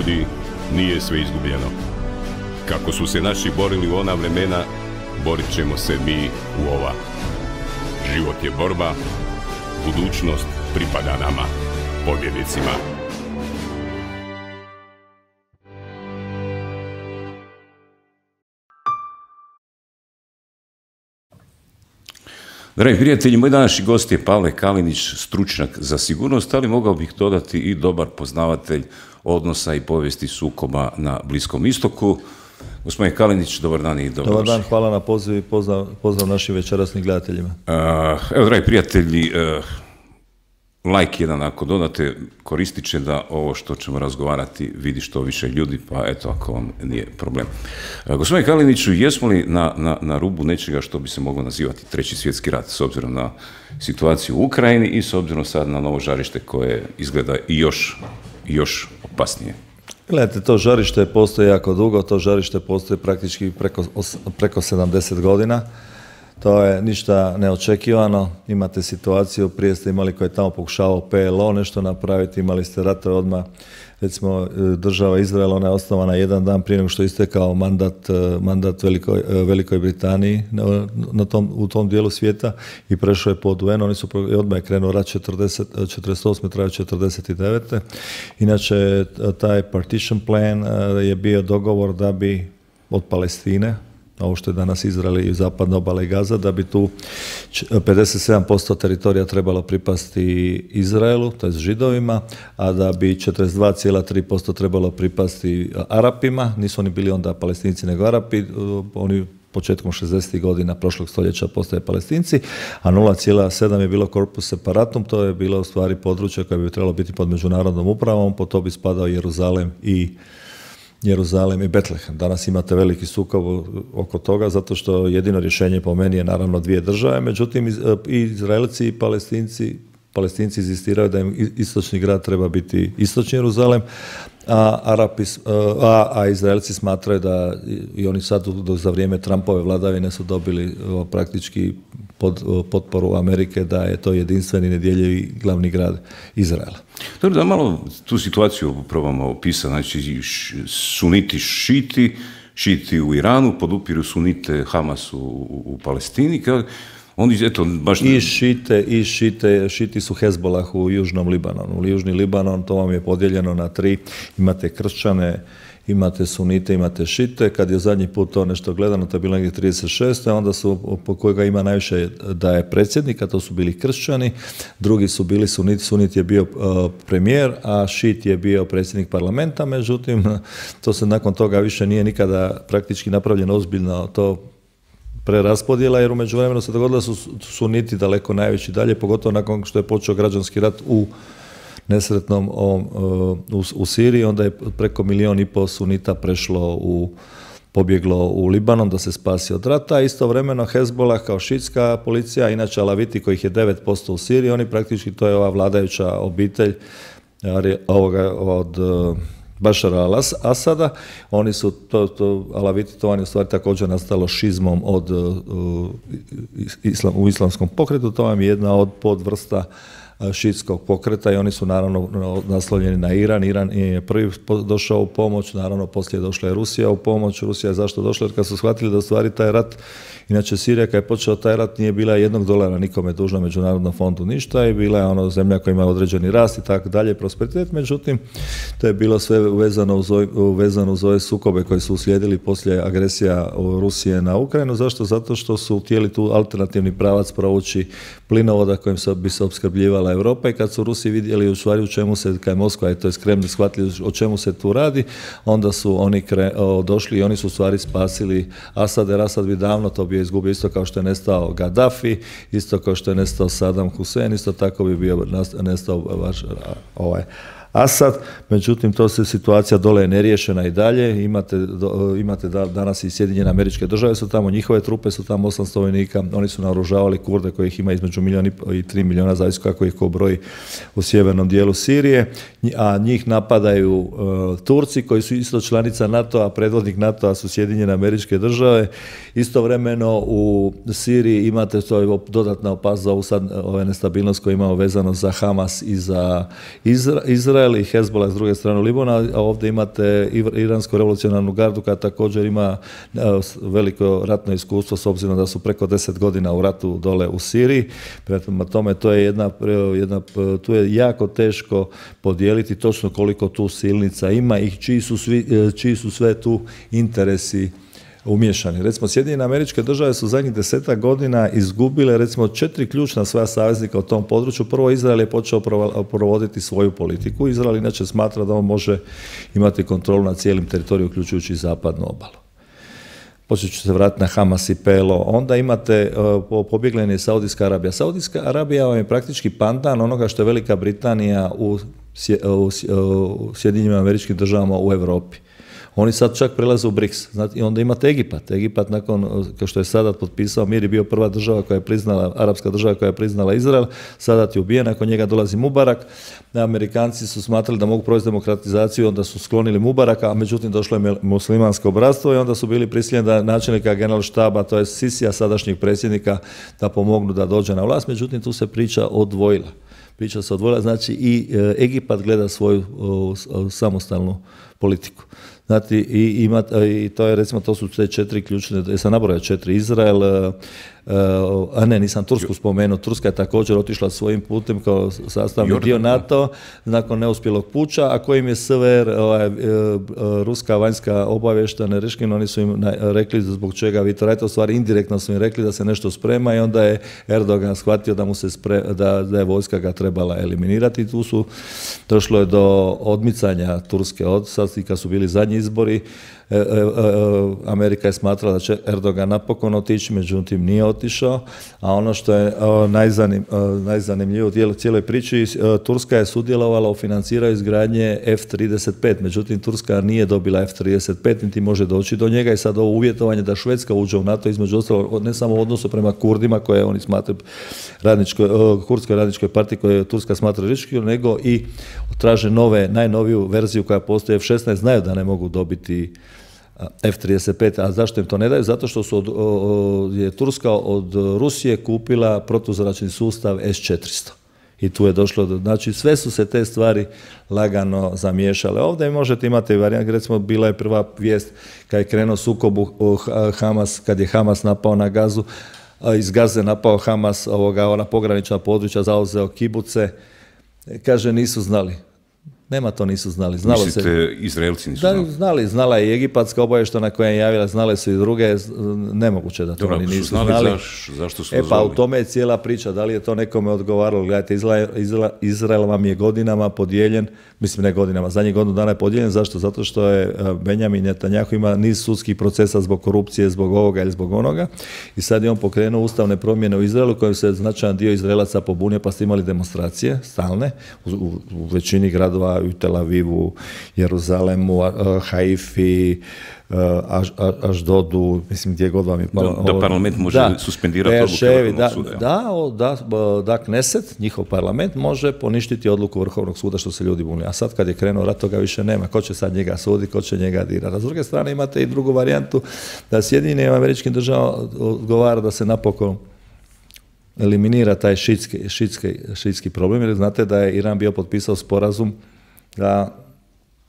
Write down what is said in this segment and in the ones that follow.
ljudi, nije sve izgubljeno. Kako su se naši borili u ona vremena, borit ćemo se mi u ova. Život je borba, budućnost pripada nama, pobjednicima. Dragi prijatelji, moj današnji gost je Pavle Kalinić, stručnjak za sigurnost, ali mogao bih dodati i dobar poznavatelj odnosa i povijesti sukoba na Bliskom istoku. Gospodin Kalinić, dobar dan i dobro. Dobar dan, hvala na pozivu i pozdrav našim večerasnim gledateljima. Evo, dragi prijatelji, like jedan ako dodate, koristit će da ovo što ćemo razgovarati vidi što više ljudi, pa eto, ako vam nije problem. Gospodin Kaliniću, jesmo li na rubu nečega što bi se moglo nazivati Treći svjetski rat, s obzirom na situaciju u Ukrajini i s obzirom sad na novo žarište koje izgleda i još opasnije? Gledajte, to žarište postoji jako dugo, to žarište postoji praktički preko 70 godina. To je ništa neočekivano. Imate situaciju, prije ste imali koji je tamo pokušavao PLO nešto napraviti, imali ste ratove odmah, recimo država Izrael, ona je osnovana jedan dan prije nego što je istekao mandat Velikoj Britaniji u tom dijelu svijeta i prešao je pod UN, odmah je krenuo rat 48. trajao 49. Inače, taj partition plan je bio dogovor da bi od Palestine, ovo što je danas Izrael i zapadna obala i Gaza, da bi tu 57% teritorija trebalo pripasti Izraelu, to je Židovima, a da bi 42,3% trebalo pripasti Arapima. Nisu oni bili onda Palestinci nego Arapi, oni početkom 60. godina prošlog stoljeća postaje Palestinci, a 0,7 je bilo corpus separatum, to je bilo u stvari područje koje bi trebalo biti pod međunarodnom upravom, po to bi spadao Jeruzalem i Betlehem. Danas imate veliki sukob oko toga, zato što jedino rješenje po meni je naravno dvije države, međutim i Izraelci i Palestinci inzistiraju da im istočni grad treba biti istočni Jeruzalem, a Izraelci smatraju da i oni sad za vrijeme Trumpove vladavine su dobili praktički potporu Amerike da je to jedinstveni nedjeljivi glavni grad Izraela. Dobro, da malo tu situaciju probamo opisati. Znači, suniti šiti u Iranu, podupiru sunite Hamas u Palestini. Oni, eto, baš... Šiti su Hezbolah u Južnom Libanonu. Južni Libanon, to vam je podijeljeno na tri. Imate kršćane, imate sunite, imate šite. Kad je zadnji put to nešto gledano, to je bilo negdje 36. Onda su, po kojega ima najviše da je predsjednik, a to su bili kršćani. Drugi su bili sunit. Sunit je bio premijer, a šit je bio predsjednik parlamenta. Međutim, to se nakon toga više nije nikada praktički napravljeno ozbiljno to preraspodjela, jer u međuvremenu se dogodilo da su suniti daleko najveći dalje, pogotovo nakon što je počeo građanski rat u nesretnom u Siriji, onda je preko 1,5 milijuna sunita pobjeglo u Libanon da se spasi od rata. Istovremeno Hezbolah kao šitska policija, inače Alaviti kojih je 9% u Siriji, oni praktički, to je ova vladajuća obitelj od Bašara al-Asada, oni su, Alaviti, to je u stvari također nastalo šizmom u islamskom pokretu, to vam je jedna od podvrsta šiitskog pokreta i oni su naravno naslovljeni na Iran. Iran je prvi došao u pomoć, naravno poslije došla je Rusija u pomoć. Rusija je zašto došla? Jer kad su shvatili da u stvari taj rat, inače Sirija kad je počeo taj rat nije bila $1 nikome dužna Međunarodnom fondu ništa i bila je zemlja koja ima određeni rast i tako dalje, prosperitet, međutim to je bilo sve vezano uz ove sukobe koji su uslijedili poslije agresija Rusije na Ukrajinu. Zašto? Zato što su htjeli tu alternativni pravac provući plinovoda kojim bi se opskrbljivala Europa i kad su Rusi vidjeli u stvari u čemu se, kad je Moskva i to je Kremlj shvatili o čemu se tu radi, onda su oni došli i oni su u stvari spasili Asad, jer Asad bi davno to bio izgubio, isto kao što je nestao Gaddafi, isto kao što je nestao Saddam Hussein, isto tako bi bio nestao Asad, međutim to se situacija dole je neriješena i dalje, imate danas i Sjedinjene Američke Države su tamo, njihove trupe su tamo 800 vojnika, oni su naoružavali Kurde kojih ima između 1,5 milijuna i 3 milijuna, zavisno kako ih ko broji u sjevernom dijelu Sirije, a njih napadaju Turci koji su isto članica NATO-a, predvodnik NATO-a su Sjedinjene Američke Države. Istovremeno u Siriji imate to dodatna opasnost za ovu sad nestabilnost koju imamo vezano za Hamas i za Izrael. Izrael i Hezbollah s druge strane Libana, a ovdje imate iransku revolucionarnu gardu koja također ima veliko ratno iskustvo s obzirom da su preko 10 godina u ratu dole u Siriji. Prema tome to je tu je jako teško podijeliti točno koliko tu silnica ima i čiji su sve tu interesi umješani. Recimo, Sjedinjene Američke Države su zadnjih 10 godina izgubile recimo 4 ključna svoja saveznika u tom području. Prvo, Izrael je počeo provoditi svoju politiku. Izrael inače smatra da on može imati kontrolu nad cijelim teritorijom, uključujući i zapadnu obalu. Poslije ću se vratiti na Hamas i PLO. Onda imate pobjegla je Saudijska Arabija. Saudijska Arabija vam je praktički pandan onoga što je Velika Britanija u Sjedinjenim Američkim Državama u Europi. Oni sad čak prelaze u BRICS. I onda imate Egipat. Egipat nakon, kao što je Sadat potpisao mir, je bio prva država koja je priznala, arapska država koja je priznala Izrael. Sadat je ubijen, nakon njega dolazi Mubarak. Amerikanci su smatrali da mogu provesti demokratizaciju, onda su sklonili Mubaraka, a međutim došlo je muslimansko bratstvo i onda su bili prisiljeni da načelnika generalštaba, to je Sisija, sadašnjeg predsjednika, da pomognu da dođe na vlast. Međutim, tu se priča odvojila. Priča se odvojila, znači i Egipat gleda svoju samostalnu politiku. Znate, i to je, recimo, to su te 4 ključne, sam nabrojao 4, Izrael, nisam Tursku spomenuo, Turska je također otišla svojim putem kao sastavni dio NATO nakon neuspjelog puča, a kojim je SVR, ruska vanjska obavještajna Reškin, oni su im rekli zbog čega vi to radite, u stvari indirektno su im rekli da se nešto sprema i onda je Erdogan shvatio da mu se da je vojska ga trebala eliminirati i tu su došlo je do odmicanja Turske od sad i kad su bili zadnji izbori. Amerika je smatrala da će Erdogan napokon otići, međutim nije otišao, a ono što je najzanimljivije u cijeloj priči, Turska je sudjelovala u financiranju izgradnje F-35, međutim Turska nije dobila F-35, niti može doći do njega i sad ovo uvjetovanje da Švedska uđe u NATO, između ostalog, ne samo u odnosu prema Kurdima, koje oni smatraju kurdskoj radničkoj partiji koje Turska smatra rizičkim, nego i traže najnoviju verziju koja postoji F-16, znaju da ne mogu dobiti F-35, a zašto im to ne daju? Zato što je Turska od Rusije kupila protuzračni sustav S-400. I tu je došlo znači sve su se te stvari lagano zamiješale. Ovdje možete imati varijant, recimo bila je prva vijest kad je krenuo sukob Hamas, kad je Hamas napao na Gazu, iz Gaze napao Hamas ona pogranična područja, zauzeo kibuce, kaže nisu znali. Nema, to nisu znali. Mislite, Izraelci nisu znali? Znala je i egipatska obavještajna koja je javila, znale su i druge, nemoguće da to oni nisu znali. Zašto su pa u tome je cijela priča, da li je to nekome odgovaralo. Gledajte, Izrael vam je godinama podijeljen, mislim ne godinama, zadnjih godinu dana je podijeljen, zašto? Zato što je Benjamin Netanjahu ima niz sudskih procesa zbog korupcije, zbog ovoga ili zbog onoga i sad je on pokrenuo ustavne promjene u Izraelu kojem se značajan dio Izraelaca pobunio, pa ste imali demonstracije stalne u većini gradova, u Tel Avivu, Jeruzalemu, Haifi, Aždodu, mislim gdje god vam je palo. Da parlament može suspendirati odluku Vrhovnog suda. Da, Kneset, njihov parlament, može poništiti odluku Vrhovnog suda što se ljudi buni. A sad kad je krenuo rat, toga više nema. Ko će sad njega suditi, ko će njega dirati. A s druge strane imate i drugu varijantu da Sjedinjenim Američkim Državama odgovara da se napokon eliminira taj šiitski problem, jer znate da je Iran bio potpisao sporazum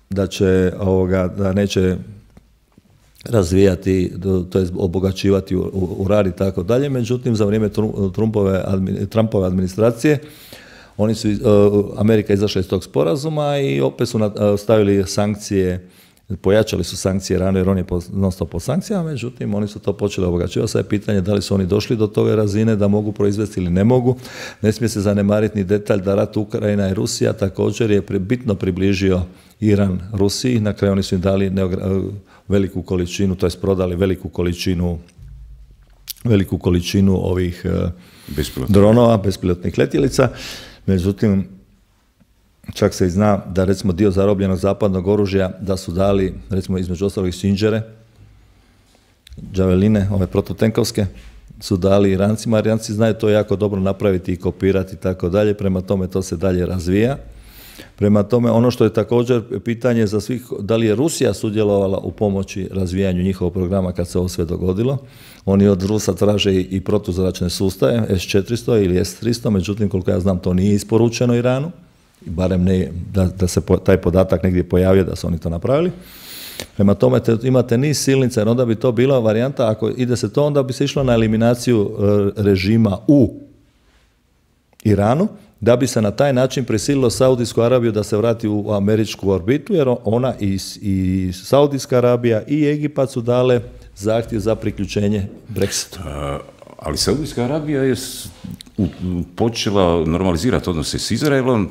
da neće razvijati, to je obogaćivati uran i tako dalje. Međutim, za vrijeme Trumpove administracije Amerika izašla iz tog sporazuma i opet su stavili sankcije, pojačali su sankcije Iranu jer on je non stop pod sankcijama, međutim oni su to počeli obogaćivati. Sad je pitanje da li su oni došli do toga razine da mogu proizvesti ili ne mogu. Ne smije se zanemariti ni detalj da rat Ukrajina i Rusija također je bitno približio Iran Rusiji. Na kraju oni su im dali veliku količinu, to jest prodali veliku količinu ovih dronova, bespilotnih letjelica. Međutim, čak se i zna da recimo dio zarobljenog zapadnog oružja da su dali recimo između ostalih Sinđere, Džaveline, ove protutenkovske, su dali Irancima. Iranci znaju to jako dobro napraviti i kopirati i tako dalje, prema tome to se dalje razvija. Prema tome, ono što je također pitanje za svih, da li je Rusija sudjelovala u pomoći razvijanju njihovog programa kad se ovo sve dogodilo. Oni od Rusa traže i protuzračne sustave, S-400 ili S-300, međutim, koliko ja znam, to nije isporučeno Iranu. barem ne, da se taj podatak negdje pojavio da su oni to napravili. Prema tome imate niz silnica, jer onda bi to bila varijanta, ako ide se to, onda bi se išlo na eliminaciju režima u Iranu, da bi se na taj način prisililo Saudijsku Arabiju da se vrati u američku orbitu, jer ona i Saudijska Arabija i Egipat su dale zahtjev za priključenje Brexitu. Ali Saudijska Arabija je počela normalizirati odnose s Izraelom.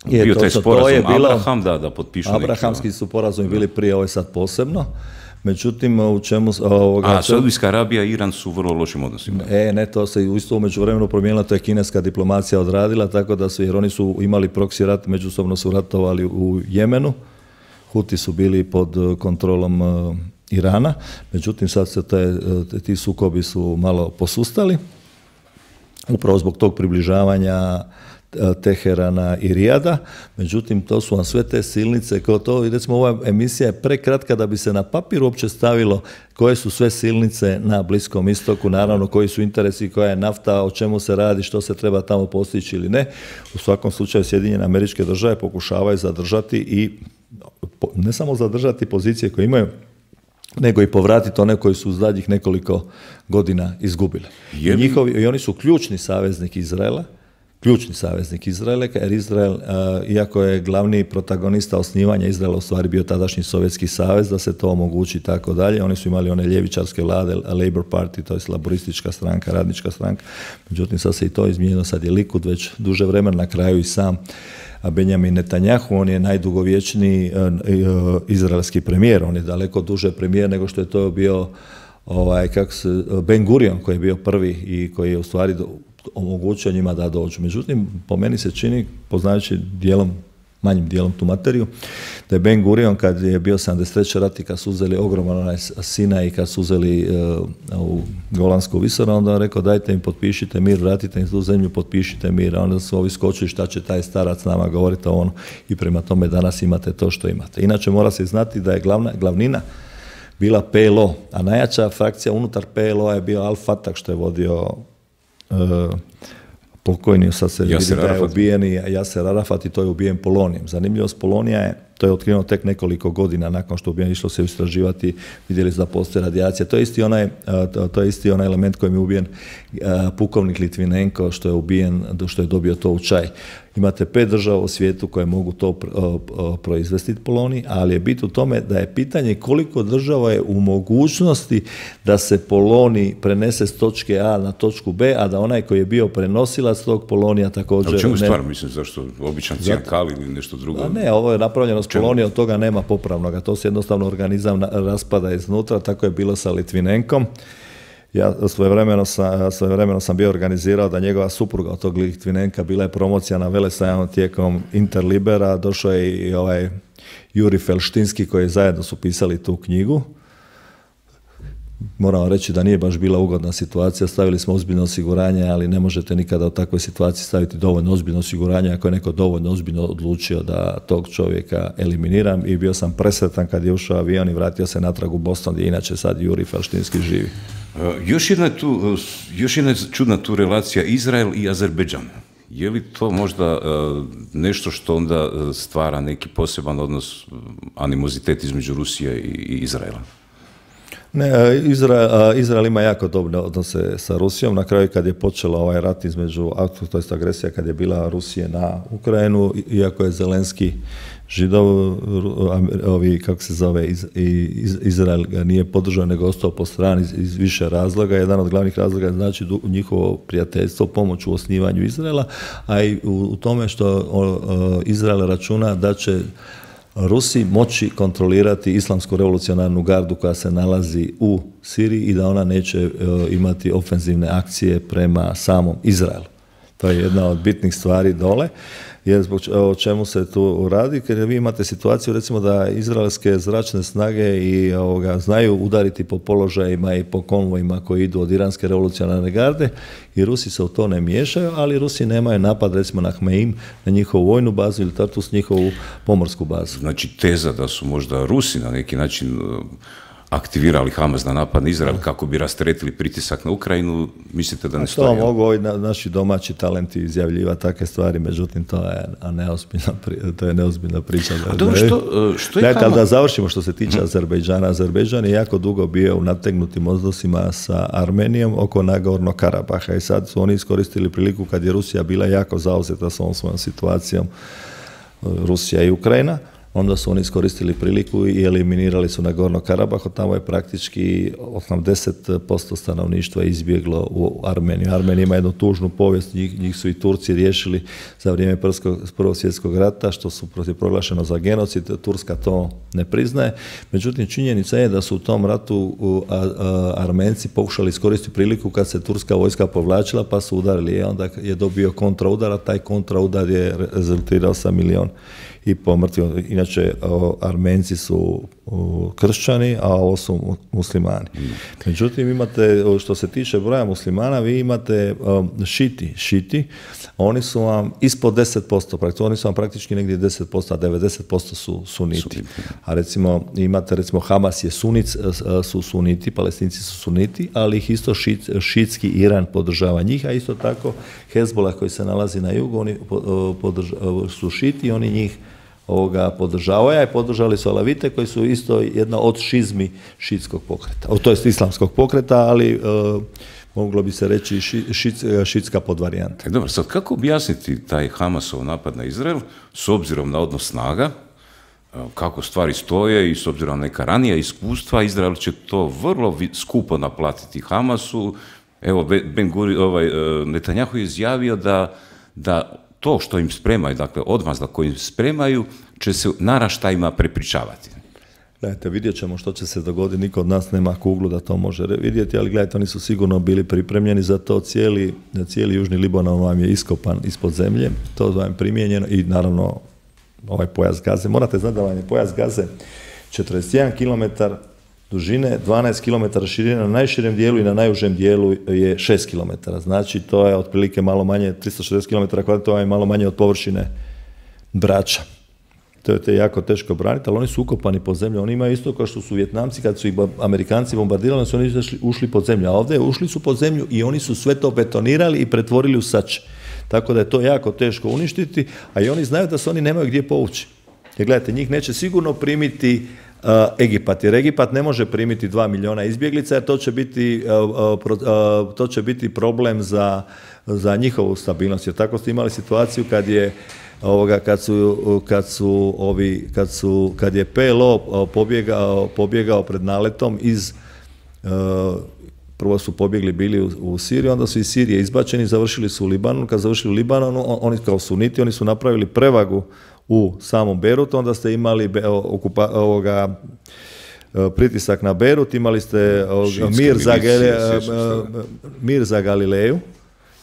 Bio taj sporazum Abraham, da potpišu neki. Abrahamski su sporazumi bili prije, ovo je sad posebno. Međutim, u čemu... Saudijska Arabija i Iran su u vrlo lošim odnosima. Ne, to se isto u međuvremenu promijenilo, to je kineska diplomacija odradila, tako da su, jer oni su imali proksi rat, međusobno su ratovali u Jemenu, Huti su bili pod kontrolom Irana, međutim sad se ti sukobi su malo posustali, upravo zbog tog približavanja Teherana i Rijada, međutim to su vam sve te silnice, kao to, recimo ova emisija je prekratka da bi se na papir uopće stavilo koje su sve silnice na Bliskom istoku, naravno koji su interesi, koja je nafta, o čemu se radi, što se treba tamo postići ili ne. U svakom slučaju Sjedinjene Američke Države pokušavaju zadržati i ne samo zadržati pozicije koje imaju, nego i povratiti one koji su u zadnjih nekoliko godina izgubili. I oni su ključni saveznik Izraela, jer Izrael, iako je glavni protagonista osnivanja Izraela u stvari bio tadašnji Sovjetski savez, da se to omogući i tako dalje. Oni su imali one ljevičarske vlade, Labour Party, to je laboristička stranka, radnička stranka. Međutim, sad se i to izmijenilo, sad je Likud već duže vremena, na kraju i sam Benjamin Netanjahu, on je najdugovječniji izraelski premijer, on je daleko duže premijer nego što je to bio Ben Gurion, koji je bio prvi i koji je u stvari omogućio njima da dođu. Međutim, po meni se čini, poznajući manjim dijelom tu materiju, da je Ben Gurion kad je bio 73. rat i kad su uzeli ogroman onaj Sinaj i kad su uzeli u Golansku visoravan, onda on rekao dajte im potpišite mir, vratite im tu zemlju, potpišite mir, a onda su ovi skočili šta će taj starac nama govoriti o ono i prema tome danas imate to što imate. Inače mora se znati da je glavnina bila PLO, a najjača frakcija unutar PLO je bio Al-Fatah što je vodio pokojni, sad se vidi da je ubijen Jaser Arafat i to je ubijen polonijem. Zanimljivost Polonija je, to je otkriveno tek nekoliko godina nakon što je ubijen, išlo se istraživati, vidjeli su da postoje radijacija. To je isti onaj element kojim je ubijen pukovnik Litvinenko što je ubijen, što je dobio to u čaj. Imate 5 država u svijetu koje mogu to proizvesti polonij, ali je bit u tome da je pitanje koliko država je u mogućnosti da se polonij prenese s točke A na točku B, a da onaj koji je bio prenosilac tog polonija također... A u čemu stvar, mislim, zašto? Običan cijankal ili nešto drugo? A ne, ovo je napravljeno s polonijom, od toga nema popravnoga. To se jednostavno organizam raspada iznutra, tako je bilo sa Litvinenkom. Ja svojevremeno sam bio organizirao da njegova supruga od tog Litvinenka bila je promocija na Velesajmu tijekom Interlibera, došao je i Juri Felštinski koji zajedno su pisali tu knjigu. Moram reći da nije baš bila ugodna situacija, stavili smo ozbiljno osiguranje, ali ne možete nikada u takvoj situaciji staviti dovoljno ozbiljno osiguranje ako je neko dovoljno ozbiljno odlučio da tog čovjeka eliminiram i bio sam presretan kad je ušao avion i vratio se natrag u Boston gdje inače sad Juri Felštinski živi. Još jedna čudna tu relacija Izrael i Azerbejdžan. Je li to možda nešto što onda stvara neki poseban odnos, animozitet između Rusije i Izraela? Ne, Izrael ima jako dobre odnose sa Rusijom. Na kraju kad je počela ovaj rat između, to jest agresija kad je bila Rusije na Ukrajinu, iako je Zelenski Židov, Izrael ga nije podržao nego ostao po strani iz više razloga. Jedan od glavnih razloga je znači njihovo prijateljstvo, pomoć u osnivanju Izraela, a i u tome što Izrael računa da će Rusi moći kontrolirati islamsku revolucionarnu gardu koja se nalazi u Siriji i da ona neće imati ofenzivne akcije prema samom Izraelu. To je jedna od bitnih stvari dole. Jer o čemu se tu radi, jer vi imate situaciju recimo da izraelske zračne snage znaju udariti po položajima i po konvojima koji idu od iranske revolucionarne garde i Rusi se u to ne miješaju, ali Rusi nemaju napad recimo na Hmeim, na njihovu vojnu bazu ili Tartus, njihovu pomorsku bazu. Znači teza da su možda Rusi na neki način aktivirali Hamas da napadne Izrael kako bi rasteretili pritisak na Ukrajinu, mislite da ne stoji? To mogu ovi naši domaći talenti izjavljivati takve stvari, međutim to je neozbiljna priča. A dobro, što je Hamas? Da završimo što se tiče Azerbejdžana. Azerbejdžan je jako dugo bio u nategnutim odnosima sa Armenijom oko Nagornog Karabaha i sad su oni iskoristili priliku kad je Rusija bila jako zauzeta s ovom svojom situacijom, Rusija i Ukrajina. Onda su oni iskoristili priliku i eliminirali su Nagorno Karabaho, tamo je praktički 80% stanovništva izbjeglo u Armeniju. Armenija ima jednu tužnu povijest, njih su i Turci riješili za vrijeme Prvog svjetskog rata, što su proglašeno za genocid, Turska to ne priznaje. Međutim, činjenica je da su u tom ratu Armenci pokušali iskoristiti priliku kad se turska vojska povlačila, pa su udarili i onda je dobio kontraudar, a taj kontraudar je rezultirao sa 1,5 milijuna mrtvih. Inače, Armenci su kršćani, a ovo su muslimani. Međutim, imate, što se tiče broja muslimana, vi imate šiti, oni su vam ispod 10%, oni su vam praktički negdje 10%, a 90% su suniti. A imate Hamas je su suniti, Palestinci su suniti, ali ih isto šitski Iran podržava njih, a isto tako Hezbollah koji se nalazi na jugu, oni su šiti, oni njih podržavaju, i podržali su Alavite koji su isto jedna od šizmi šitskog pokreta, to jest islamskog pokreta, ali moglo bi se reći šitska podvarijanta. Dobro, sad kako objasniti taj Hamasov napad na Izrael s obzirom na odnos snaga, kako stvari stoje i s obzirom na neka ranija iskustva, Izrael će to vrlo skupo naplatiti Hamasu. Evo, Netanjahu je izjavio da to što im spremaju, dakle odmazda koju im spremaju, će se naraštajima prepričavati. Gledajte, vidjet ćemo što će se dogoditi, niko od nas nema kuglu da to može vidjeti, ali gledajte, oni su sigurno bili pripremljeni za to, cijeli južni Libanon vam je iskopan ispod zemlje, to vam je primijenjeno i naravno ovaj pojas Gaze. Morate znati da vam je pojas Gaze 41 km dužine, 12 km širine na najširem dijelu i na najužem dijelu je 6 km. Znači, to je otprilike malo manje, 360 km kvadratnih, to je malo manje od površine Brača. To je jako teško braniti, ali oni su ukopani pod zemlju. Oni imaju isto kao što su Vjetnamci, kad su ih Amerikanci bombardirali, su oni ušli pod zemlju. A ovdje ušli su pod zemlju i oni su sve to betonirali i pretvorili u sače. Tako da je to jako teško uništiti, a i oni znaju da se oni nemaju gdje povući. Jer gledajte, njih neće sigurno primiti Egipat, jer Egipat ne može primiti 2 milijuna izbjeglica, jer to će biti problem za njihovu stabilnost. Jer tako ste imali situaciju kad je PLO pobjegao pred naletom prvo su pobjegli bili u Siriju, onda su iz Sirije izbačeni, završili su u Libanonu. Kad završili u Libanonu, oni kao suniti, oni su napravili prevagu u samom Beirutu, onda ste imali pritisak na Beirut, imali ste mir za Galileju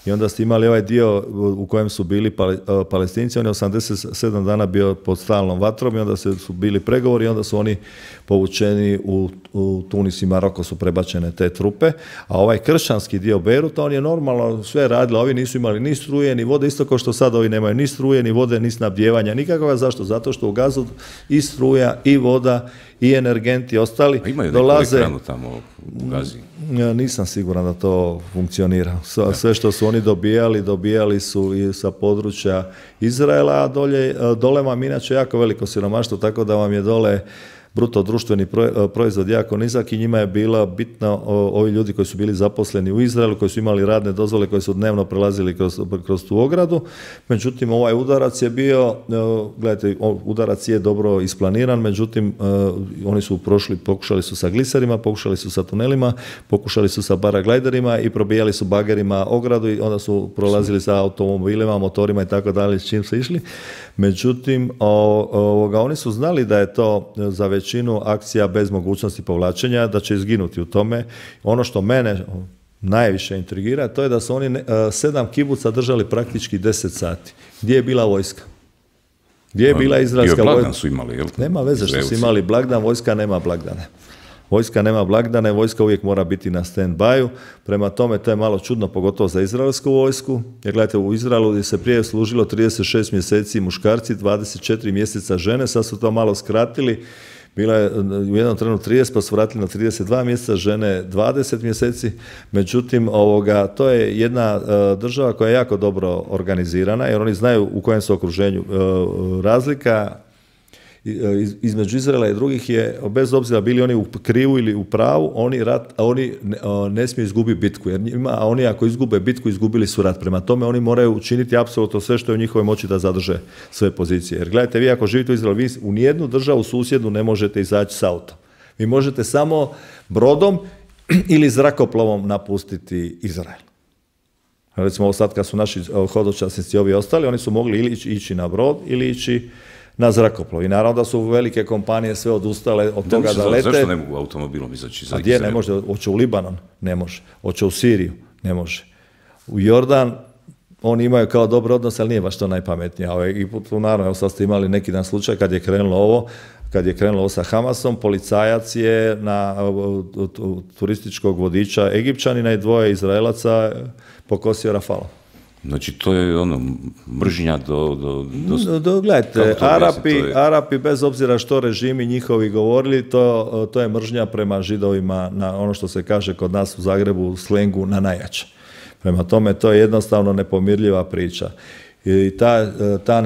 i onda ste imali ovaj dio u kojem su bili Palestinci, on je 87 dana bio pod stalnom vatrom i onda su bili pregovori i onda su oni povučeni u Tunis i Maroko su prebačene te trupe, a ovaj kršćanski dio Beiruta, on je normalno sve radili, ovi nisu imali ni struje, ni vode, isto kao što sad ovi nemaju ni struje, ni vode, ni snabdijevanja nikakvoga. Zašto? Zato što u Gazu i struja, i voda, i energenti ostali imaju dolaze. Imaju neku tamo u Gazi? Nisam siguran da to funkcionira. Sve što su oni dobijali su i sa područja Izraela, a dole vam inače jako veliko siromaštvo, tako da vam je dole bruto društveni proizvod jako nizak i njima je bila bitno ovi ljudi koji su bili zaposleni u Izraelu, koji su imali radne dozvole, koji su dnevno prelazili kroz tu ogradu. Međutim, ovaj udarac je bio, gledajte, udarac je dobro isplaniran, međutim, oni su pokušali su sa gliserima, pokušali su sa tunelima, pokušali su sa paraglajderima i probijali su bagerima ogradu i onda su prolazili sa automobilima, motorima i tako dalje, s čim su išli. Međutim, oni su znali da je to za većinu akcija bez mogućnosti povlačenja, da će izginuti u tome. Ono što mene najviše intrigira, to je da su oni 7 kibuca držali praktički 10 sati. Gdje je bila vojska? Gdje je bila izraelska vojska? Blagdan su imali, jel? Nema veze što su imali blagdan, vojska nema blagdane. Vojska nema blagdane, vojska uvijek mora biti na stand-byu, prema tome to je malo čudno, pogotovo za izraelsku vojsku, jer gledajte, u Izraelu se prije služilo 36 mjeseci muškarci, 24 mjeseca žene, sad su to malo skratili, Bila je u jednom trenu 30, pa su vratili na 32 mjeseca, žene 20 mjeseci. Međutim, to je jedna država koja je jako dobro organizirana, jer oni znaju u kojem su okruženju. Razlika između Izraela i drugih je, bez obzira bili oni u krivu ili u pravu, oni ne smiju izgubiti bitku, jer oni ako izgube bitku, izgubili su rat. Prema tome oni moraju učiniti apsolutno sve što je u njihovoj moći da zadrže svoje pozicije. Jer gledajte, vi ako živite u Izraelu, vi u nijednu državu susjednu ne možete izaći s autom. Vi možete samo brodom ili zrakoplovom napustiti Izrael. Recimo ovo sad kad su naši hodočasnici ovi ostali, oni su mogli ili ići na brod ili ići na zrakoplov. I naravno da su velike kompanije sve odustale od toga da lete. Zašto ne mogu automobilom izaći za Izrael? A gdje ne može? Hoće u Libanon? Ne može. Hoće u Siriju? Ne može. U Jordan oni imaju kao dobar odnos, ali nije baš to najpametnije. I naravno, evo sad ste imali neki dan slučaj kad je krenulo ovo sa Hamasom, policajac je na turističkog vodiča Egipćanina i 2 Izraelaca pokosio rafalom. Znači, to je mržnja Gledajte, Arapi, bez obzira što režimi njihovi govorili, to je mržnja prema Židovima, na ono što se kaže kod nas u Zagrebu, u slengu, na najjače. Prema tome, to je jednostavno nepomirljiva priča. I ta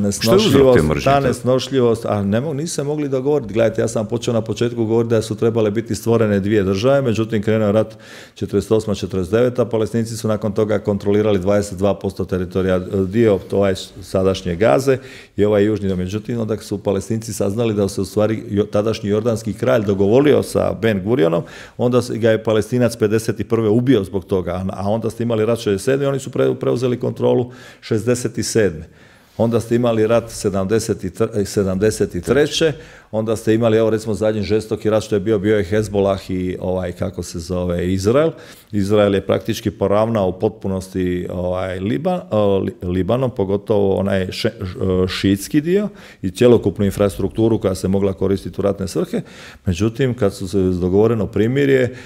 nesnošljivost, nisu se mogli dogovoriti. Gledajte, ja sam počeo na početku govoriti da su trebale biti stvorene 2 države, međutim krenuo je rat 48-49, a Palestinci su nakon toga kontrolirali 22% teritorija, dio sadašnje Gaze i ovaj južni dio. Međutim, onda su Palestinci saznali da se u stvari tadašnji jordanski kralj dogovorio sa Ben Gurionom, onda ga je Palestinac 51. ubio zbog toga, a onda ste imali rat 67. i oni su preuzeli kontrolu 67. Onda ste imali rat 73. Onda ste imali, evo recimo zadnji žestoki rat što je bio je Hezbollah i Izrael. Izrael je praktički poravnao u potpunosti Libanon, pogotovo onaj šiitski dio i cjelokupnu infrastrukturu koja se mogla koristiti u ratne svrhe. Međutim, kad su se dogovoreno primirje,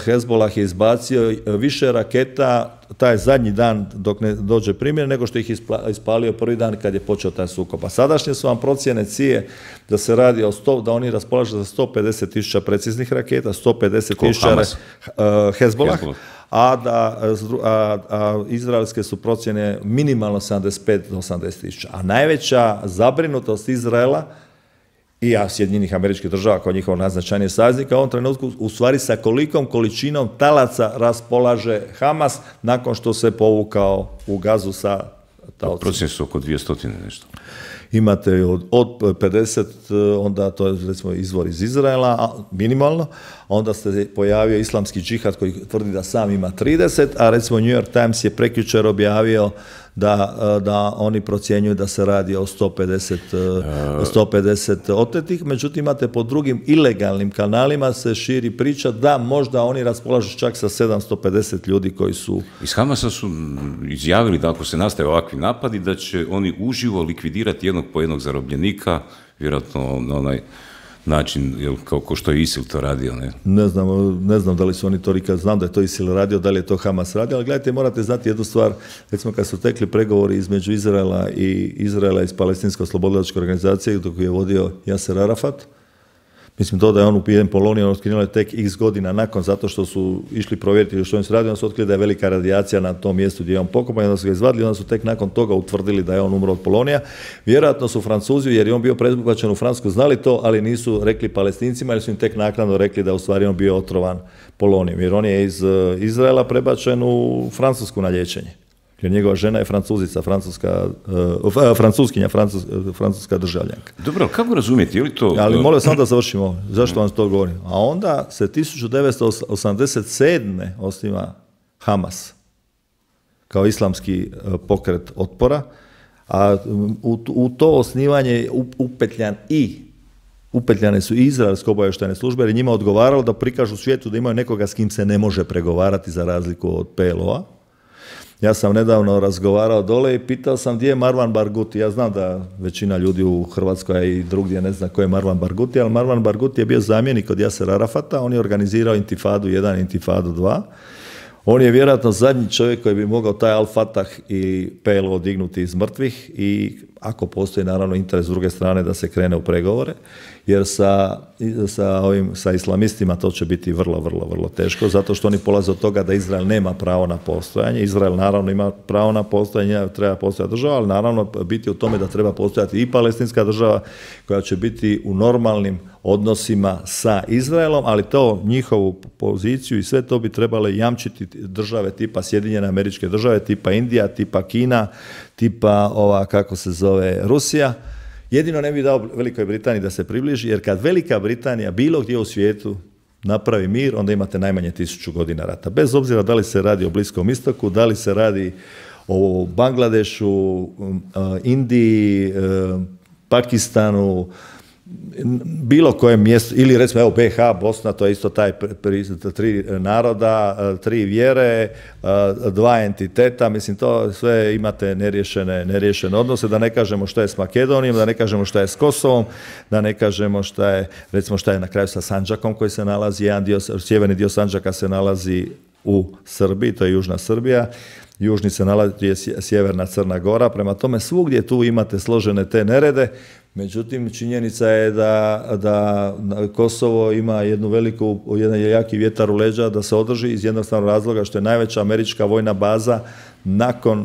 Hezbollah je izbacio više raketa taj zadnji dan dok ne dođe primjer, nego što ih ispalio prvi dan kad je počeo taj sukob. A sadašnje su vam procjene CIA da se radi da oni raspolažu za 150.000 preciznih raketa, 150.000 Hezbollah, a izraelske su procjene minimalno 75 do 80.000. A najveća zabrinutost Izraela i Sjedinjenih Američkih Država kao njihov najznačajniji saveznik, u ovom trenutku u stvari sa kolikom količinom talaca raspolaže Hamas nakon što se povukao u Gazu sa taocima. Procjene su oko 200 nešto. Imate od 50, onda to je recimo izvor iz Izraela, minimalno, onda se pojavio islamski džihad koji tvrdi da sam ima 30, a recimo New York Times je prekjučer objavio da oni procjenjuju da se radi o 150 otetih, međutim imate po drugim ilegalnim kanalima se širi priča da možda oni raspolažu čak sa 750 ljudi koji su... Iz Hamasa su izjavili da ako se nastave ovakvi napadi, da će oni uživo likvidirati jednog po jednog zarobljenika, vjerojatno na onaj način, kao što je ISIL to radio, ne? Ne znam da li su oni to rikali, znam da je to ISIL radio, da li je to Hamas radio, ali gledajte, morate znati jednu stvar, recimo kad su tekli pregovori između Izraela iz Palestinsko-oslobodilačke organizacije, dok je vodio Jaser Arafat, mislim to da je on ubijen Polonijom, otkrinulo je tek x godina nakon, zato što su išli provjeriti što on se radi, onda su otkrili da je velika radijacija na tom mjestu gdje je on pokopan, onda su ga izvadili, onda su tek nakon toga utvrdili da je on umro od polonija. Vjerojatno su Francuzi, jer je on bio prebačen u Francusku, znali to, ali nisu rekli Palestincima, jer su im tek naknadno rekli da je u stvari on bio otrovan polonijom, jer on je iz Izraela prebačen u Francusku na liječenje. Jer njegova žena je Francuzica, francuskinja, francuska državljanka. Dobro, kako razumijete, je li to... Ali molim samo da završimo, zašto vam to govorim. A onda se 1987. osniva Hamas kao islamski pokret otpora, a u to osnivanje je upetljane su i izraelske obavještajne službe, jer je njima odgovaralo da prikažu svijetu da imaju nekoga s kim se ne može pregovarati za razliku od PLO-a. Ja sam nedavno razgovarao dole i pitao sam gdje je Marwan Barghouti. Ja znam da većina ljudi u Hrvatskoj i drugdje ne zna ko je Marwan Barghouti, ali Marwan Barghouti je bio zamjenik od Jasera Arafata, on je organizirao Intifadu 1 i Intifadu 2. On je vjerojatno zadnji čovjek koji bi mogao taj Al-Fatah i PLO dignuti iz mrtvih i ako postoji naravno interes s druge strane da se krene u pregovore, jer sa islamistima to će biti vrlo, vrlo, vrlo teško, zato što oni polaze od toga da Izrael nema pravo na postojanje. Izrael naravno ima pravo na postojanje, treba postojati država, ali naravno biti u tome da treba postojati i palestinska država koja će biti u normalnim odnosima sa Izraelom, ali to njihovu poziciju i sve to bi trebale jamčiti države tipa Sjedinjene Američke Države, tipa Indija, tipa Kina, tipa Rusija. Jedino ne bi dao Velikoj Britaniji da se približi, jer kad Velika Britanija bilo gdje u svijetu napravi mir, onda imate najmanje 1000 godina rata. Bez obzira da li se radi o Bliskom istoku, da li se radi o Bangladešu, Indiji, Pakistanu, bilo kojem mjestu, ili recimo evo BiH, Bosna, to je isto taj 3 naroda, 3 vjere, 2 entiteta, mislim to sve imate neriješene odnose, da ne kažemo što je s Makedonijom, da ne kažemo što je s Kosovom, da ne kažemo što je na kraju sa Sandžakom koji se nalazi, sjeverni dio Sandžaka se nalazi u Srbiji, to je južna Srbija, južni se nalazi sjeverna Crna Gora, prema tome svugdje tu imate složene te nerede. Međutim, činjenica je da Kosovo ima jedan jaki vjetar u leđa da se održi iz jednostavnog razloga što je najveća američka vojna baza nakon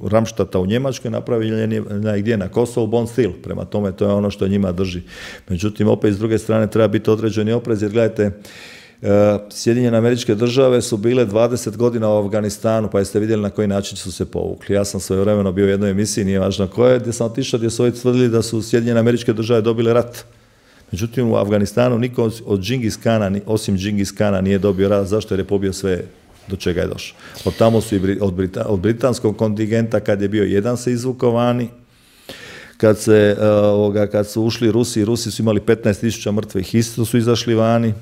Ramštata u Njemačkoj napravljena gdje na Kosovu, Bond Steel. Prema tome, to je ono što njima drži. Međutim, opet s druge strane treba biti određeni oprez, jer gledajte, Sjedinjene Američke Države su bile 20 godina u Afganistanu, pa jeste vidjeli na koji način su se povukli. Ja sam svojevremeno bio u jednoj emisiji, nije važno koje, gdje sam otišao, gdje su ovi tvrdili da su Sjedinjene Američke Države dobile rat. Međutim, u Afganistanu niko od Džingis Kana, osim Džingis Kana, nije dobio rat. Zašto? Jer je pobio sve do čega je došao. Od tamo su od britanskog kontingenta, kad je bio jedan, se izvukao vani. Kad su ušli Rusi su imali 15.000 mrtvih, isto su izašli vani.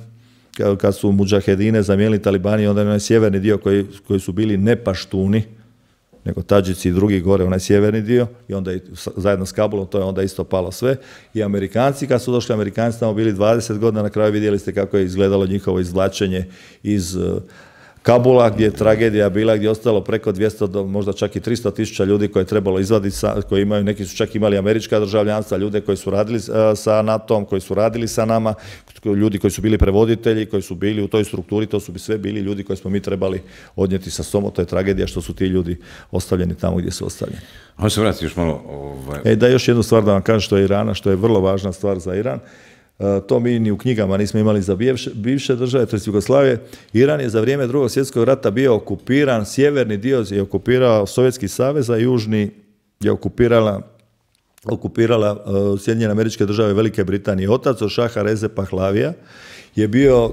Kad su mudžahedine zamijenili talibani, onda je onaj sjeverni dio koji su bili ne paštuni, nego Tadžici i drugi gore, onaj sjeverni dio, i onda zajedno s Kabulom, to je onda isto palo sve. I Amerikanci, kad su došli, Amerikanci tamo bili 20 godina, na kraju vidjeli ste kako je izgledalo njihovo izvlačenje iz Kabula, gdje je tragedija bila, gdje je ostalo preko 200, možda čak i 300.000 ljudi koje je trebalo izvaditi, koji imaju, neki su čak imali američka državljanstva, ljude koji su radili sa NATO-om, koji su radili sa nama, ljudi koji su bili prevoditelji, koji su bili u toj strukturi, to su sve bili ljudi koje smo mi trebali odnijeti sa sobom. To je tragedija što su ti ljudi ostavljeni tamo gdje su ostavljeni. Ajmo se vratiti još malo. Da, još jednu stvar da vam kažem što je Irana, što je vrlo važna stvar za Iran. To mi ni u knjigama nismo imali za bivše države, to je Jugoslavije. Iran je za vrijeme Drugog svjetskog rata bio okupiran, sjeverni dio je okupirao Sovjetski savez, a južni je okupirala Sjedinjene Američke Države, Velike Britanije. Otac od šaha Reze Pahlavija je bio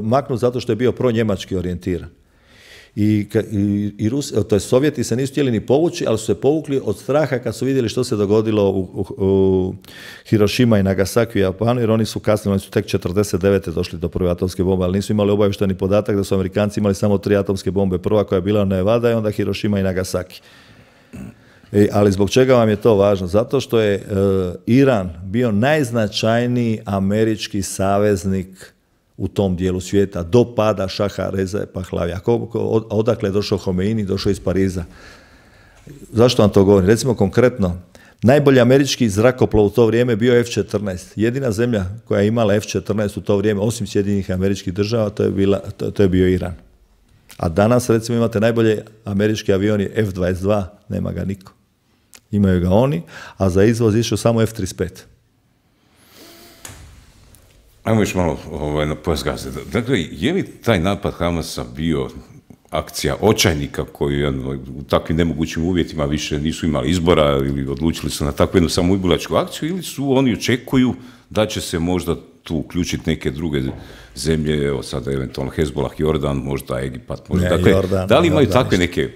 maknut zato što je bio pro-njemački orijentiran. To je Sovjeti se nisu htjeli ni povući, ali su se povukli od straha kad su vidjeli što se dogodilo u Hirošima i Nagasaki u Japanu, jer oni su kasnije, oni su tek 49. došli do prve atomske bombe, ali nisu imali obavješteni podatak da su Amerikanci imali samo 3 atomske bombe. Prva koja je bila Nevada i onda Hirošima i Nagasaki. Ali zbog čega vam je to važno? Zato što je Iran bio najznačajniji američki saveznik u tom dijelu svijeta, do pada šaha Reze Pahlavija. Odakle je došao Homeini? Došao iz Pariza. Zašto vam to govorim? Recimo konkretno, najbolji američki zrakoplov u to vrijeme bio F-14. Jedina zemlja koja je imala F-14 u to vrijeme, osim Sjedinjenih Američkih Država, to je bio Iran. A danas, recimo, imate najbolje američki avioni F-22, nema ga niko. Imaju ga oni, a za izvoz išao samo F-35. Ajmo još malo na pojas Gaze. Dakle, je li taj napad Hamasa bio akcija očajnika koji u takvim nemogućim uvjetima više nisu imali izbora ili odlučili su na takvu jednu samoubilačku akciju, ili su oni očekuju da će se možda tu uključiti neke druge zemlje, evo sada eventualno Hezbollah, Jordan, možda Egipat, možda. Dakle, da li imaju takve neke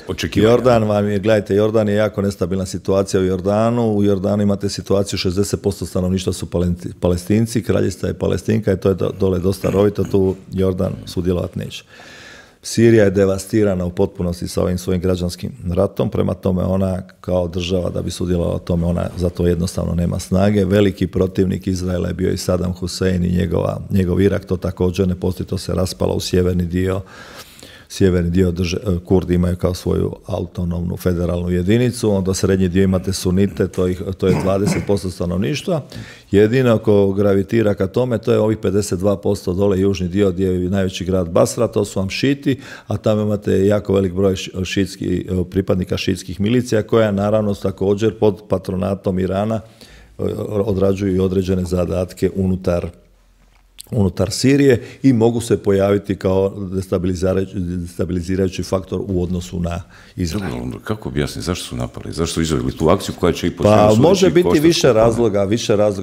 očekivanja? Gledajte, Jordan je jako nestabilna situacija u Jordanu. U Jordanu imate situaciju 60% stanovništva su Palestinci, kraljica je Palestinka i to je dole dosta rovito, tu Jordan sudjelovati neće. Sirija je devastirana u potpunosti sa ovim svojim građanskim ratom, prema tome ona kao država da bi sudjelovala o tome, ona za to jednostavno nema snage. Veliki protivnik Izraela je bio i Saddam Hussein i njegov Irak, to također ne postoji, to se raspalo u sjeverni dio. sjeverni dio Kurdi imaju kao svoju autonomnu federalnu jedinicu, onda srednji dio imate sunite, to je 20% stanovništva. Jedino ko gravitira ka tome, to je ovih 52% dole južni dio gdje je najveći grad Basra, to su vam šiti, a tamo imate jako velik broj pripadnika šitskih milicija koja naravno također pod patronatom Irana odrađuju i određene zadatke unutar Sirije i mogu se pojaviti kao destabilizirajući faktor u odnosu na Izrael. Kako objasniti, zašto su napali? Zašto su izveli tu akciju koja će i po Pa može biti više razloga.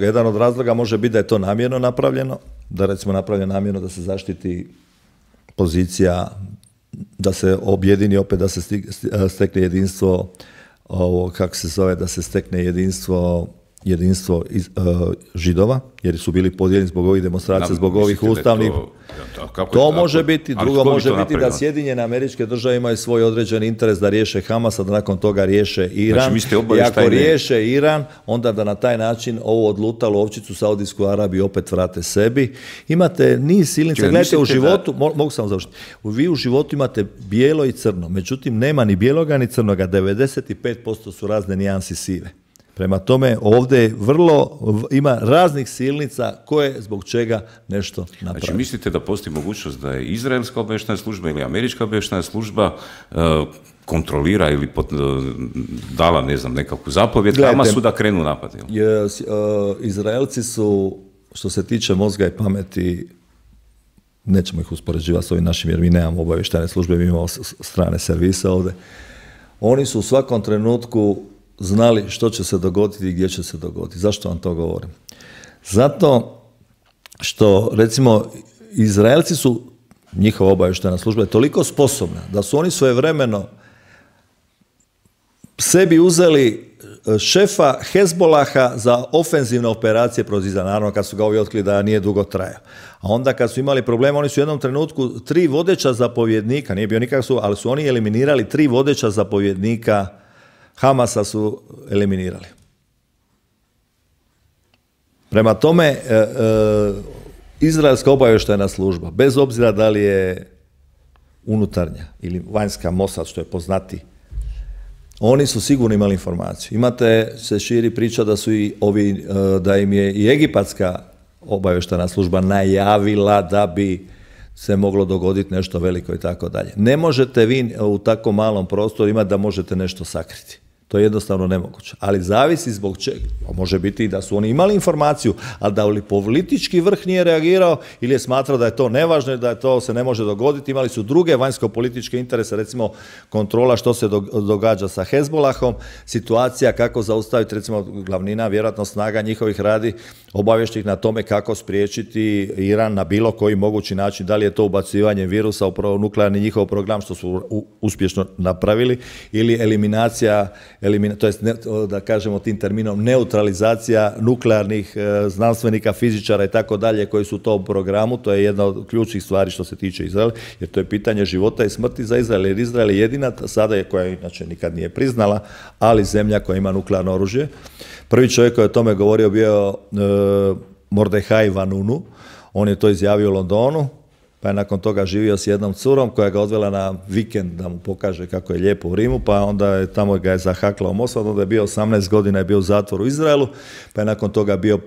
Jedan od razloga može biti da je to namjerno napravljeno, da recimo napravljeno namjerno da se zaštiti pozicija, da se objedini opet, da se stekne jedinstvo, da se stekne jedinstvo Židova, jer su bili podijeljeni zbog ovih demonstracija, zbog ovih ustavnih. To može biti, drugo može biti da Sjedinjene Američke Države imaju svoj određeni interes da riješe Hamas, a da nakon toga riješe Iran. I ako riješe Iran, onda da na taj način ovo odlutalu ovčicu Saudijsku Arabiju opet vrate sebi. Imate niz silnica. Gledajte, u životu, mogu samo završiti, vi u životu imate bijelo i crno, međutim nema ni bijeloga ni crnoga, 95% su razne nijansi sive. Prema tome, ovdje ima raznih silnica koje zbog čega nešto napravi. Znači, mislite da postoji mogućnost da je izraelska obavještajna služba ili američka obavještajna služba kontrolira ili dala, ne znam, nekakvu zapovjed Hamasu da krenu napad? Izraelci su, što se tiče mozga i pameti, nećemo ih uspoređivati s ovim našim, jer mi nemamo obavještajne službe, mi imamo strane servise ovdje. Oni su u svakom trenutku znali što će se dogoditi i gdje će se dogoditi. Zašto vam to govorim? Zato što, recimo, Izraelci su, njihova obavještajna služba je toliko sposobna da su oni svojevremeno sebi uzeli šefa Hezbolaha za ofenzivne operacije protiv Izraela, naravno kad su ga ovi otkrili da nije dugo trajao. A onda kad su imali problema, oni su u jednom trenutku 3 vodeća zapovjednika, nije bio nikakav, ali su oni eliminirali 3 vodeća zapovjednika Hamasa su eliminirali. Prema tome, izraelska obavještajna služba, bez obzira da li je unutarnja ili vanjska Mossad, što je poznati, oni su sigurno imali informaciju. Imate, se širi priča da su i ovi, da im je i egipatska obavještajna služba najavila da bi se moglo dogoditi nešto veliko i tako dalje. Ne možete vi u tako malom prostoru imati da možete nešto sakriti. To je jednostavno nemoguće. Ali zavisi zbog čega. Može biti i da su oni imali informaciju, ali da li politički vrh nije reagirao ili je smatrao da je to nevažno i da to se ne može dogoditi. Imali su druge vanjsko-političke interese, recimo kontrola što se događa sa Hezbolahom, situacija kako zaustaviti, recimo glavnina, vjerojatno snaga njihovih radi, obavješti ih na tome kako spriječiti Iran na bilo koji mogući način, da li je to ubacivanje virusa u nuklearni njihov program, što su uspješno napravili, ili eliminacija, to jest, da kažemo tim terminom, neutralizacija nuklearnih znanstvenika, fizičara i tako dalje koji su u tom programu. To je jedna od ključnih stvari što se tiče Izraela, jer to je pitanje života i smrti za Izrael, jer Izrael je jedina sada koja inače nikad nije priznala, ali zemlja koja ima nuklearno oružje. Prvi čovjek koji je o tome govorio bio Mordehaj Vanunu, on je to izjavio u Londonu, pa je nakon toga živio s jednom curom koja ga odvela na vikend da mu pokaže kako je lijepo u Rimu, pa onda je tamo ga je zahaklao Mossad, onda je bio 18 godina, je bio u zatvoru u Izraelu, pa je nakon toga bio,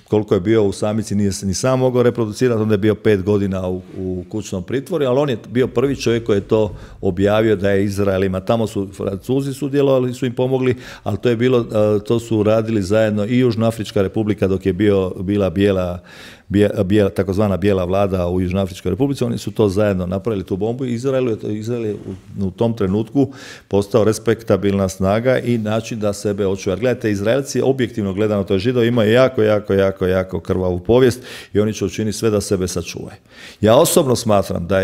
koliko je bio u samici, nije se ni sam mogao reproducirati, onda je bio 5 godina u kućnom pritvoru, ali on je bio prvi čovjek koji je to objavio da je Izrael ima. Tamo su Francuzi sudjelovali, su im pomogli, ali to je bilo, to su radili zajedno i Južnoafrička republika dok je bila takozvana bijela vlada u Južnoafričkoj republici, oni su to zajedno napravili, tu bombu, i Izrael je u tom trenutku postao respektabilna snaga i način da sebe očuva. Gledajte, Izraelci, objektivno gledano, to je Židovi, imaju jako krvavu povijest i oni će učiniti sve da sebe sačuvaju. Ja osobno smatram da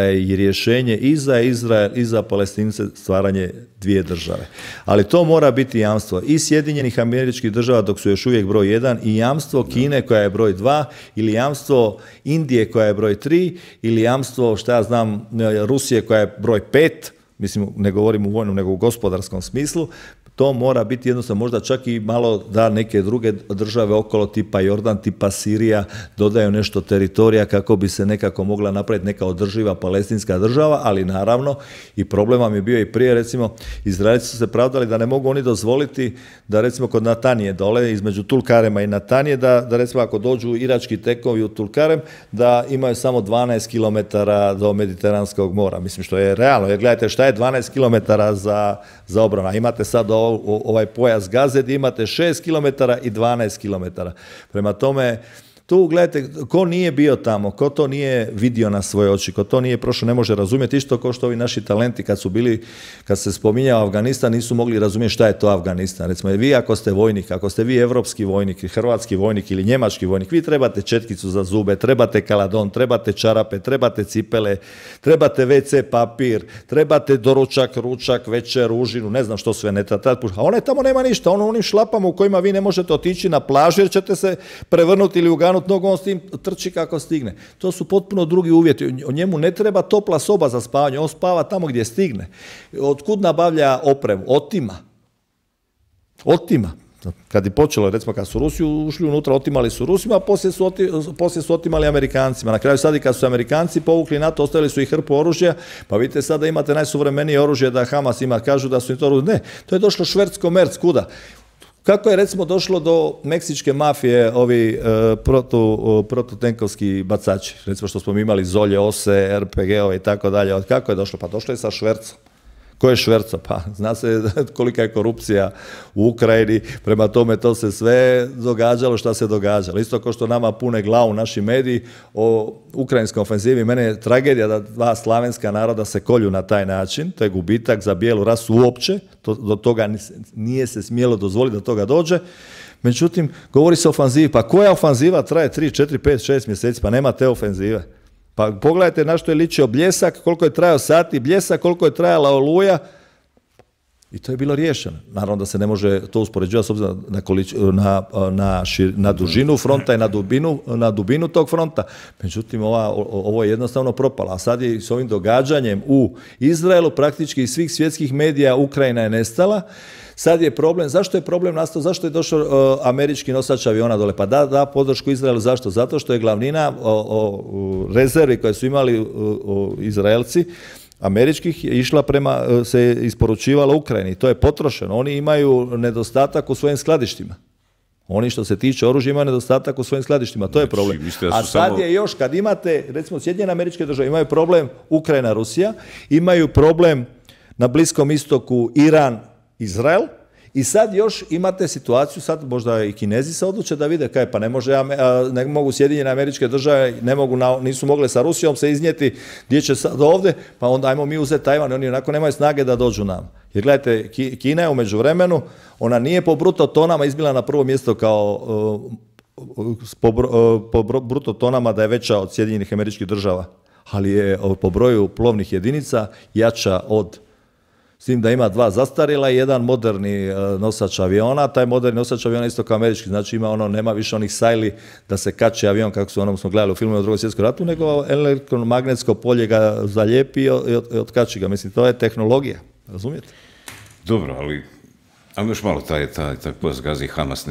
je rješenje i za Izrael i za Palestince stvaranje 2 države. Ali to mora biti jamstvo i Sjedinjenih Američkih Država dok su još uvijek broj 1 i jamstvo Kine koja je broj 2 ili jamstvo Indije koja je broj 3 ili jamstvo, šta ja znam, Rusije koja je broj 5, mislim, ne govorim u vojnom nego u gospodarskom smislu. To mora biti jednostavno, možda čak i malo da neke druge države okolo tipa Jordan, tipa Sirija dodaju nešto teritorija kako bi se nekako mogla napraviti neka održiva palestinska država, ali naravno i problem vam je bio i prije, recimo Izraelci su se pravdali da ne mogu oni dozvoliti da recimo kod Natanije dole, između Tulkarema i Natanije, da recimo ako dođu irački tekovi u Tulkarem, da imaju samo 12 km do Mediteranskog mora. Mislim što je realno, jer gledajte šta je 12 km za obranu. Imate sad ovaj pojas Gaze gdje imate 6 km i 12 km. Prema tome, tu gledajte, ko nije bio tamo, ko to nije vidio na svoje oči, ko to nije prošao, ne može razumjeti, isto kao što ovi naši talenti kad se spominjao Afganistan, nisu mogli razumjeti šta je to Afganistan. Recimo, vi ako ste vojnik, ako ste vi evropski vojnik, hrvatski vojnik ili njemački vojnik, vi trebate četkicu za zube, trebate kaladon, trebate čarape, trebate cipele, trebate WC papir, trebate doručak, ručak, večer, užinu, ne znam što sve ne treba. A onaj tamo nema ništa, ono onim šlapama u kojima vi ne možete otići na plažu jer ćete se prevrnuti ili uganuti nogu, on s tim trči kako stigne. To su potpuno drugi uvjeti. O njemu ne treba topla soba za spavanje, on spava tamo gdje stigne. Otkud nabavlja opremu? Otima. Kad je počelo, recimo kad su Rusi ušli unutra, otimali su Rusima, a poslije su otimali Amerikancima. Na kraju sad i kad su Amerikanci povukli NATO, ostavili su i hrpu oružja, pa vidite sada imate najsuvremenije oružje da Hamas ima, kažu da su im to oružje. Ne, to je došlo šverc-komerc, kuda? Kako je recimo došlo do meksičke mafije ovi protutenkovski bacači, recimo što smo imali Zolje, Ose, RPG-ove i tako dalje, kako je došlo? Pa došlo je sa švercom. Ko je šverco? Pa zna se kolika je korupcija u Ukrajini, prema tome to se sve događalo šta se događalo. Isto kao što nama pune glavu naši mediji o ukrajinskoj ofenzivi, mene je tragedija da dva slavenska naroda se kolju na taj način, to je gubitak za bijelu rasu uopće, do toga nije se smjelo dozvoliti da toga dođe. Međutim, govori se o ofanzivi, pa koja ofanziva traje 3, 4, 5, 6 mjeseci, pa nema te ofenzive. Pa pogledajte na što je ličio Bljesak, koliko je trajao sati Bljesak, koliko je trajala Oluja i to je bilo riješeno. Naravno da se ne može to uspoređivati s obzirom na dužinu fronta i na dubinu tog fronta. Međutim, ovo je jednostavno propalo. A sad je s ovim događanjem u Izraelu praktički iz svih svjetskih medija Ukrajina je nestala. Sad je problem, zašto je problem nastao, zašto je došao američki nosač aviona dole? Pa da podršku Izraelu, zašto? Zato što je glavnina rezervi koje su imali Izraelci, američkih, je išla se isporučivala Ukrajini. To je potrošeno. Oni imaju nedostatak u svojim skladištima. Oni što se tiče oružja imaju nedostatak u svojim skladištima, to je problem. A sad je još, kad imate, recimo Sjedinjene Američke Države, imaju problem Ukrajina, Rusija, imaju problem na Bliskom istoku Iran, Izrael, i sad još imate situaciju, sad možda i Kinezi se odluče da vide kaj, pa ne mogu Sjedinjene Američke Države, nisu mogle sa Rusijom se iznijeti gdje će sad ovdje, pa onda ajmo mi uzeti Tajvan, oni onako nemaju snage da dođu nam. Jer gledajte, Kina je u međuvremenu, ona nije po bruto tonama izbila na prvo mjesto kao po bruto tonama da je veća od Sjedinjenih Američkih Država, ali je po broju plovnih jedinica jača od, s tim da ima 2 zastarjela i 1 moderni nosač aviona. Taj moderni nosač aviona isto kao američki, znači nema više onih sajli da se kače avion kako smo gledali u filmu o Drugom svjetskom ratu, nego elektromagnetsko polje ga zalijepi i otkači ga. Mislim, to je tehnologija, razumijete? Dobro, ali ajmo još malo taj pojas Gaze i Hamas.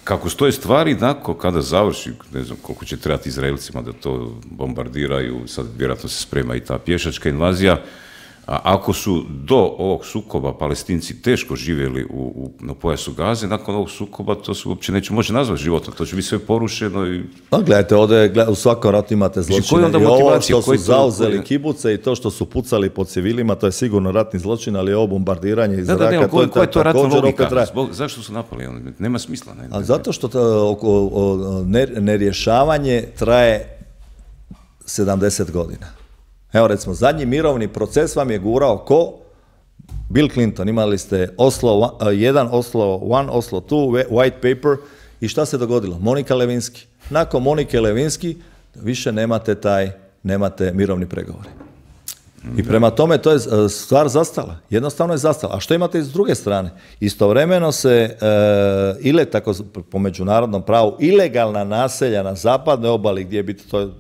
Kako stoje stvari, kada završi, ne znam koliko će trebati Izraelcima da to bombardiraju, sad vjerojatno se sprema i ta pješačka invazija. A ako su do ovog sukoba Palestinci teško živjeli na pojasu Gaze, nakon ovog sukoba to se uopće neće moći nazvati životom, to će biti sve porušeno. Gledajte, ovdje u svakom ratu imate zločine. I ovo što su zauzeli kibuce i to što su pucali po civilima, to je sigurno ratni zločin, ali ovo bombardiranje iz zraka, koja je to ratna logika? Zašto su napali? Nema smisla. Zato što nerješavanje traje 70 godina. Evo recimo, zadnji mirovni proces vam je gurao ko? Bill Clinton. Imali ste Oslo 1, Oslo 1, Oslo 2, White Paper i šta se dogodilo? Monika Lewinsky. Nakon Monike Lewinsky više nemate mirovni pregovori. I prema tome to je stvar zastala. Jednostavno je zastala. A što imate s druge strane? Istovremeno se tako po međunarodnom pravu ilegalna naselja na zapadnoj obali gdje bi to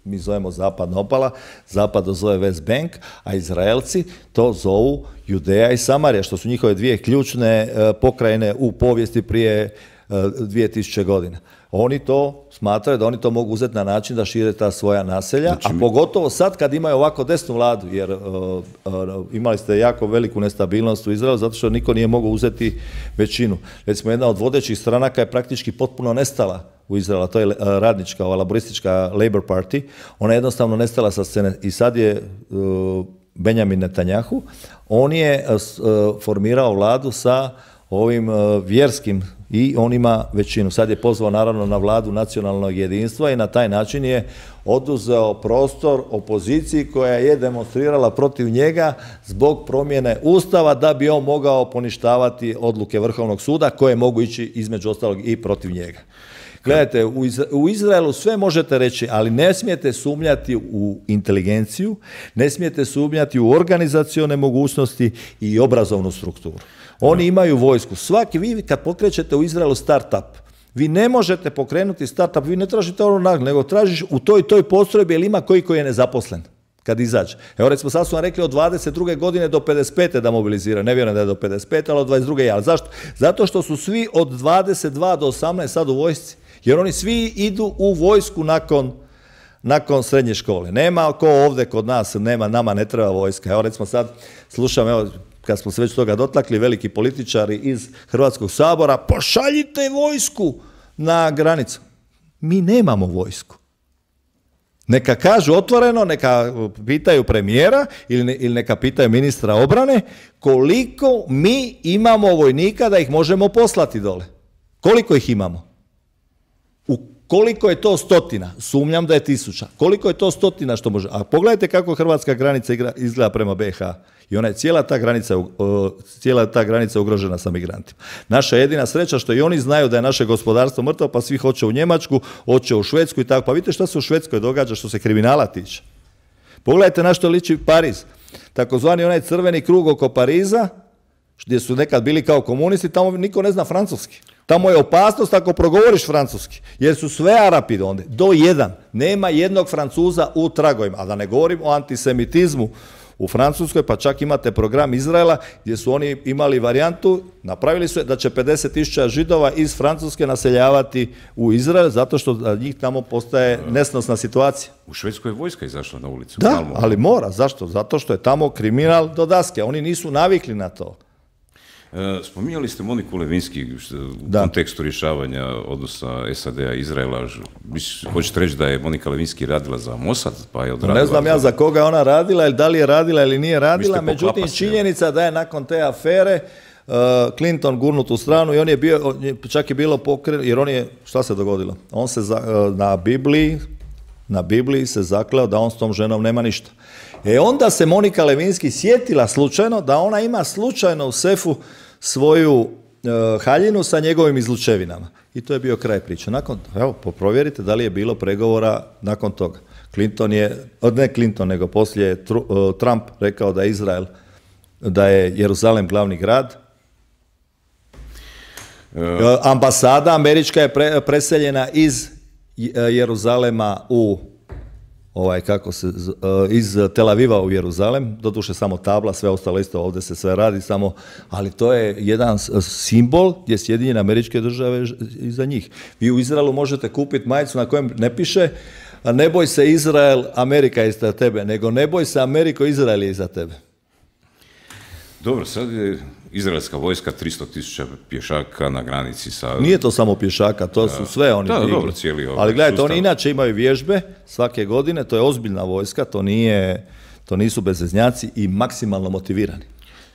mi zovemo zapadna obala, zapad to zove West Bank, a Izraelci to zovu Judeja i Samarija, što su njihove dvije ključne pokrajine u povijesti prije 2000 godina. Oni to smatraju da oni to mogu uzeti na način da šire ta svoja naselja, znači, a pogotovo sad kad imaju ovako desnu vladu, jer imali ste jako veliku nestabilnost u Izraelu zato što niko nije mogao uzeti većinu. Recimo, jedna od vodećih stranaka je praktički potpuno nestala u Izraelu, to je radnička, laboristička Labour Party, ona je jednostavno nestala sa scene i sad je Benjamin Netanjahu, on je formirao vladu sa ovim vjerskim i on ima većinu. Sad je pozvao naravno na vladu nacionalnog jedinstva i na taj način je oduzeo prostor opoziciji koja je demonstrirala protiv njega zbog promjene Ustava da bi on mogao poništavati odluke Vrhovnog suda koje mogu ići između ostalog i protiv njega. Gledajte, u Izraelu sve možete reći, ali ne smijete sumnjati u inteligenciju, ne smijete sumnjati u organizacione mogućnosti i obrazovnu strukturu. Oni imaju vojsku. Svaki, vi kad pokrećete u Izraelu startup, vi ne možete pokrenuti startup, vi ne tražite ono nagradu, nego tražiš u toj postrojbi, jer ima koji je nezaposlen kad izađe. Evo recimo, sad su vam rekli od 22. godine do 55. da mobiliziraju. Ne vjerujem da je do 55. ali od 22. Ali zašto? Zato što su svi od 22 do 18 sad u vojsci. Jer oni svi idu u vojsku nakon srednje škole. Nema ko ovdje kod nas, nama ne treba vojska. Evo recimo sad slušam, evo, kad smo se već toga dotakli, veliki političari iz Hrvatskog sabora, pošaljite vojsku na granicu. Mi nemamo vojsku. Neka kažu otvoreno, neka pitaju premijera ili neka pitaju ministra obrane koliko mi imamo vojnika da ih možemo poslati dole. Koliko ih imamo? Koliko je to stotina? Sumnjam da je 1000. Koliko je to stotina što može? A pogledajte kako hrvatska granica izgleda prema BiH. I ona je cijela ta granica ugrožena sa migrantima. Naša jedina sreća što i oni znaju da je naše gospodarstvo mrtvo, pa svi hoće u Njemačku, hoće u Švedsku i tako. Pa vidite što se u Švedskoj događa što se kriminala tiče. Pogledajte na što liči Pariz. Takozvani onaj crveni krug oko Pariza, gdje su nekad bili kao komunisti, tamo niko ne zna francuski. Tamo je opasnost ako progovoriš francuski, jer su sve Arapi ondje, do jedan. Nema jednog Francuza u tragovima, a da ne govorim o antisemitizmu u Francuskoj, pa čak imate program Izraela gdje su oni imali varijantu, napravili su da će 50.000 Židova iz Francuske naseljavati u Izrael, zato što za njih tamo postaje nesnosna situacija. U Švedskoj je vojska izašla na ulicu. Da, ali mora. Zašto? Zato što je tamo kriminal do daske. Oni nisu navikli na to. Spominjali ste Moniku Levinsky u kontekstu rješavanja odnosa SAD-a i Izraela. Hoćete reći da je Monika Levinsky radila za Mossad? Pa je odradila ne znam ja za koga je ona radila, ili da li je radila ili nije radila, međutim činjenica da je nakon te afere Clinton gurnut u stranu i on je bio, čak je bilo pokrenut, jer on je, šta se dogodilo? On se na Bibliji se zakleo da on s tom ženom nema ništa. Onda se Monika Levinsky sjetila slučajno da ona ima slučajno u sefu svoju haljinu sa njegovim izlučevinama. I to je bio kraj priče. Evo, provjerite da li je bilo pregovora nakon toga. Poslije je Trump rekao da je Jeruzalem glavni grad. Ambasada američka je preseljena iz Jeruzalema iz Tel Aviva u Jeruzalem, doduše samo tabla, sve ostalo isto, ovdje se sve radi samo, ali to je jedan simbol gdje Sjedinjene Američke Države iza njih. Vi u Izraelu možete kupiti majicu na kojem ne piše ne boj se Izrael, Amerika je iza tebe, nego ne boj se Ameriko, Izrael je iza tebe. Dobro, sad je izraelska vojska 300.000 pješaka na granici sa... Nije to samo pješaka, to su sve oni. Da, dobro, cijeli ali gledajte, sustav. Oni inače imaju vježbe svake godine, to je ozbiljna vojska, to nisu bezveznjaci i maksimalno motivirani.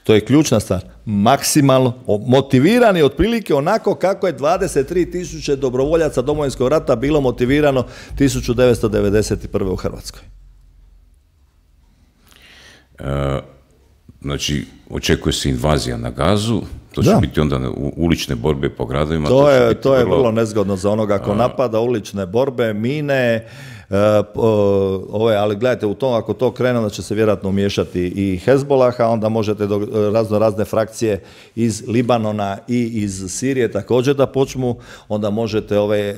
To je ključna stvar. Maksimalno motivirani otprilike onako kako je 23.000 dobrovoljaca Domovinskog rata bilo motivirano 1991. u Hrvatskoj. Znači, očekuje se invazija na Gazu, to će biti onda ulične borbe po gradovima. To je vrlo nezgodno za onoga ko napada, ulične borbe, mine, ali gledajte, u tom, ako to krene, onda će se vjerojatno umiješati i Hezbollah, a onda možete razne frakcije iz Libanona i iz Sirije također da počnu, onda možete ove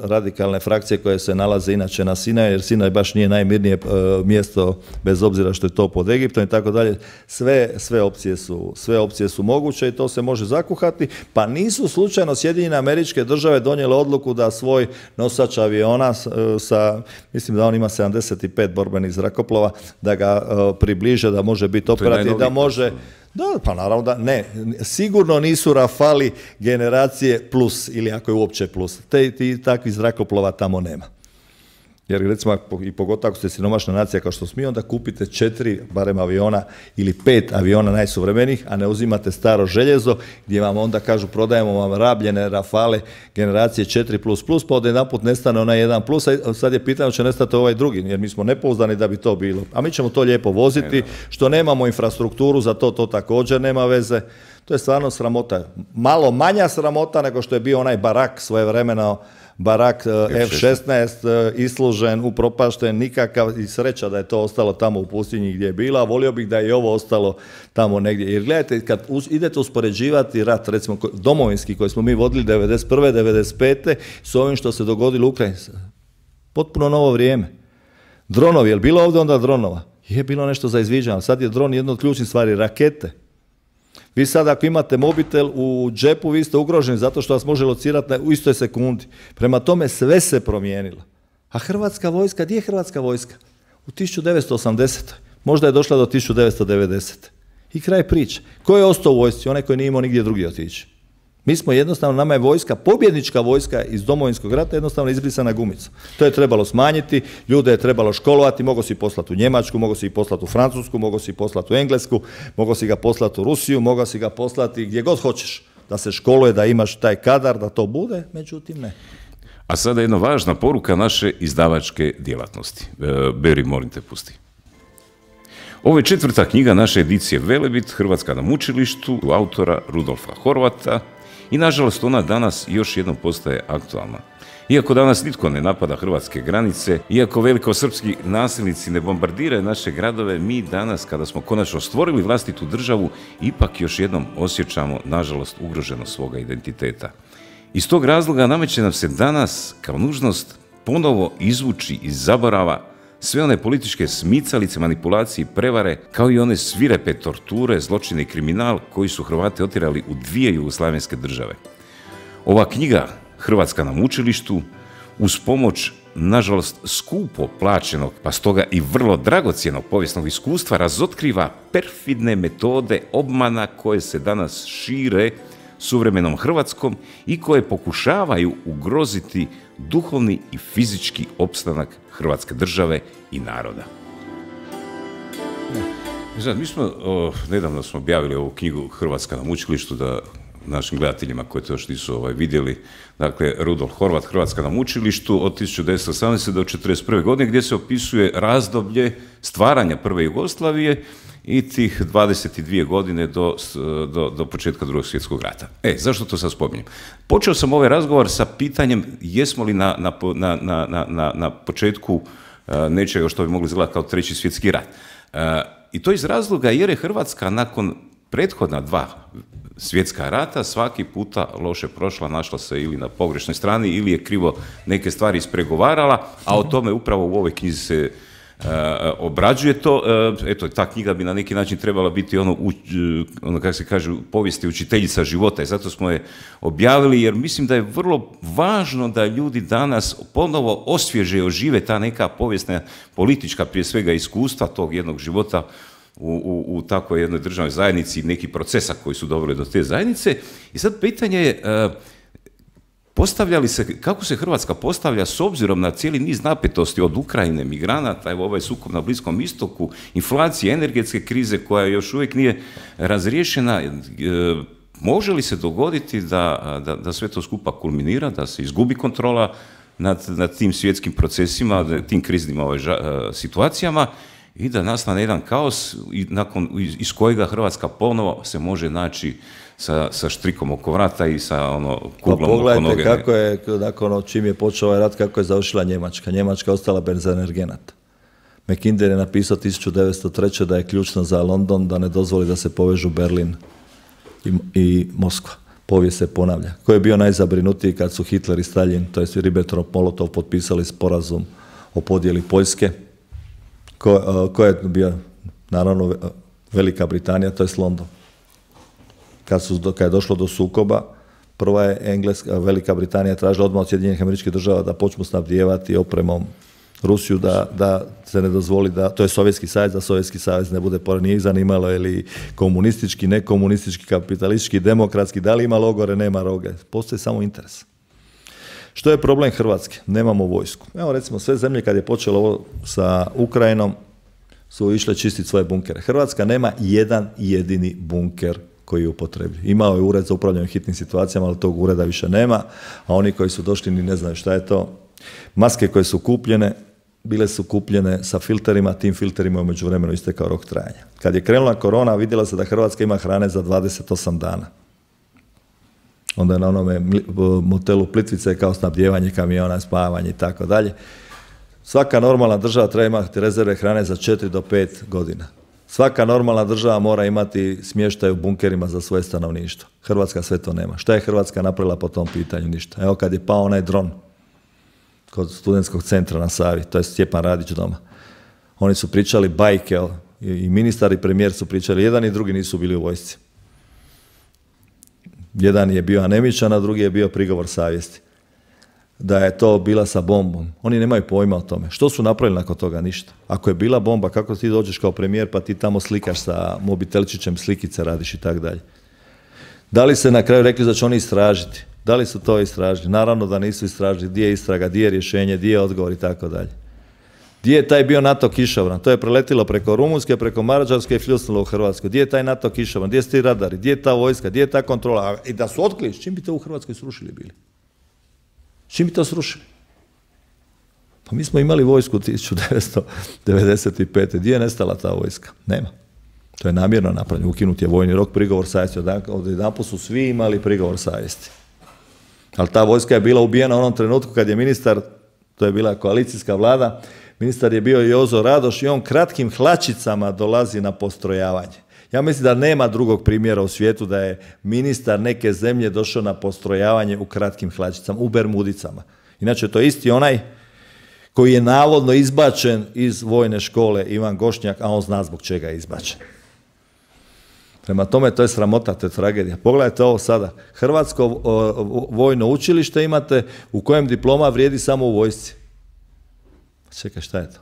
radikalne frakcije koje se nalaze inače na Sinaju, jer Sinaj baš nije najmirnije mjesto, bez obzira što je to pod Egiptom i tako dalje. Sve opcije su moguće i to se može zakuhati, pa nisu slučajno Sjedinjene Američke Države donijele odluku da svoj nosač aviona sa, mislim da on ima 75 borbenih zrakoplova, da ga približe, da može biti operativ, da može... Da, pa naravno da ne. Sigurno nisu Rafali generacije plus, ili ako je uopće plus. Takvih zrakoplova tamo nema. Jer recimo, i pogotovo ako ste siromašna nacija kao što smo mi, onda kupite 4 barem aviona ili 5 aviona najsuvremenijih, a ne uzimate staro željezo, gdje vam onda kažu prodajemo vam rabljene Rafale generacije 4++, pa onda jedanput nestane onaj 1+, a sad je pitanje će nestati ovaj drugi, jer mi smo nepouzdani da bi to bilo. A mi ćemo to lijepo voziti, što nemamo infrastrukturu, za to također nema veze. To je stvarno sramota. Malo manja sramota nego što je bio onaj Barak svojevremeno, Barak F-16, islužen, upropašten, nikakav, i sreća da je to ostalo tamo u pustinji gdje je bila, a volio bih da je i ovo ostalo tamo negdje. Jer gledajte, kad idete uspoređivati rat, recimo domovinski koji smo mi vodili 91. 95. s ovim što se dogodilo u Ukrajini, potpuno novo vrijeme. Dronovi, je li bilo ovdje onda dronova? Je bilo nešto za izviđanje, sad je dron jedna od ključnih stvari, rakete. Vi sad ako imate mobitel u džepu, vi ste ugroženi zato što vas može locirati u istoj sekundi. Prema tome sve se promijenilo. A Hrvatska vojska, gdje je Hrvatska vojska? U 1980. Možda je došla do 1990. I kraj priče. Ko je ostao u vojsci? Onaj koji nije imao nigdje drugdje otići. Mi smo jednostavno, nama je vojska, pobjednička vojska iz Domovinskog rata jednostavno izbrisana gumica. To je trebalo smanjiti, ljude je trebalo školovati, mogo si poslati u Njemačku, mogo si poslati u Francusku, mogo si poslati u Englesku, mogo si ga poslati u Rusiju, mogo si ga poslati gdje god hoćeš. Da se školuje, da imaš taj kadar, da to bude, međutim ne. A sada jedna važna poruka naše izdavačke djelatnosti. Beri, molim te, pusti. Ovo je 4. knjiga naše edicije Velebit, Hrvatska na mučilištu, autora Rudolfa Horvata, i nažalost ona danas još jednom postaje aktualna. Iako danas nitko ne napada hrvatske granice, iako velikosrpski nasilnici ne bombardiraju naše gradove, mi danas, kada smo konačno stvorili vlastitu državu, ipak još jednom osjećamo, nažalost, ugroženost svoga identiteta. Iz tog razloga nameće nam se danas kao nužnost ponovo izvući iz zaborava sve one političke smicalice, manipulacije i prevare, kao i one svirepe torture, zločine i kriminal koji su Hrvate otjerali u 2 jugoslavenske države. Ova knjiga, Hrvatska na mučilištu, uz pomoć, nažalost, skupo plaćenog, pa stoga i vrlo dragocjenog povijesnog iskustva, razotkriva perfidne metode obmana koje se danas šire suvremenom Hrvatskom i koje pokušavaju ugroziti duhovni i fizički opstanak Hrvatske države i naroda. Znači, mi smo, nedavno smo objavili ovu knjigu Hrvatska na mučilištu, da našim gledateljima koji to još nisu vidjeli, dakle, Rudolf Horvat, Hrvatska na mučilištu od 1918. do 1941. godine, gdje se opisuje razdoblje stvaranja prve Jugoslavije i tih 22 godine do početka Drugog svjetskog rata. Zašto to sad spominjem? Počeo sam ovaj razgovor sa pitanjem jesmo li na početku nečega što bi mogli izgledati kao 3. svjetski rat. I to iz razloga jer je Hrvatska nakon prethodna 2 svjetska rata svaki puta loše prošla, našla se ili na pogrešnoj strani ili je krivo neke stvari ispregovarala, a o tome upravo u ovoj knjizi se obrađuje to. Eto, ta knjiga bi na neki način trebala biti ono kako se kaže, povijesti učiteljica života i zato smo je objavili, jer mislim da je vrlo važno da ljudi danas ponovo osvježe i ožive ta neka povijesna, politička prije svega iskustva tog jednog života u takvoj jednoj državnoj zajednici i nekih procesa koji su doveli do te zajednice. I sad pitanje je kako se Hrvatska postavlja s obzirom na cijeli niz napetosti od Ukrajine, migranata, evo ovaj sukob na Bliskom istoku, inflacije, energetske krize koja još uvijek nije razriješena. Može li se dogoditi da sve to skupa kulminira, da se izgubi kontrola nad tim svjetskim procesima, tim kriznim situacijama i da nastane jedan kaos iz kojega Hrvatska ponovo se može naći sa štrikom oko vrata i sa kuglom oko noge. Pogledajte kako je, nakon čim je počeo ovaj rat, kako je završila Njemačka. Njemačka je ostala bez energenata. Mackinder je napisao 1903. da je ključno za London da ne dozvoli da se povežu Berlin i Moskva. Povijest se ponavlja. Ko je bio najzabrinutiji kad su Hitler i Stalin, to je Ribbentrop-Molotov, potpisali sporazum o podjeli Poljske? Ko je bio? Naravno Velika Britanija, to je London. Kad je došlo do sukoba, prva je Velika Britanija tražila odmah od Sjedinjenih Američkih Država da počnu snabdijevati opremom Rusiju, da se ne dozvoli to je Sovjetski savez, da Sovjetski savez ne bude pored, nije ih zanimalo ili komunistički, nekomunistički, kapitalistički, demokratski, da li ima logore, nema roge, postoji samo interes. Što je problem Hrvatske? Nemamo vojsku. Evo recimo sve zemlje kad je počelo ovo sa Ukrajinom su išle čistiti svoje bunkere. Hrvatska nema jedan jedini bunker koji je upotrebljiv. Imao je ured za upravljanje hitnim situacijama, ali tog ureda više nema, a oni koji su došli ni ne znaju šta je to. Maske koje su kupljene, bile su kupljene sa filterima, tim filterima je u međuvremenu istekao rok trajanja. Kad je krenula korona, vidjela se da Hrvatska ima hrane za 28 dana. Onda je na onome motelu Plitvice kao snabdijevanje kamiona, spavanje i tako dalje. Svaka normalna država treba imati rezerve hrane za 4 do 5 godina. Svaka normalna država mora imati smještaj u bunkerima za svoje stanovništvo. Hrvatska sve to nema. Šta je Hrvatska napravila po tom pitanju? Ništa. Evo kad je pao onaj dron kod studentskog centra na Savi, to je Stjepan Radić doma. Oni su pričali bajke, i ministar i premijer su pričali, jedan i drugi nisu bili u vojsci. Jedan je bio anemičan, a drugi je bio prigovor savjesti. Da je to bila sa bombom. Oni nemaju pojma o tome. Što su napravili nakon toga? Ništa. Ako je bila bomba, kako ti dođeš kao premijer pa ti tamo slikaš sa mobitelčićem, slikice radiš i tako dalje. Da li se na kraju rekli da će oni istražiti? Da li su to istražili? Naravno da nisu istražili. Gdje je istraga, gdje je rješenje, gdje je odgovor i tako dalje. Gdje je taj bio NATO kišobran? To je preletilo preko Rumunjske, preko Mađarske i fljusnulo u Hrvatskoj. Gdje je taj NATO kišobran? Gdje su ti radari? Gdje je ta vojska? Gdje je ta kontrola? I da su otkrili, čim bi to u Hrvatskoj srušili bili? Čim bi to srušili? Pa mi smo imali vojsku 1995. Gdje je nestala ta vojska? Nema. To je namjerno napravljeno. Ukinut je vojni rok, prigovor savjesti. Odjedanput su svi imali prigovor savjesti. Ali ta vojska je bila ubijena u onom trenutku kad je ministar, to je bila koalicijska vlada, ministar je bio Jozo Radoš i on kratkim hlačicama dolazi na postrojavanje. Ja mislim da nema drugog primjera u svijetu da je ministar neke zemlje došao na postrojavanje u kratkim hlačicama, u bermudicama. Inače, to je isti onaj koji je navodno izbačen iz vojne škole, Ivan Gošnjak, a on zna zbog čega je izbačen. Prema tome, to je sramota, to je tragedija. Pogledajte ovo sada. Hrvatsko vojno učilište imate u kojem diploma vrijedi samo u vojsci. Čekaj, šta je to?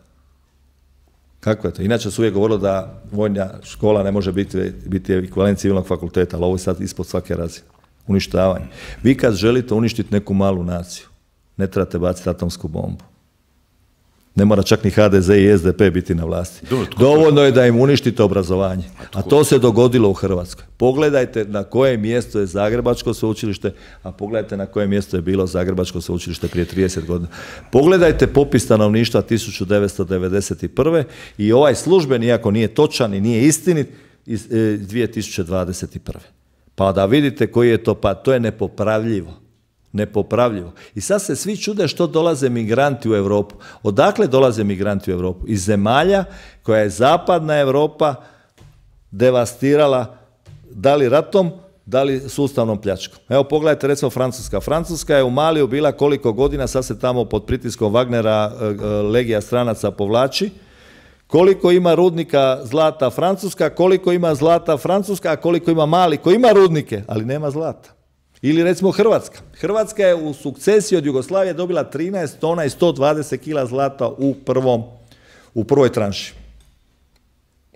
Kako je to? Inače su uvijek govorilo da vojna škola ne može biti ekvivalent civilnog fakulteta, ali ovo je sad ispod svake razine. Uništavanje. Vi kad želite uništiti neku malu naciju, ne trebate baciti atomsku bombu. Ne mora čak ni HDZ i SDP biti na vlasti. Dovoljno je da im uništite obrazovanje. A to se dogodilo u Hrvatskoj. Pogledajte na koje mjesto je Zagrebačko sveučilište, a pogledajte na koje mjesto je bilo Zagrebačko sveučilište prije 30 godina. Pogledajte popis stanovništva 1991. i ovaj službeni, iako nije točan i nije istinit, iz 2021. Pa da vidite koji je to pad. To je nepopravljivo. Nepopravljivo. I sad se svi čude što dolaze migranti u Europu. Odakle dolaze migranti u Europu? Iz zemalja koja je zapadna Europa devastirala da li ratom, da li sustavnom pljačkom. Evo pogledajte recimo Francuska. Francuska je u Maliju bila koliko godina, sad se tamo pod pritiskom Wagnera legija stranaca povlači. Koliko ima rudnika zlata Francuska, koliko ima zlata Francuska, a koliko ima Mali koji ima rudnike, ali nema zlata. Ili recimo Hrvatska. Hrvatska je u sukcesiji od Jugoslavije dobila 13 tona i 120 kila zlata u prvoj tranši.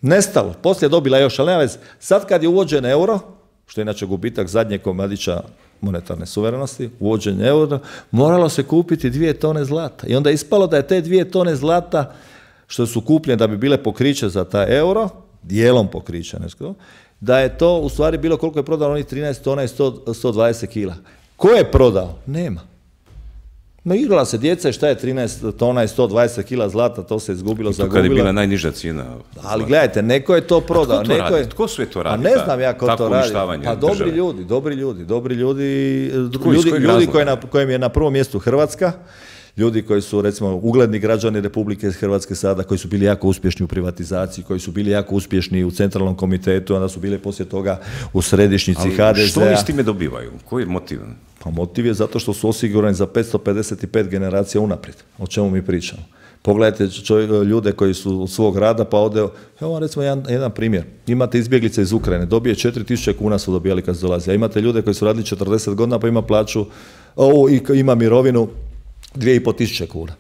Nestalo. Poslije je dobila još, ali nema veze. Sad kad je uvođen euro, što je inače gubitak zadnjeg komadića monetarne suverenosti, uvođenje euro, moralo se kupiti 2 tone zlata. I onda je ispalo da je te 2 tone zlata što su kupljene da bi bile pokriće za taj euro, dijelom pokriće, da je to u stvari bilo koliko je prodano onih 13 tona i 120 kila. Ko je prodao? Nema. No igrala se djeca, šta je 13 tona i 120 kila zlata, to se izgubilo, zagubilo. Kad je bila najniža cijena. Ali gledajte, neko je to prodao. Tko sve to radi? A ne znam ja ko to radi. Pa dobri ljudi kojim je na prvom mjestu Hrvatska, ljudi koji su, recimo, ugledni građani Republike Hrvatske sada, koji su bili jako uspješni u privatizaciji, koji su bili jako uspješni u centralnom komitetu, onda su bili poslije toga u središnjici HDZ-a. Što oni s time dobivaju? Koji je motiv? Pa motiv je zato što su osigurani za 555 generacija unaprijed. O čemu mi pričamo? Pogledajte ljude koji su od svog rada, pa ode, evo vam recimo jedan primjer. Imate izbjeglice iz Ukrajine, dobije 4000 kuna su dobijali kad su dolazili. A imate ljude koji su radili 40 godina, pa ima plaću, ima mirovinu 2500 kuna.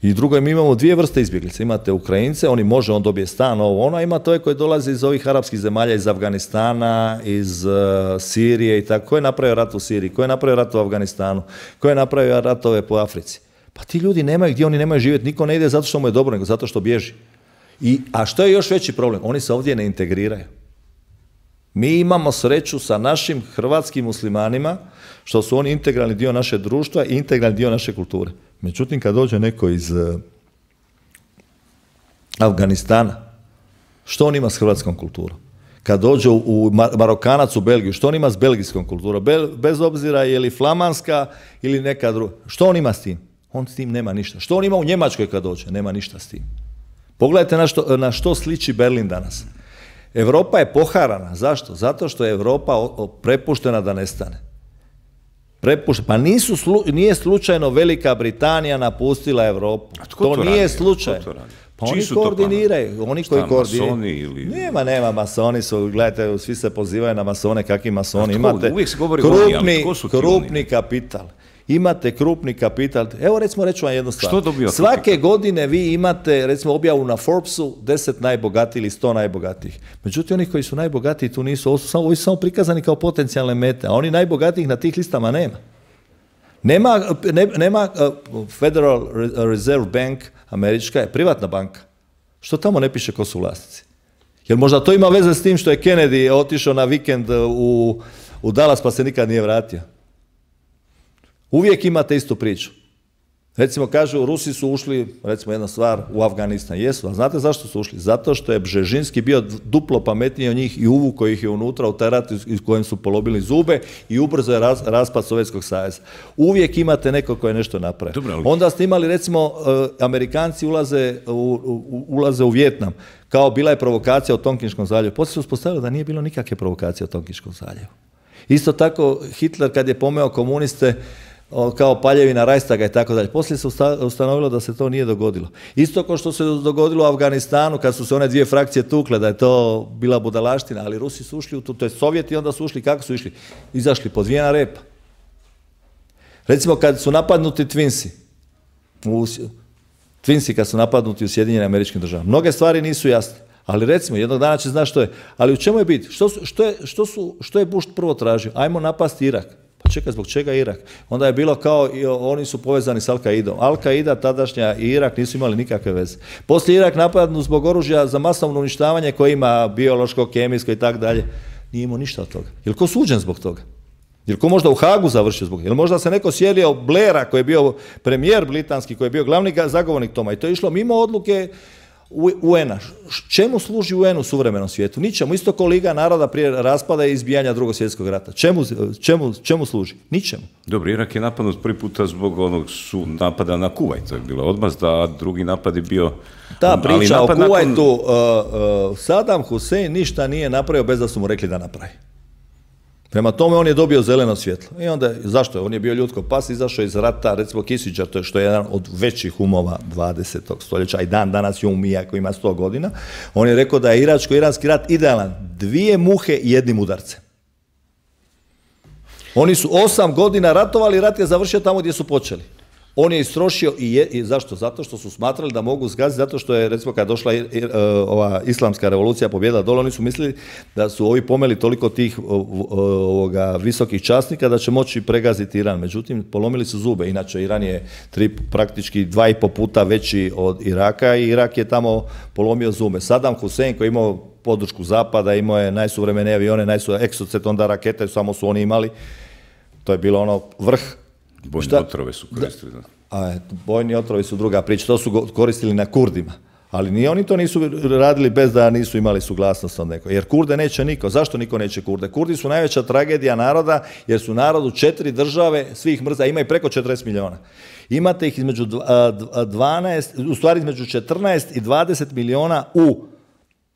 I drugo, mi imamo dvije vrste izbjeglice. Imate Ukrajince, on dobije stan, a ima to koji dolazi iz ovih arapskih zemalja, iz Afganistana, iz Sirije i tako. Ko je napravio rat u Siriji? Ko je napravio rat u Afganistanu? Ko je napravio ratove po Africi? Pa ti ljudi nemaju gdje, oni nemaju živjeti. Niko ne ide zato što mu je dobro, nego zato što bježi. A što je još veći problem? Oni se ovdje ne integriraju. Mi imamo sreću sa našim hrvatskim muslimanima, što su oni integralni dio naše društva i integralni dio naše kulture. Međutim, kad dođe neko iz Afganistana, što on ima s hrvatskom kulturom? Kad dođe Marokanac u Belgiju, što on ima s belgijskom kulturom? Bez obzira je li flamanska ili neka druga. Što on ima s tim? On s tim nema ništa. Što on ima u Njemačkoj kad dođe? Nema ništa s tim. Pogledajte na što sliči Berlin danas. Europa je poharana. Zašto? Zato što je Europa prepuštena da nestane. Pa nije slučajno Velika Britanija napustila Europu. To nije slučaj. Pa oni koordiniraju. Oni koji koordiniraju. Nema masoni su, gledajte, svi se pozivaju na masone, kakvi masoni. Imate krupni kapital. Imate krupni kapital. Evo recimo reću vam jednu stvar. Svake godine vi imate recimo objavu na Forbesu 10 najbogatijih ili 100 najbogatijih. Međutim, oni koji su najbogatiji tu nisu, ovi su samo prikazani kao potencijalne mete, a oni najbogatijih na tih listama nema. Nema Federal Reserve Bank, američka je privatna banka. Što tamo ne piše ko su vlasnici? Jer možda to ima veze s tim što je Kennedy otišao na vikend u Dallas pa se nikad nije vratio. Uvijek imate istu priču. Recimo kažu, Rusi su ušli, recimo jedna stvar, u Afganistan. Jesu, a znate zašto su ušli? Zato što je Bžežinski bio duplo pametniji od njih i uvukao ih je unutra u taj rat iz kojem su polobili zube i ubrzo je raspad Sovjetskog saveza. Uvijek imate neko koji je nešto napravio. Onda ste imali, recimo, Amerikanci ulaze u Vijetnam. Kao bila je provokacija u Tonkinskom zaljevu. Poslije su uspostavili da nije bilo nikakve provokacije u Tonkinskom zaljevu. Isto tako, Hitler kad je pomeo komuniste, kao paljevina Reichstaga i tako dalje. Poslije se ustanovilo da se to nije dogodilo. Isto kao što se dogodilo u Afganistanu kad su se one dvije frakcije tukle, da je to bila budalaština, ali Rusi su ušli u to je Sovjeti, onda su ušli, kako su išli? Izašli pod vijena repa. Recimo kad su napadnuti Twinsi kad su napadnuti u Sjedinjenim Američkim Državama. Mnoge stvari nisu jasne, ali recimo jednog dana će znati što je. Ali u čemu je bit? Što je Bush prvo tražio? Ajmo napasti Irak. Pa čekaj, zbog čega Irak? Onda je bilo kao, oni su povezani s Al-Qaidom. Al-Qaida tadašnja i Irak nisu imali nikakve veze. Poslije Irak napadnut zbog oružja za masovno uništavanje koje ima biološko, kemijsko i tako dalje. Nije imao ništa od toga. Je li ko suđen zbog toga? Je li ko možda u Hagu završio zbog toga? Je li možda se neko sjelio Blaira koji je bio premijer britanski, koji je bio glavni zagovornik toma i to je išlo mimo odluke UN-a. Čemu služi UN u suvremenom svijetu? Ničemu. Isto kao Liga naroda prije raspada i izbijanja Drugog svjetskog rata. Čemu služi? Ničemu. Dobro, Irak je napadnut prvi puta zbog onog napada na Kuvajt. To je bila odmazda, a drugi napad je bio... Ta priča o Kuvajtu, Saddam Hussein ništa nije napravio bez da su mu rekli da napravi. Prema tome on je dobio zeleno svjetlo. I onda, zašto je? On je bio ljudsko pas, izašao iz rata, recimo Kissinger, to je što je jedan od većih umova 20. stoljeća, i danas je um iako ima 100 godina. On je rekao da je iračko-iranski rat idealan, 2 muhe i 1 udarcem. Oni su 8 godina ratovali, rat je završio tamo gdje su počeli. On je istrošio i zašto? Zato što su smatrali da mogu zgaziti, zato što je, recimo, kad došla ova islamska revolucija pobjeda dole, oni su mislili da su ovi pomeli toliko tih visokih časnika da će moći pregaziti Iran. Međutim, polomili su zube. Inače, Iran je praktički 2,5 puta veći od Iraka i Irak je tamo polomio zube. Saddam Hussein koji je imao podršku zapada, imao je najsuvremenije avione, Exocet, onda rakete, samo su oni imali. To je bilo ono vrh. Bojne otrove su koristili. Bojni otrovi su druga priča, to su koristili na Kurdima. Ali ni oni to nisu radili bez da nisu imali suglasnost od nekog. Jer Kurde neće niko. Zašto niko neće Kurde? Kurdi su najveća tragedija naroda, jer su narod u 4 države svih mrza, ima i preko 40 miliona. Imate ih između 12, u stvari između 14 i 20 miliona u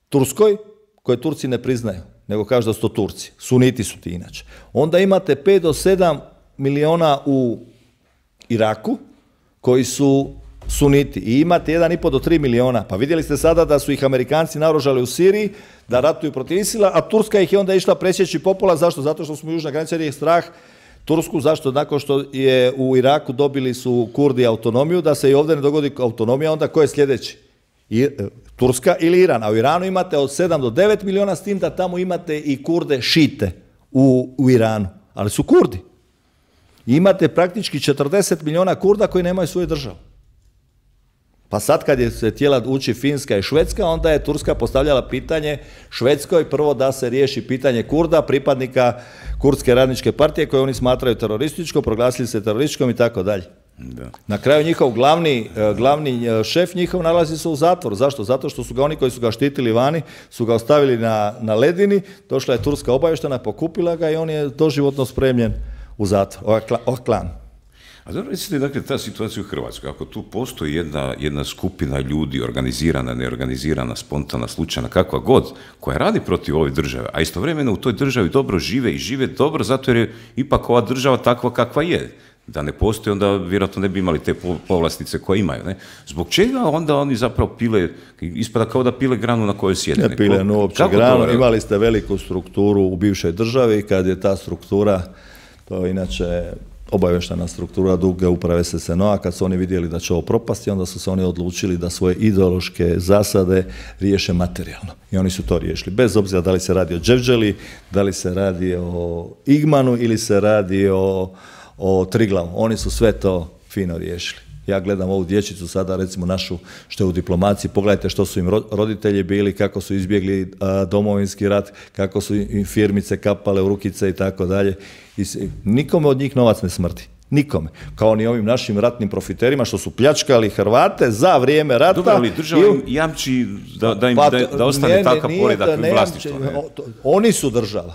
Turskoj, koje Turci ne priznaju, nego kažu da su to Turci. Suniti su ti inače. Onda imate 5 do 7 miliona u Iraku, koji su suniti. I imate 1,5 do 3 miliona. Pa vidjeli ste sada da su ih Amerikanci naoružali u Siriji, da ratuju protiv Isila, a Turska ih je onda išla presjeći popola. Zašto? Zato što smo južna granica, jer je strah Tursku. Zašto? Nakon što je u Iraku dobili su Kurdi autonomiju, da se i ovdje ne dogodi autonomija, onda ko je sljedeći? Turska ili Iran. A u Iranu imate od 7 do 9 miliona, s tim da tamo imate i Kurde šite u Iranu. Ali su Kurdi. I imate praktički 40 miliona Kurda koji nemaju svoju državu. Pa sad kad je se htjela ući Finska i Švedska, onda je Turska postavljala pitanje Švedskoj prvo da se riješi pitanje Kurda, pripadnika Kurdske radničke partije koje oni smatraju terorističkom, proglasili se terorističkom i tako dalje. Na kraju njihov glavni šef njihov nalazi se u zatvoru. Zašto? Zato što su ga oni koji su ga štitili vani, su ga ostavili na ledini, došla je turska obavještena, pokupila ga i on je doživotno spremljen u zatvor. Ovaj klan. A dobro, recite, dakle, ta situacija u Hrvatskoj, ako tu postoji jedna skupina ljudi, organizirana, neorganizirana, spontana, slučajna, kakva god, koja radi protiv ove države, a istovremeno u toj državi dobro žive i žive dobro, zato jer je ipak ova država takva kakva je. Da ne postoji, onda vjerojatno ne bi imali te povlastice koje imaju. Ne? Zbog čega onda oni zapravo pile, ispada kao da pile granu na kojoj sjede? Ne pile uopće granu, imali ste veliku strukturu u bivšoj državi, kad je ta struktura, to je inače obavještena struktura duge uprave SSNO-a, kad su oni vidjeli da će ovo propasti, onda su se oni odlučili da svoje ideološke zasade riješe materijalno. I oni su to riješili. Bez obzira da li se radi o Đevđeli, da li se radi o Igmanu ili se radi o Triglavu. Oni su sve to fino riješili. Ja gledam ovu dječicu sada, recimo našu što je u diplomaciji, pogledajte što su im roditelji bili, kako su izbjegli domovinski rat, kako su im firmice kapale u rukice i tako dalje. Nikome od njih novac ne smrti. Nikome. Kao ni ovim našim ratnim profiterima što su pljačkali Hrvate za vrijeme rata. Dobro, ali država im jamči da ostane takav poredak vlasništva. Oni su država.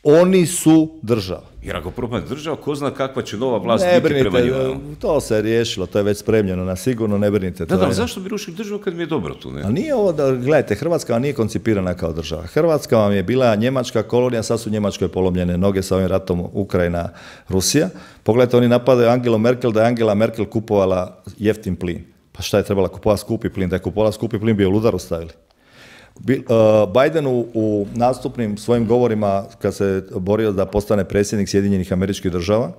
Oni su država. Jer ako propadne država, ko zna kakva će nova vlast biti prema njima. To se riješilo, to je već spremljeno na sigurno, ne brinite. Da, zašto bi rušili državu kad mi je dobro tu? Ne? A nije ovo gledajte, Hrvatska vam nije koncipirana kao država. Hrvatska vam je bila njemačka kolonija, sad su Njemačkoj polomljene noge sa ovim ratom Ukrajina, Rusija. Pogledajte, oni napadaju Angelu Merkel, da je Angela Merkel kupovala jeftin plin. Pa šta je trebala kupovati skupi plin? Da je kupovala skupi plin bi je u udaru stavili. Biden u nastupnim svojim govorima kad se borio da postane predsjednik Sjedinjenih Američkih Država,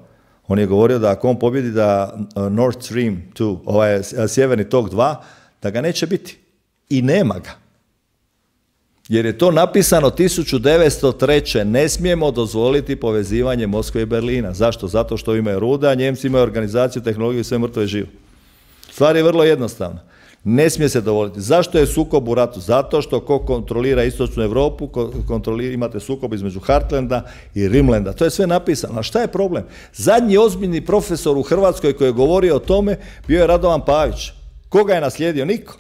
on je govorio da ako on pobjedi da Nord Stream 2, ovaj Sjeverni tok 2, da ga neće biti. I nema ga. Jer je to napisano 1903. Ne smijemo dozvoliti povezivanje Moskve i Berlina. Zašto? Zato što imaju ruda, Njemci imaju organizaciju, tehnologiju i sve mrtvo je živo. Stvar je vrlo jednostavna. Ne smije se dovoliti. Zašto je sukob u ratu? Zato što ko kontrolira istočnu Europu, imate sukob između Heartlanda i Rimlanda. To je sve napisano. A šta je problem? Zadnji ozbiljni profesor u Hrvatskoj koji je govorio o tome bio je Radovan Pavić. Koga je naslijedio? Niko.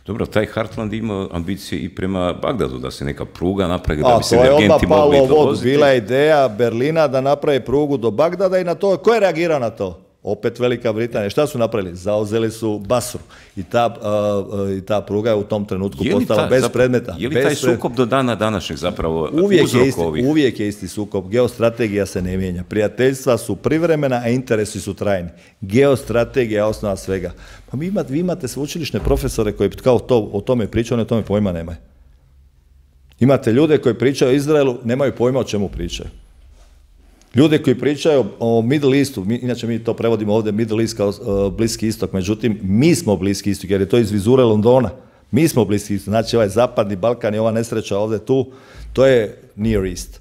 Dobro, taj Heartland ima ambicije i prema Bagdadu, da se neka pruga napravi, da bi se energenti mogli dovoziti. Bila je ideja Berlina da napravi prugu do Bagdada i na to, ko je reagirao na to? Opet Velika Britanija. Šta su napravili? Zauzeli su Basru. I ta pruga je u tom trenutku postala bez predmeta. Je li taj sukob do dana današnjeg zapravo uvijek je isti sukob. Geostrategija se ne mijenja. Prijateljstva su privremena, a interesi su trajni. Geostrategija je osnova svega. Pa vi imate sveučilišne profesore koji kao o tome pričaju, oni o tome pojma nemaju. Imate ljude koji pričaju o Izraelu, nemaju pojma o čemu pričaju. Ljude koji pričaju o Middle Eastu, inače mi to prevodimo ovdje Middle East kao Bliski istok, međutim mi smo Bliski istok jer je to iz vizure Londona. Mi smo Bliski istok, znači ovaj zapadni Balkan i ova nesreća ovdje tu, to je Near East.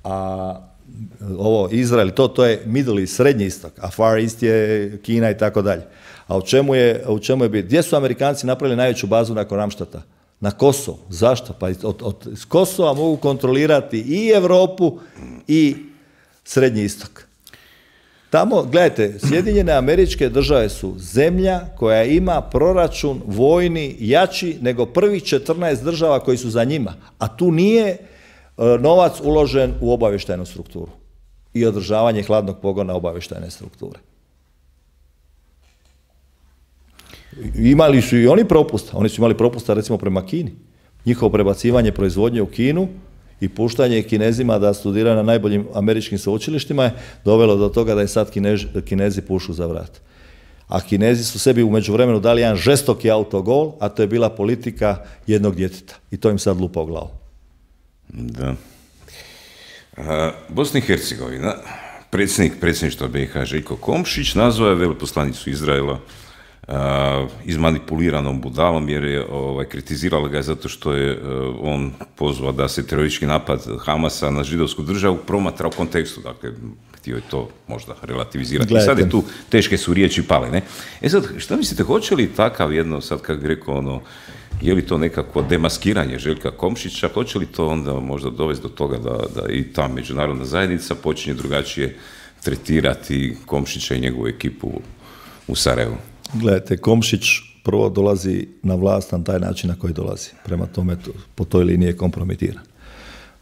A ovo Izrael, to je Middle East, srednji istok, a Far East je Kina i tako dalje. A u čemu je bit? Gdje su Amerikanci napravili najveću bazu nakon Ramštata? Na Kosovo. Zašto? Pa iz Kosova mogu kontrolirati i Europu i Srednji istok. Tamo, gledajte, Sjedinjene Američke Države su zemlja koja ima proračun vojni jači nego prvih 14 država koji su za njima, a tu nije novac uložen u obavještajnu strukturu i održavanje hladnog pogona obavještajne strukture. Imali su i oni propusta, oni su imali propusta recimo prema Kini. Njihovo prebacivanje proizvodnje u Kinu i puštanje Kinezima da studiraju na najboljim američkim sveučilištima je dovelo do toga da je sad Kinezi pušu za vrat. A Kinezi su sebi u međuvremenu dali jedan žestoki autogol, a to je bila politika jednog djeteta. I to im sad lupa u glavu. Da. Bosna i Hercegovina, predsjedništva BiH Željko Komšić nazvao je veleposlanicu Izraela izmanipuliranom budalom, jer je kritizirala ga zato što je on pozvao da se teroristički napad Hamasa na židovsku državu promatra u kontekstu, dakle, htio je to možda relativizirati. I sad je tu, teške su riječi pale, ne? E sad, šta mislite, hoće li takav jedno, sad kako bi rekao, je li to nekako demaskiranje Željka Komšića, hoće li to onda možda dovesti do toga da i ta međunarodna zajednica počinje drugačije tretirati Komšića i njegovu ekipu u Sarajevu? Gledajte, Komšić prvo dolazi na vlast na taj način na koji dolazi. Prema tome, po toj liniji je kompromitiran.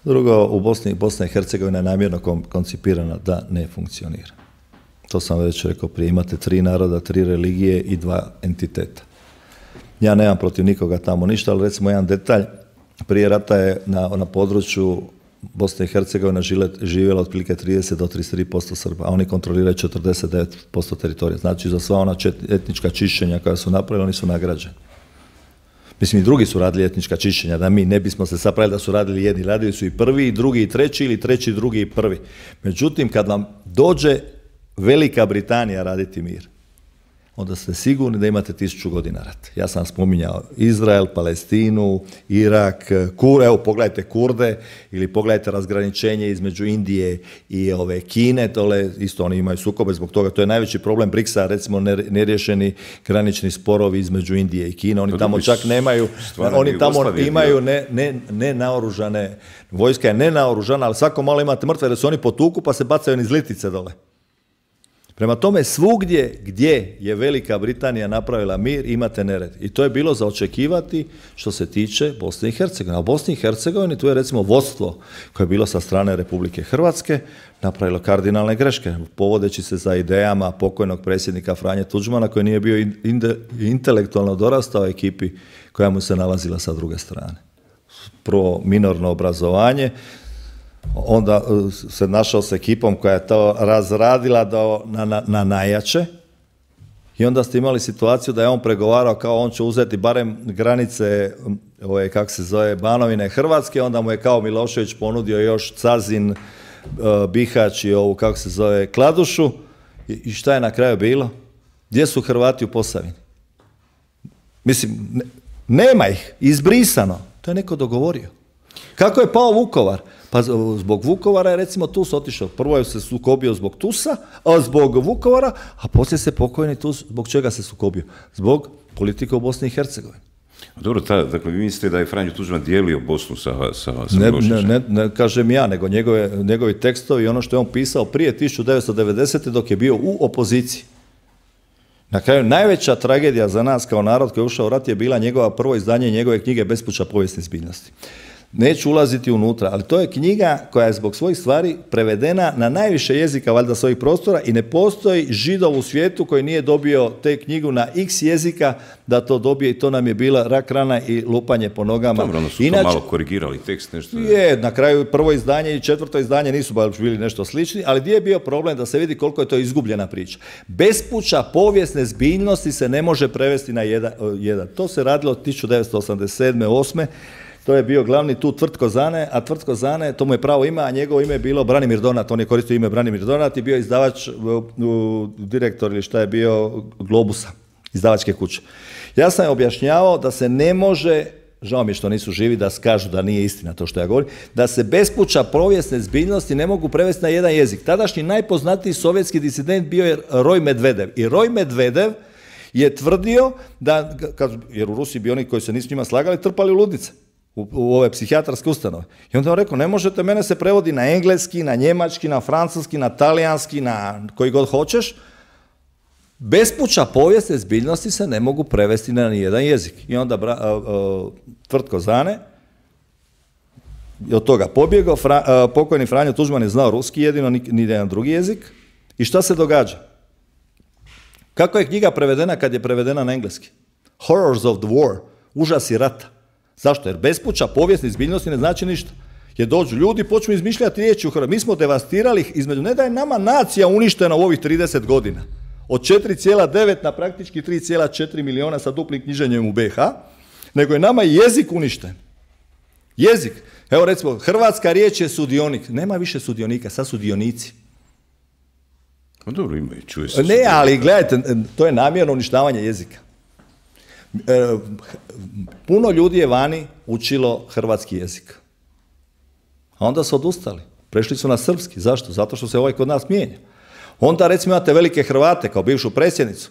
Drugo, u Bosna i Hercegovina je namjerno koncipirana da ne funkcionira. To sam već rekao prije, imate 3 naroda, 3 religije i 2 entiteta. Ja nemam protiv nikoga tamo ništa, ali recimo jedan detalj, prije rata je na području Bosne i Hercegovine živjela otprilike 30 do 33% Srba, a oni kontroliraju 49% teritorija. Znači, za sva ona etnička čišćenja koja su napravili, oni su nagrađeni. Mislim, i drugi su radili etnička čišćenja, da mi ne bismo se sapravili da su radili jedni. Radili su i prvi, i drugi, i treći, ili treći, drugi i prvi. Međutim, kad vam dođe Velika Britanija raditi mir, onda ste sigurni da imate 1000 godina rata. Ja sam spominjao Izrael, Palestinu, Irak, evo pogledajte Kurde, ili pogledajte razgraničenje između Indije i Kine, tole isto oni imaju sukobe zbog toga. To je najveći problem BRICS-a, recimo neriješeni granični sporovi između Indije i Kine. Oni tamo čak nemaju, oni tamo imaju nenaoružane, vojska je nenaoružana, ali svako malo imate mrtve jer se oni potuku pa se bacaju niz litice dole. Prema tome, svugdje gdje je Velika Britanija napravila mir, imate nered. I to je bilo za očekivati što se tiče Bosne i Hercegovine. A u Bosni i Hercegovini tu je recimo vodstvo koje je bilo sa strane Republike Hrvatske napravilo kardinalne greške, povodeći se za idejama pokojnog predsjednika Franje Tuđmana koji nije bio intelektualno dorastao ekipi koja mu se nalazila sa druge strane. Prvo minorno obrazovanje, onda se našao s ekipom koja je to razradila na najjače i onda ste imali situaciju da je on pregovarao kao on će uzeti barem granice kako se zove Banovine Hrvatske, onda mu je kao Milošević ponudio još Cazin, Bihać i ovu kako se zove Kladušu i šta je na kraju bilo? Gdje su Hrvati u Posavini? Mislim, nema ih, izbrisano. To je neko dogovorio. Kako je pao Vukovar? Pa zbog Vukovara je recimo Tus otišao. Prvo je se sukobio zbog Tusa, zbog Vukovara, a poslije se pokojni Tus, zbog čega se sukobio? Zbog politike u Bosni i Hercegovini. Dobro, dakle vi mislite da je Franjo Tuđman dijelio Bosnu sa ne kažem ja, nego njegovi tekstovi i ono što je on pisao prije 1990. dok je bio u opoziciji. Na kraju, najveća tragedija za nas kao narod koji je ušao u rat je bila njegova prvo izdanje njegove knjige Bespuća povijesne zbiljnosti. Neću ulaziti unutra, ali to je knjiga koja je zbog svojih stvari prevedena na najviše jezika valjda svojih prostora i ne postoji Židov u svijetu koji nije dobio te knjigu na x jezika da to dobije i to nam je bila rak rana i lupanje po nogama. Dobro, ono su to malo korigirali tekst, nešto. Je, na kraju prvo izdanje i četvrto izdanje nisu baš bili nešto slični, ali gdje je bio problem da se vidi koliko je to izgubljena priča. Bespuća povijesne zbiljnosti se ne može prevesti na jedan. To se radilo od 1987. 8. To je bio glavni tu Tvrtko Zane, a Tvrtko Zane, to mu je pravo ime, a njegovo ime je bilo Branimir Donat. On je koristio ime Branimir Donat i bio izdavač, direktor ili šta je bio Globusa, izdavačke kuće. Ja sam objašnjavao da se ne može, žao mi je što nisu živi da kažu da nije istina to što ja govorim, da se bespuća povijesne zbiljnosti ne mogu prevesti na jedan jezik. Tadašnji najpoznatiji sovjetski disident bio je Roj Medvedev. I Roj Medvedev je tvrdio da, jer u Rusiji bi oni koji se nisu njima slagali trpali u ludnice. u ove psihijatarske ustanove. I onda on rekao, ne možete, mene se prevodi na engleski, na njemački, na francuski, na talijanski, na koji god hoćeš. Bespuća povijesne zbiljnosti se ne mogu prevesti na nijedan jezik. I onda Tvrtko Zane je od toga pobjegao, pokojni Franjo Tuđman je znao ruski jedino, ni jedan drugi jezik. I šta se događa? Kako je knjiga prevedena kad je prevedena na engleski? Horrors of the War, užasi rata. Zašto? Jer bespuća povijesne zbiljnosti ne znači ništa. Jer dođu ljudi i počnu izmišljati riječi u Hrvatskoj. Mi smo devastirali između, ne da je nama nacija uništena u ovih 30 godina. Od 4,9 na praktički 3,4 miliona sa duplim knjiženjem u BiH, nego je nama jezik uništen. Jezik. Evo recimo, hrvatska riječ je sudionik. Nema više sudionika, sad su dionici. Pa dobro, ima i čuje se. Ne, ali gledajte, to je namjerno uništavanje jezika. Puno ljudi je vani učilo hrvatski jezik. A onda su odustali. Prešli su na srpski. Zašto? Zato što se ovaj kod nas mijenja. Onda recimo imate velike Hrvate kao bivšu predsjednicu.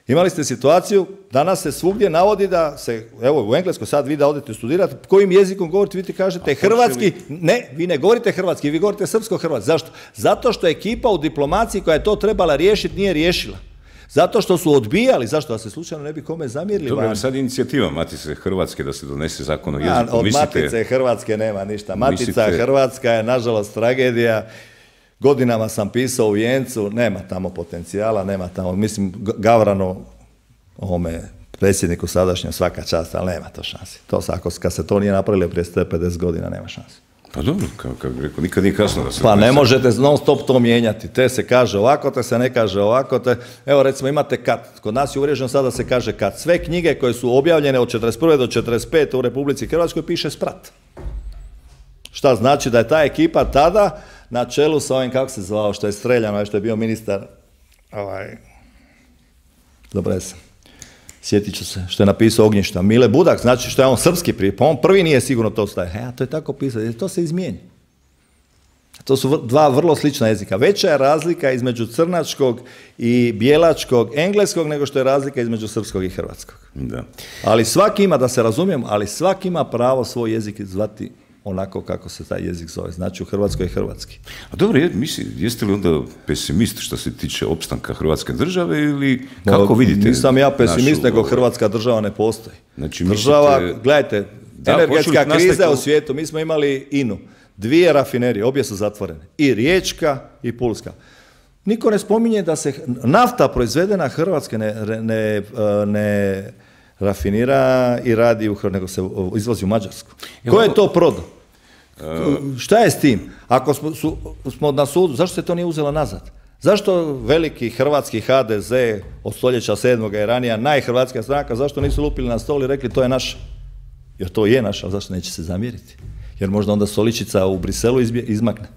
Imali ste situaciju, danas se svugdje navodi da se, evo u Engleskoj sad vi da odete studirati, kojim jezikom govorite, vi ti kažete hrvatski, ne, vi ne govorite hrvatski, vi govorite srpsko-hrvatski. Zašto? Zato što ekipa u diplomaciji koja je to trebala riješiti nije riješila. Zato što su odbijali, zašto? Da se slučajno ne bi kome zamjerili. Dobro, sad inicijativa Matice Hrvatske da se donese zakon o jeziku. Od Matice Hrvatske nema ništa. Matica Hrvatska je nažalost tragedija. Godinama sam pisao u Vijencu, nema tamo potencijala, nema tamo, mislim, Gavrano, ovome predsjedniku sadašnjem svaka čast, ali nema to šansi. Kad se to nije napravilo prije 150 godina, nema šansi. Pa dobro, kako bih rekao, nikad nije kasno da se... Pa ne možete non stop to mijenjati. Te se kaže ovako, te se ne kaže ovako. Evo recimo imate kat. Kod nas je uvriježeno sada se kaže kat. Sve knjige koje su objavljene od 41. do 45. u Republici Hrvatskoj piše sprat. Šta znači da je ta ekipa tada na čelu sa ovim, kako se zvao, što je streljano, što je bio ministar, dobro sam, sjetit ću se, što je napisao Ognjišta, Mile Budak, znači što je on srpski prije, pa on prvi nije sigurno to staje. A to je tako pisao, jer to se izmijeni. To su dva vrlo slična jezika. Veća je razlika između crnačkog i bijelačkog engleskog nego što je razlika između srpskog i hrvatskog. Da. Ali svaki ima, da se razumijemo, ali svaki ima pravo svoj jezik zvati onako kako se taj jezik zove. Znači u Hrvatskoj je hrvatski. A dobro, jeste li onda pesimist što se tiče opstanka Hrvatske države ili kako vidite? Nisam ja pesimist, nego Hrvatska država ne postoji. Znači, država, gledajte, energetska kriza u svijetu, mi smo imali INA-u, 2 rafinerije, obje su zatvorene, i Riječka i Pulska. Niko ne spominje da se nafta proizvedena Hrvatske ne rafinira i radi u Hrvatskoj, nego se izvozi u Mađarsku. Ko je to prodao? Šta je s tim? Ako smo na sudu, zašto se to nije uzelo nazad? Zašto veliki hrvatski HDZ od stoljeća 7. i ranija, najhrvatska stranka, zašto nisu lupili na stol i rekli to je naša? Jer to je naša, ali zašto neće se zamjeriti? Jer možda onda stoličica u Briselu izmakne.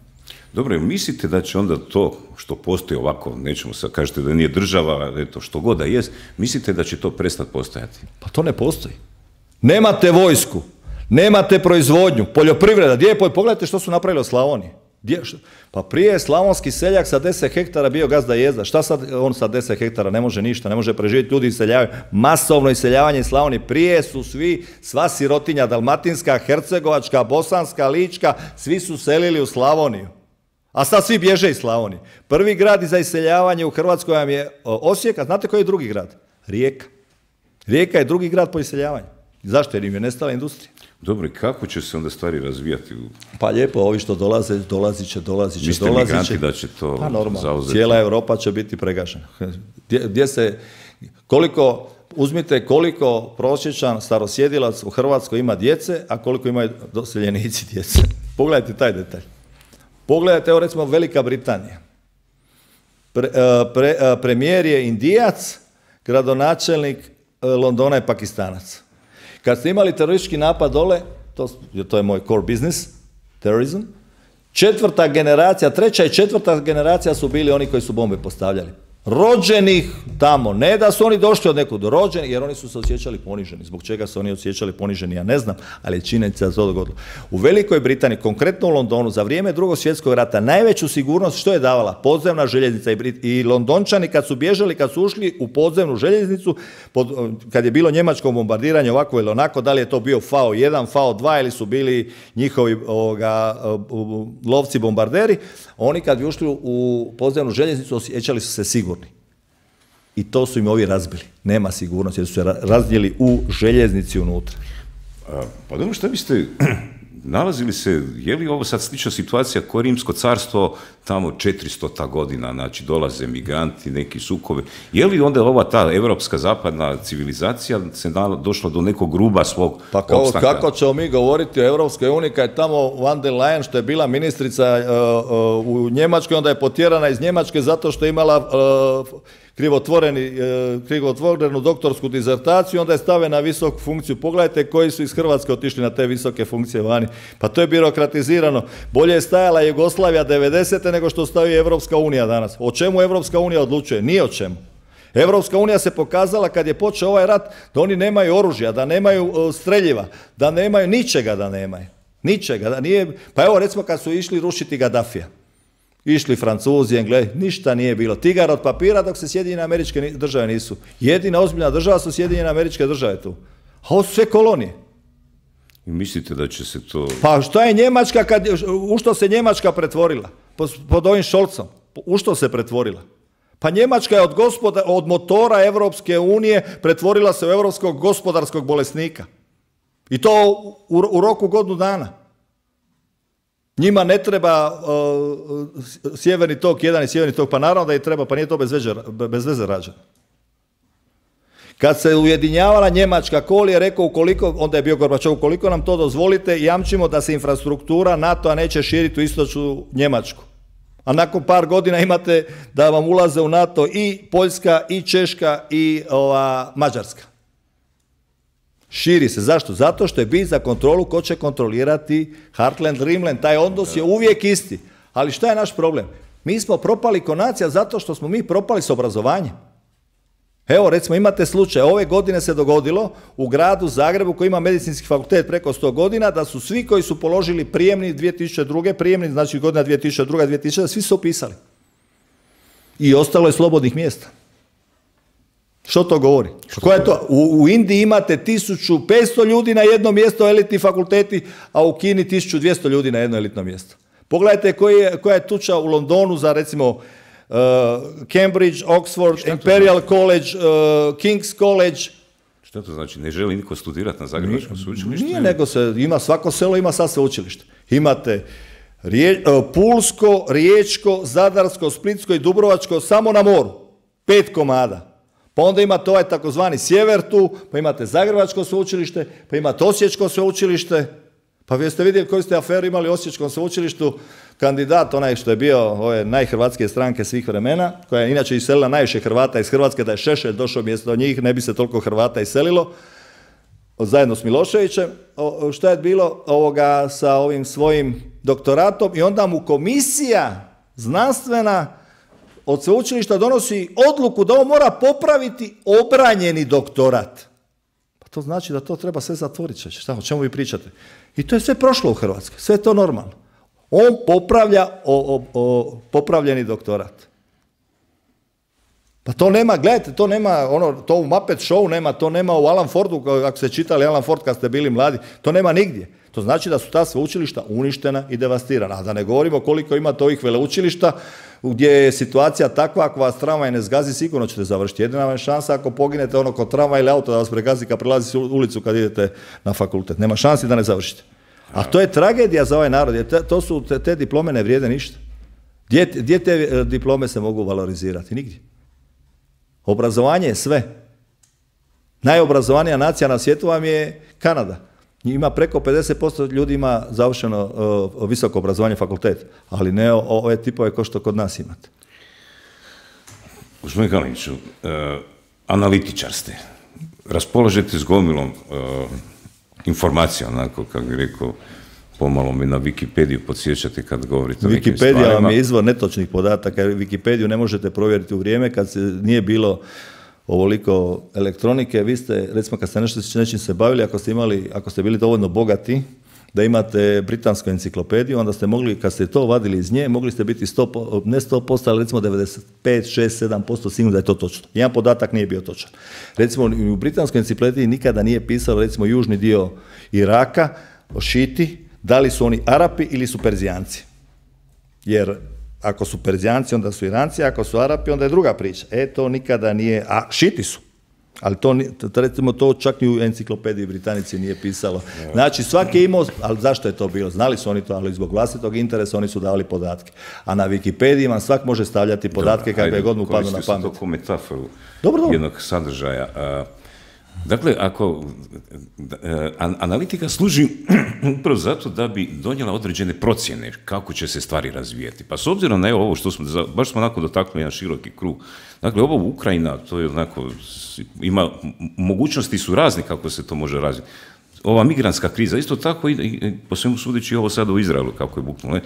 Dobro, mislite da će onda to što postoji ovako, nećemo sad kažete da nije država, eto, što god da jest, mislite da će to prestati postojati? Pa to ne postoji. Nemate vojsku, nemate proizvodnju, poljoprivreda, gdje je pogledajte što su napravili od Slavonije. Pa prije je slavonski seljak sa 10 hektara bio gazda jezda. Šta sad on sa 10 hektara ne može ništa, ne može preživjeti, ljudi iseljavaju. Masovno iseljavanje iz Slavonije. Prije su sva sirotinja, dalmatinska, hercegovačka, bosanska, lička, svi su selili u Slavoniju. A sad svi bježe iz Slavonije. Prvi grad za iseljavanje u Hrvatskoj vam je Osijek, a znate koji je drugi grad? Rijeka. Rijeka je drugi grad po iseljavanju. Zašto? Jer im je nestala industrija. Dobro, i kako će se onda stvari razvijati? Pa lijepo, ovi što dolazit će. Mislite migranti da će to zauzeti? Cijela Europa će biti pregažena. Uzmite koliko prosječan starosjedilac u Hrvatskoj ima djece, a koliko imaju doseljenici djece. Pogledajte taj detalj. Pogledajte, evo recimo Velika Britanija. Premijer je Indijac, gradonačelnik Londona je Pakistanac. Kad ste imali teroristički napad dole, to je moj core business, terorizam, 4. generacija, 3. i 4. generacija su bili oni koji su bombe postavljali. rođenih tamo, ne da su oni došli od nekud, rođeni, jer oni su se osjećali poniženi. Zbog čega se oni osjećali poniženi, ja ne znam, ali je činjenica da se to dogodilo. U Velikoj Britaniji, konkretno u Londonu, za vrijeme Drugog svjetskog rata, najveću sigurnost što je davala? Podzemna željeznica i Londončani kad su bježali, kad su ušli u podzemnu željeznicu, kad je bilo njemačko bombardiranje ovako ili onako, da li je to bio FAO-1, FAO-2 ili su bili njihovi lovci bombarderi, oni kad bi ušli u podzemnu željeznicu osjećali su se sigurni. I to su im ovi razbili. Nema sigurnosti jer su se razdjeli u željeznici unutra. Pa dobro, što biste nalazili se, je li ovo sad slična situacija ko Rimsko carstvo tamo 400. godina, znači dolaze migranti, neki sukovi, je li onda ova ta evropska zapadna civilizacija se došla do nekog gruba svog opstanka? Kako ćemo mi govoriti o Europskoj uniji kad je tamo Van der Leyen, što je bila ministrica u Njemačkoj, onda je potjerana iz Njemačke zato što je imala krivotvorenu doktorsku dizertaciju, onda je stavljena na visoku funkciju. Pogledajte koji su iz Hrvatske otišli na te visoke funkcije vani. Pa to je birokratizirano. Bolje je stajala Jugoslavija 90. nego što stoji Evropska unija danas. O čemu Evropska unija odlučuje? Nije o čemu. Evropska unija se pokazala kad je počeo ovaj rat da oni nemaju oružja, da nemaju streljiva, da nemaju ničega, da nemaju. Ničega. Da nije... Pa evo recimo kad su išli rušiti Gaddafija. Išli Francuzi, Englezi, ništa nije bilo. Tigar od papira dok se Sjedinjene Američke Države nisu. Jedina ozbiljna država su Sjedinjene Američke Države tu. A ovo su sve kolonije. I mislite da će se to... Pa što je Njemačka, u što se Njemačka pretvorila? Pod ovim Scholzom. U što se pretvorila? Pa Njemačka je od motora Evropske unije pretvorila se u europskog gospodarskog bolesnika. I to u roku godinu dana. Njima ne treba sjeverni tok 1 i sjeverni tok, pa naravno da je treba, pa nije to bez veze rađeno. Kad se ujedinjavala Njemačka, Kohl je rekao, onda je bio Gorbačov, ukoliko nam to dozvolite, jamčimo da se infrastruktura NATO-a neće širiti u istočnu Njemačku. A nakon par godina imate da vam ulaze u NATO i Poljska, i Češka, i Mađarska. Širi se. Zašto? Zato što je bit za kontrolu ko će kontrolirati Heartland, Dreamland. Taj odnos je uvijek isti. Ali šta je naš problem? Mi smo propali ko nacija zato što smo mi propali s obrazovanjem. Evo, recimo, imate slučaj. Ove godine se dogodilo u gradu Zagrebu koji ima medicinski fakultet preko 100 godina da su svi koji su položili prijemni 2002. prijemni, znači godina 2002. 2000, svi su upisali. I ostalo je slobodnih mjesta. Što to govori? Koja je to? U Indiji imate 1500 ljudi na jedno mjesto, elitni fakulteti, a u Kini 1200 ljudi na jedno elitno mjesto. Pogledajte koja je tuča u Londonu za recimo Cambridge, Oxford, Imperial College, King's College. Što to znači? Ne želi niko studirati na Zagrebačkom sveučilištu? Nije, nego svako selo ima sad sveučilište. Imate Pulsko, Riječko, Zadarsko, Splitsko i Dubrovačko samo na moru. 5 komada. Pa onda imate ovaj takozvani sjever tu, pa imate Zagrebačko sveučilište, pa imate Osječko sveučilište. Pa vi ste vidjeli koju ste aferu imali u Osječkom sveučilištu, kandidat onaj što je bio ove najhrvatskije stranke svih vremena, koja je inače iselila najviše Hrvata iz Hrvatske, da je Šešelj došao mjesto njih, ne bi se toliko Hrvata iselilo, zajedno s Miloševićem. Šta je bilo sa ovim svojim doktoratom i onda mu komisija znanstvena od sveučilišta donosi odluku da on mora popraviti obranjeni doktorat. Pa to znači da to treba sve zatvoriti. Šta, o čemu vi pričate? I to je sve prošlo u Hrvatskoj. Sve je to normalno. On popravlja popravljeni doktorat. Pa to nema, gledajte, to nema, to u Muppet Show nema, to nema u Alan Fordu, ako ste čitali Alan Ford kad ste bili mladi, to nema nigdje. To znači da su ta sveučilišta uništena i devastirana. A da ne govorimo koliko imate ovih veleučilišta gdje je situacija takva, ako vas tramvaj ne zgazi, sigurno ćete završiti. Jedina vam je šansa ako poginete kod tramvaj ili auto da vas pregazi kad prelazi ulicu kad idete na fakultet. Nema šansi da ne završite. A to je tragedija za ovaj narod. Te diplome ne vrijede ništa. Gdje te diplome se mogu valorizirati? Nigdje. Obrazovanje je sve. Najobrazovanija nacija na svijetu vam je Kanada. Ima preko 50% ljudi ima završeno visoko obrazovanje, fakultet, ali ne ove tipove kao što kod nas imate. Gospodine Kaliniću, analitičar ste. Raspolažete s gomilom informacija, onako, kako bih rekao, pomalo mi na Wikipediju podsjećate kad govorite o nekim Wikipedija stvarima. vam je izvor netočnih podataka, jer Wikipediju ne možete provjeriti u vrijeme kad se nije bilo ovoliko elektronike. Vi ste, recimo kad ste nečim se bavili, ako ste bili dovoljno bogati da imate britansku enciklopediju, onda ste mogli, kad ste to vadili iz nje, mogli ste biti ne 100%, ali recimo 95, 6, 7% sigurno da je to točno. Jedan podatak nije bio točan. Recimo u britanskoj enciklopediji nikada nije pisalo recimo južni dio Iraka, o Šiti, da li su oni Arapi ili su Perzijanci. Jer ako su Perzijanci, onda su Iranci, ako su Arapi, onda je druga priča. To nikada nije, a Šiti su. Ali recimo to čak ni u enciklopediji Britanici nije pisalo. Znači svaki je imao, ali zašto je to bilo? Znali su oni to, ali zbog vlastitog interesa oni su davali podatke. A na Wikipediji vam svak može stavljati podatke kakve god mu padnu na pamet. Koristio sam to kao metaforu Dobro. jednog sadržaja. Dakle, ako analitika služi upravo zato da bi donijela određene procjene kako će se stvari razvijeti. Pa s obzirom na ovo što smo, baš smo onako dotaknuli jedan široki krug. Dakle, ovo Ukrajina, to je onako, ima, mogućnosti su razne kako se to može razviti. Ova migrantska kriza, isto tako i po svemu sudeći ovo sada u Izraelu kako je buknulo.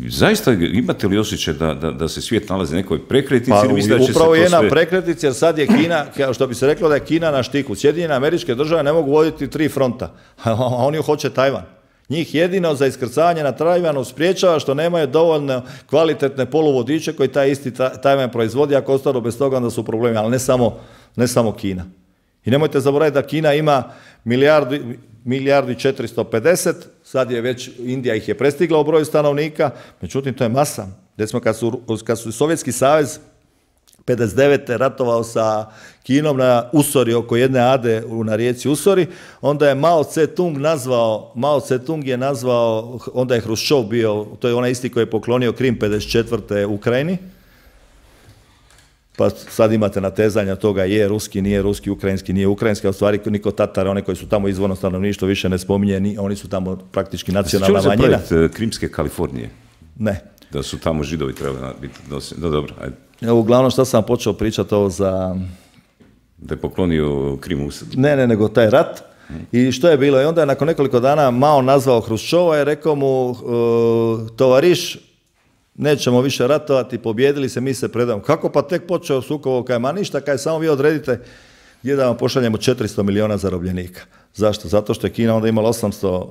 Zaista imate li osjećaj da se svijet nalazi nekoj prekretnici? Pa upravo je na prekretnici, jer sad je Kina, što bi se reklo da je Kina na štiku. Sjedinjene Američke Države ne mogu voditi 3 fronta, a oni hoće Tajvan. Njih jedino za iskrcavanje na Tajvanu spriječava što nemaju dovoljno kvalitetne poluvodiče koji taj isti Tajvan proizvodi, ako ostanu bez toga onda su problemi, ali ne samo Kina. I nemojte zaboraviti da Kina ima milijardu i 450, sad je već, Indija ih je prestigla u broju stanovnika, međutim to je masa. Recimo kad su Sovjetski savez 59. ratovao sa Kinom na Usori, oko jedne ade na rijeci Usori, onda je Mao Tse-tung je nazvao, onda je Hruščov bio, to je onaj isti koji je poklonio Krim 54. Ukrajini, pa sad imate natezanja toga je ruski, nije ruski, ukrajinski, nije ukrajinski, a u stvari niko Tatara, one koji su tamo izvorno stanovništvo više ne spominje, oni su tamo praktički nacionalna manjina. Što je Krimske Kalifornije? Ne. Da su tamo Židovi trebali biti dosljedni. No, dobro, ajde. Uglavnom što sam počeo pričati ovo za... Da je poklonio Krimu? Ne, nego taj rat. I što je bilo? I onda je nakon nekoliko dana Mao nazvao Hruščova i rekao mu, tovariš, nećemo više ratovati, pobjedili se, mi se predamo. Kako pa tek počeo sukob, kaj ma ništa, kaj samo vi odredite gdje da vam pošaljemo 400 miliona zarobljenika. Zašto? Zato što je Kina onda imala 800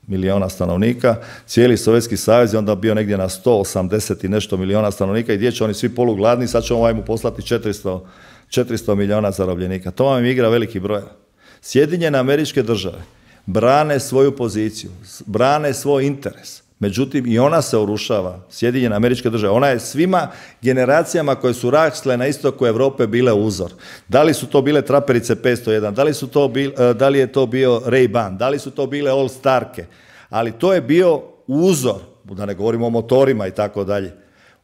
miliona stanovnika, cijeli Sovjetski savez je onda bio negdje na 180 i nešto miliona stanovnika i gdje će oni svi polugladni, sad ćemo mu poslati 400 miliona zarobljenika. To vam igra veliki broj. Sjedinjene Američke Države brane svoju poziciju, brane svoj interes. Međutim, i ona se urušava, Sjedinjene Američke Države. Ona je svima generacijama koje su rasle na istoku Europe bile uzor. Da li su to bile traperice 501, da li je to bio Ray-Ban, da li su to bile All Starke, ali to je bio uzor, da ne govorimo o motorima i tako dalje.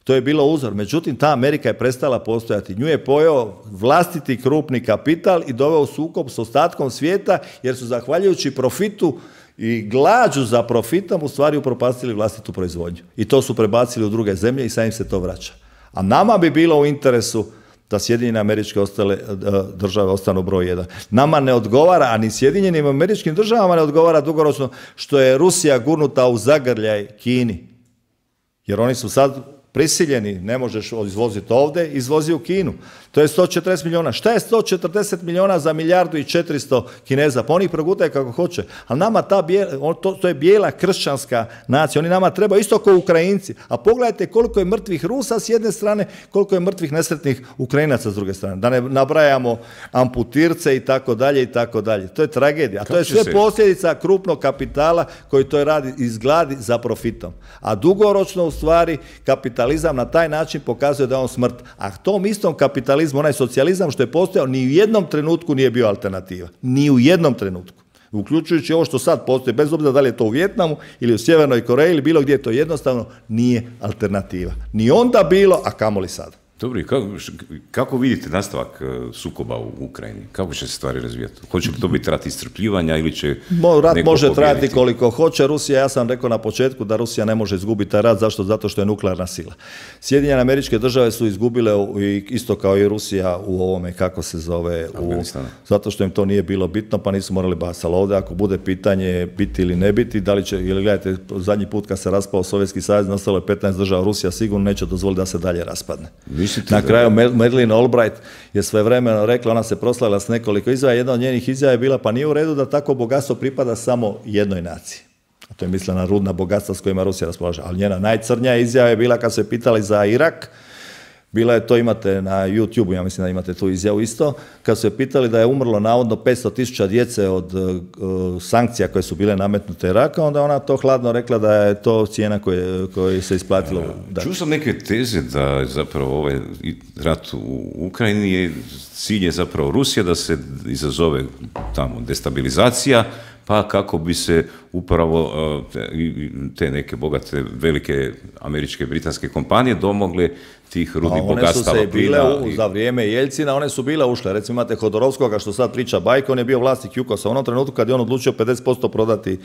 To je bilo uzor. Međutim, ta Amerika je prestala postojati. Nju je pojeo vlastiti krupni kapital i doveo u sukob s ostatkom svijeta, jer su zahvaljujući profitu i glađu za profitom u stvari upropastili vlastitu proizvodnju. I to su prebacili u druge zemlje i sad im se to vraća. A nama bi bilo u interesu da Sjedinjene Američke Države ostanu broj 1. Nama ne odgovara, a ni Sjedinjenim Američkim Državama ne odgovara dugoročno što je Rusija gurnuta u zagrljaj Kini. Jer oni su sad prisiljeni, ne možeš izvoziti ovdje, izvozi u Kinu. To je 140 miliona. Šta je 140 miliona za 1.400.000 Kineza? Pa oni ih progutaju kako hoće. Ali nama to je bijela kršćanska nacija. Oni nama trebaju isto kao Ukrajinci. A pogledajte koliko je mrtvih Rusa s jedne strane, koliko je mrtvih nesretnih Ukrajinaca s druge strane. Da ne nabrajamo amputirce i tako dalje i tako dalje. To je tragedija. A to je sve posljedica krupnog kapitala koji to radi izgladi za profitom. A dugoročno u stvari kapitalizam na taj način pokazuje da je on smrt. A tom istom kapitalizmu, onaj socijalizam što je postojao, ni u jednom trenutku nije bio alternativa. Ni u jednom trenutku. Uključujući ovo što sad postoji, bez obzira da li je to u Vijetnamu ili u Sjevernoj Koreji ili bilo gdje, to jednostavno nije alternativa. Ni onda bilo, a kamoli sad. Dobro, i kako vidite nastavak sukoba u Ukrajini? Kako će se stvari razvijati? Hoće li to biti rat iscrpljivanja ili će rat neko može pobijediti? trajati koliko hoće. Rusija, ja sam rekao na početku da Rusija ne može izgubiti taj rat. Zašto? Zato što je nuklearna sila. Sjedinjene Američke Države su izgubile isto kao i Rusija u ovome, kako se zove, zato što im to nije bilo bitno, pa nisu morali bacati. Ali ovdje ako bude pitanje biti ili ne biti, da li će, ili gledajte, zadnji put kad se raspao Sovjetski savez, ostalo je 15 država, Rusija sigurno neće dozvoliti da se dalje raspadne. Na kraju Madeleine Albright je svojevremeno rekla, ona se proslavila s nekoliko izjava, jedna od njenih izjava je bila, pa nije u redu da tako bogatstvo pripada samo jednoj naciji. A to je mislila na rudna bogatstva s kojima Rusija raspolaže. Ali njena najcrnja izjava je bila kad su je pitali za Irak, bila je to, imate na YouTube, ja mislim da imate tu izjavu isto, kad su je pitali da je umrlo navodno 500.000 djece od sankcija koje su bile nametnute Iraka, onda ona to hladno rekla da je to cijena koja se isplatilo. Čuo sam neke teze da zapravo ovaj rat u Ukrajini je cilj je zapravo Rusija, da se izazove tamo destabilizacija, pa kako bi se upravo te neke bogate, velike američke, britanske kompanije domogle tih rudnih bogatstava. One su se bile, za vrijeme Jeljcina, one su bile ušle. Recimo imate Hodorovskoga, što sad priča bajka, on je bio vlasnik Jukosa. U onom trenutku kad je on odlučio 50% prodati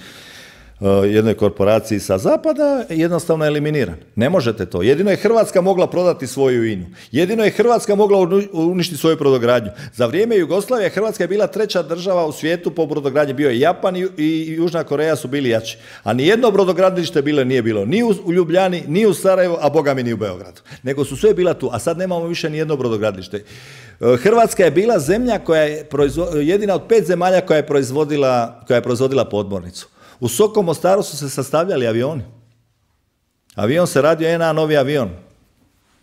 jednoj korporaciji sa zapada, jednostavno eliminiran. Ne možete to. Jedino je Hrvatska mogla prodati svoju INU. Jedino je Hrvatska mogla uništiti svoju brodogradnju. Za vrijeme Jugoslavije Hrvatska je bila treća država u svijetu po brodogradnji. Bio je Japan i Južna Koreja su bili jači. A nijedno brodogradilište nije bilo ni u Ljubljani, ni u Sarajevu, a boga mi ni u Beogradu. Nego su sve bila tu. A sad nemamo više ni jedno brodogradilište. Hrvatska je bila zemlja koja je jedina od 5 zemalja koja je proizvodila podmornicu. U Sokom Mostaru su se sastavljali avioni. Avion se radio NA novi avion.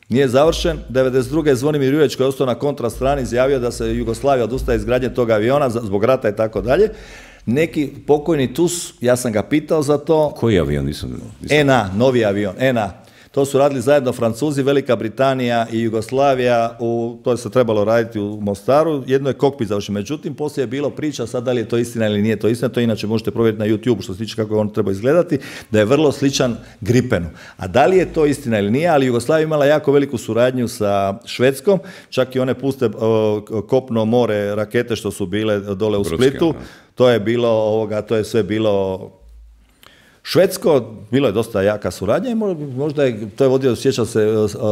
Nije završen. 92. je Zvonimir Jureć koji je ostao na kontra strani izjavio da se Jugoslavija odustaje izgradnje tog aviona zbog rata i tako dalje. Neki pokojni TUS, ja sam ga pitao za to. Koji avion? NA, novi avion, NA. To su radili zajedno Francuzi, Velika Britanija i Jugoslavija, to se trebalo raditi u Mostaru, jedno je kokpit završen. Međutim, poslije je bilo priča, sad da li je to istina ili nije to istina, to inače možete provjeriti na YouTube što se tiče kako on treba izgledati, da je vrlo sličan Gripenu. A da li je to istina ili nije, ali Jugoslavija imala jako veliku suradnju sa Švedskom, čak i one puste kopno more rakete što su bile dole u Splitu, to je sve bilo švedsko, bilo je dosta jaka suradnja i možda to je vodio, sjećam se,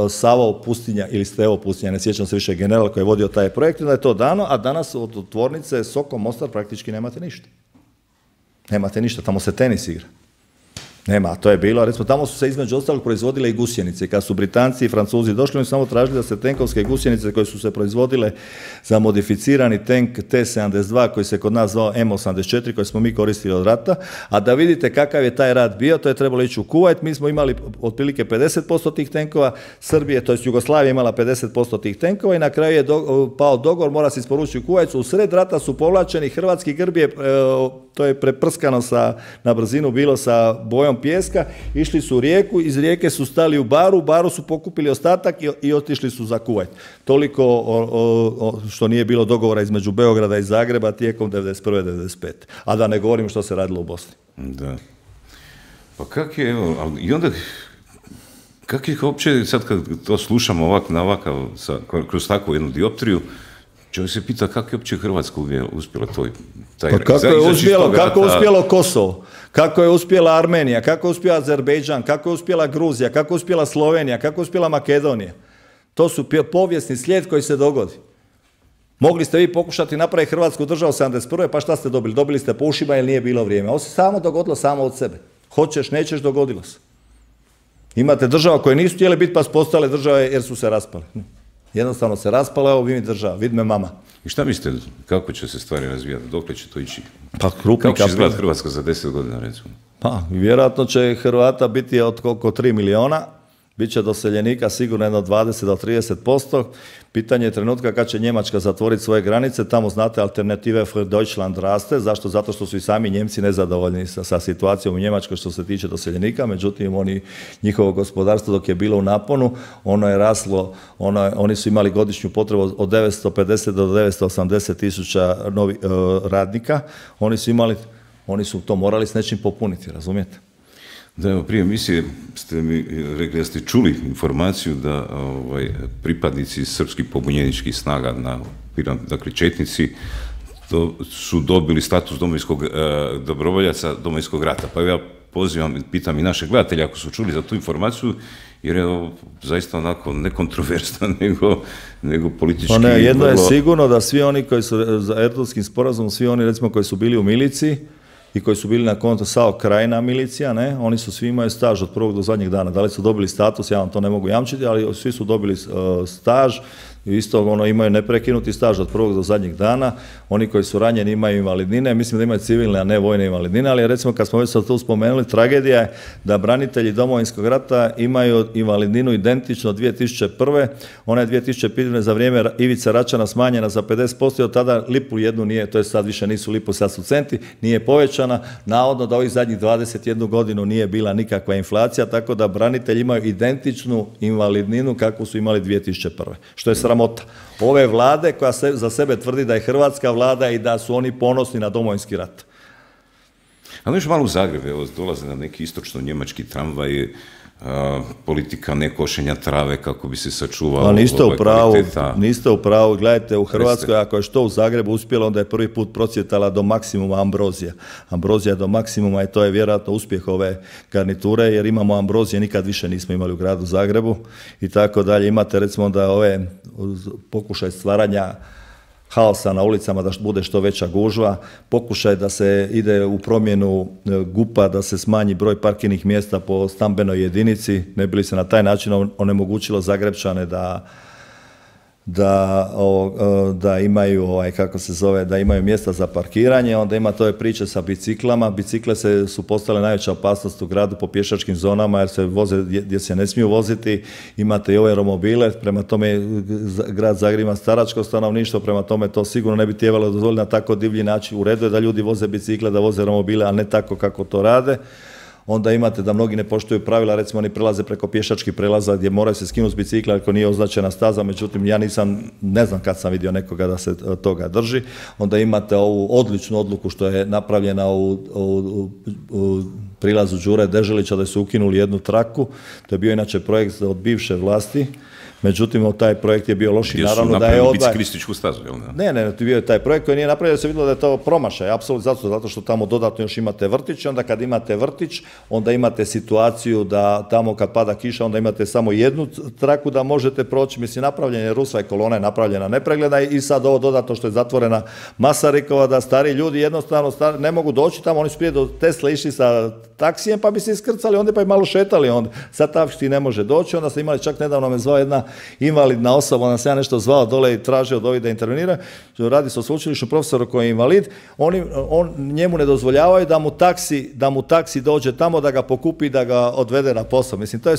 Savo Pustinja ili Stevo Pustinja, ne sjećam se više general koji je vodio taj projekt, da je to dano, a danas od tvornice Sokom Mostar praktički nemate ništa. Nemate ništa, tamo se tenis igra. Nema, to je bilo, recimo tamo su se između ostalog proizvodile i gusjenice. Kad su Britanci i Francuzi došli, oni su samo tražili da se tenkovske gusjenice koje su se proizvodile za modificirani tank T-72 koji se kod nas zvao M-84 koji smo mi koristili od rata, a da vidite kakav je taj rat bio, to je trebalo ići u Kuvajt, mi smo imali otprilike 50% tih tenkova, Srbije, to jest Jugoslavija imala 50% tih tenkova i na kraju je pao dogovor, mora se isporučiti u Kuvajtu, u sred rata su povlačeni, hrvatski grb je, to je preprskano na brzinu bilo sa bojom pijeska, išli su u rijeku, iz rijeke su stali u baru su pokupili ostatak i otišli su za Kuvajt. Toliko što nije bilo dogovora između Beograda i Zagreba tijekom 91. 95. A da ne govorim što se radilo u Bosni. Da. Pa kak je, i onda, kak je uopće, sad kad to slušamo kroz takvu jednu dioptriju, čovjek se pita kako je uopće Hrvatska uspjela taj pa kako je uspjelo Kosovo, kako je uspjela Armenija, kako je uspjela Azerbejdžan, kako je uspjela Gruzija, kako je uspjela Slovenija, kako je uspjela Makedonija. To su povijesni slijed koji se dogodi. Mogli ste vi pokušati napraviti Hrvatsku državu 71. pa šta ste dobili? Dobili ste po ušima jer nije bilo vrijeme. Ovo se samo dogodilo samo od sebe. Hoćeš, nećeš, dogodilo se. Imate država koje nisu htjele biti pa su postale države jer su se raspale. Jednostavno se raspala, evo vidi država, vidi me mama. I šta mislite, kako će se stvari razvijati, dokle će to ići? Pa kako će izgledati Hrvatska za 10 godina, recimo? Pa, vjerojatno će Hrvata biti oko 3 miliona, bit će doseljenika sigurno jedno 20 do 30%. Pitanje je trenutka kad će Njemačka zatvoriti svoje granice, tamo znate Alternative für Deutschland raste, zašto? Zato što su i sami Njemci nezadovoljni sa situacijom u Njemačkoj što se tiče doseljenika, međutim njihovo gospodarstvo dok je bilo u naponu, ono je raslo, oni su imali godišnju potrebu od 950 do 980 tisuća radnika, oni su to morali s nečim popuniti, razumijete? Da, evo, prije emisije ste mi rekli da ste čuli informaciju da pripadnici srpskih pobunjeničkih snaga, dakle četnici, su dobili status domovinskog dobrovoljaca Domovinskog rata. Pa ja pozivam, pitam i naše gledatelje ako su čuli za tu informaciju, jer je ovo zaista onako nekontroversna, nego politički... Pa ne, jedno je sigurno da svi oni koji su za Erdutskim sporazumom, svi oni recimo koji su bili u miliciji i koji su bili na konto SAO Krajina milicija, ne, oni su svi imaju staž od prvog do zadnjeg dana. Da li su dobili status, ja vam to ne mogu jamčiti, ali svi su dobili staž i isto imaju neprekinuti staž od prvog do zadnjeg dana. Oni koji su ranjeni imaju invalidnine, mislim da imaju civilne, a ne vojne invalidnine, ali recimo kad smo već sad tu spomenuli, tragedija je da branitelji Domovinskog rata imaju invalidninu identično 2001. Ona je 2005. za vrijeme Ivice Račana smanjena za 50% i od tada lipu jednu nije, to je sad više nisu lipu, sad su centi, nije povećana. Navodno da ovih zadnjih 21 godinu nije bila nikakva inflacija, tako da branitelji imaju identičnu invalidninu kakvu su imali 2001. Što je sramota ove vlade koja za sebe tvrdi da je hrvatska vlada i da su oni ponosni na Domovinski rat. Ali još malo u Zagreb, evo, dolaze nam neki istočno-njemački tramvaj, politika nekošenja trave kako bi se sačuvalo kvaliteta. Niste u pravu, gledajte, u Hrvatskoj ako je što u Zagrebu uspjelo, onda je prvi put procvjetala do maksimuma ambrozija. Ambrozija do maksimuma i to je vjerojatno uspjeh ove garniture, jer imamo ambrozije, nikad više nismo imali u gradu Zagrebu i tako dalje. Imate recimo da ove pokušaj stvaranja haosa na ulicama, da bude što veća gužva, pokušaj da se ide u promjenu GUP-a, da se smanji broj parkirnih mjesta po stambenoj jedinici, ne bi li se na taj način onemogućilo Zagrebčane da imaju, da imaju mjesta za parkiranje. Onda ima tove priče sa biciklama. Bicikle su postale najveća opasnost u gradu po pješačkim zonama jer se voze gdje se ne smiju voziti. Imate i ove romobile, prema tome grad Zagreb ima staračko stanovništvo, prema tome to sigurno ne bi trebalo dozvoliti na tako divlji način. U redu je da ljudi voze bicikle, da voze romobile, a ne tako kako to rade. Onda imate da mnogi ne poštuju pravila, recimo oni prelaze preko pješačkih prelaza gdje moraju se skinuti s bicikla ako nije označena staza, međutim ja ne znam kad sam vidio nekoga da se toga drži. Onda imate ovu odličnu odluku što je napravljena u prilazu Đure Deželića da su ukinuli jednu traku, to je bio inače projekt od bivše vlasti. Međutim, taj projekt je bio loš i naravno da je napravili biciklističku stazu, jel ne? Ne, bio je taj projekt koji nije napravio, da se vidjelo da je to promašaj, apsolutno zato što tamo dodatno još imate vrtić, onda kad imate vrtić, onda imate situaciju da tamo kad pada kiša, onda imate samo jednu traku da možete proći, mislim, napravljen je rusva i kolona je napravljena nepregledna i sad ovo dodatno što je zatvorena Masarikova, da stari ljudi jednostavno ne mogu doći tamo, oni su prije do Tesle išli sa taksijem pa bi se iskrcali, onda pa i malo šetali, onda sad taksi ne može doći, onda ste imali, čak nedavno me zvao jedna invalidna osoba, onda se ja nešto zvao dole i tražio od ovih da intervenira, radi se o sveučilišnom profesoru koji je invalid, njemu ne dozvoljavaju da mu taksi dođe tamo, da ga pokupi, da ga odvede na posao. Mislim, to je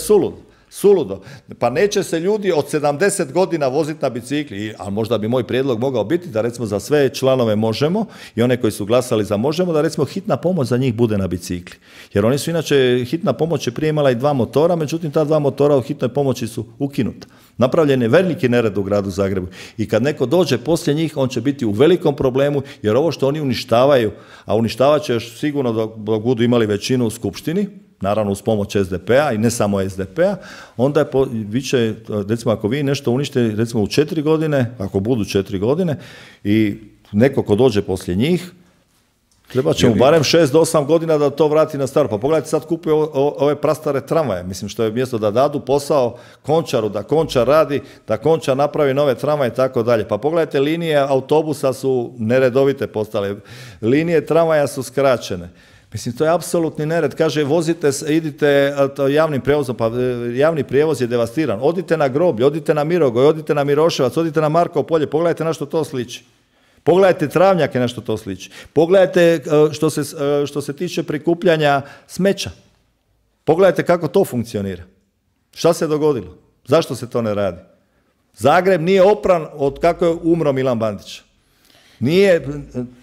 suludo. Pa neće se ljudi od 70 godina voziti na bicikli, a možda bi moj prijedlog mogao biti da recimo za sve članove Možemo i one koji su glasali za Možemo, da recimo hitna pomoć za njih bude na bicikli. Jer oni su inače, hitna pomoć je prije imala i 2 motora, međutim ta 2 motora u hitnoj pomoći su ukinuta. Napravljen je veliki nered u gradu Zagrebu i kad neko dođe poslije njih, on će biti u velikom problemu, jer ovo što oni uništavaju, a uništavat će još sigurno dok budu imali većinu u skupštini, naravno uz pomoć SDP-a i ne samo SDP-a, onda je recimo ako vi nešto uništite recimo u 4 godine, ako budu 4 godine i neko ko dođe poslije njih, treba će mu barem 6 do 8 godina da to vrati na staro. Pa pogledajte, sad kupuje ove prastare tramvaje, mislim, što je mjesto da dadu posao Končaru, da Končar radi, da Končar napravi nove tramvaje i tako dalje. Pa pogledajte, linije autobusa su neredovite postale, linije tramvaja su skraćene. Mislim, to je apsolutni nered. Kaže, idite javnim prijevozom, pa javni prijevoz je devastiran. Odite na Groblje, odite na Mirogoj, odite na Miroševac, odite na Markovo polje, pogledajte na što to sliči. Pogledajte Travnjake na što to sliči. Pogledajte što se tiče prikupljanja smeća. Pogledajte kako to funkcionira. Šta se dogodilo? Zašto se to ne radi? Zagreb nije opran od kako je umro Milan Bandić.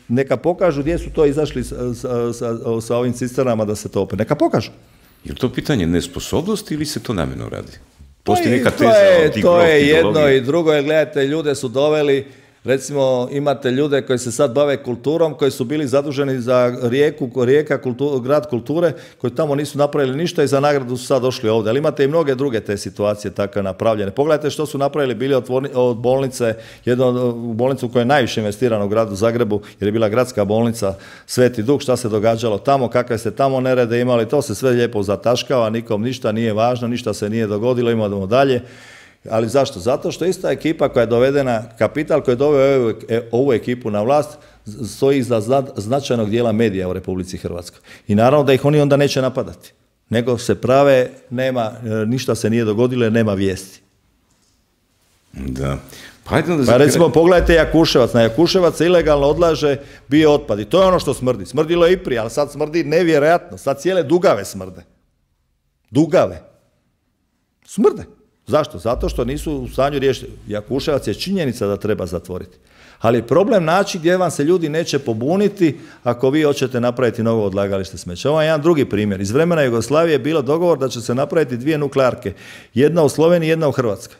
Neka pokažu gdje su to izašli sa ovim cisternama da se to opere. Neka pokažu. Je li to pitanje nesposobnosti ili se to namjerno radi? To je jedno i drugo, jer gledajte, ljude su doveli Recimo, imate ljude koji se sad bave kulturom, koji su bili zaduženi za Rijeka, grad kulture, koji tamo nisu napravili ništa i za nagradu su sad došli ovdje. Ali imate i mnoge druge te situacije tako napravljene. Pogledajte što su napravili bili od bolnice, jednu bolnicu koja je najviše investirana u gradu Zagrebu, jer je bila gradska bolnica Sveti Duh, šta se događalo tamo, kakve ste tamo nerede imali, to se sve lijepo zataškava, nikom ništa nije važno, ništa se nije dogodilo, imamo dalje. Ali zašto? Zato što ista ekipa koja je dovedena, kapital koji je doveo ovu ekipu na vlast, stoji iza značajnog dijela medija u Republici Hrvatskoj. I naravno da ih oni onda neće napadati. Nego se prave, ništa se nije dogodilo jer nema vijesti. Da. Pa recimo pogledajte Jakuševac. Na Jakuševac se ilegalno odlaže bio otpad. I to je ono što smrdi. Smrdilo je i prije, ali sad smrdi nevjerojatno. Sad cijele Dugave smrde. Dugave. Smrde. Zašto? Zato što nisu u stanju riješiti. Jakuševac je činjenica da treba zatvoriti. Ali problem naći gdje vam se ljudi neće pobuniti ako vi hoćete napraviti novo odlagalište smeća. Ovo je jedan drugi primjer. Iz vremena Jugoslavije je bilo dogovor da će se napraviti 2 nuklearke. Jedna u Sloveniji, jedna u Hrvatskoj.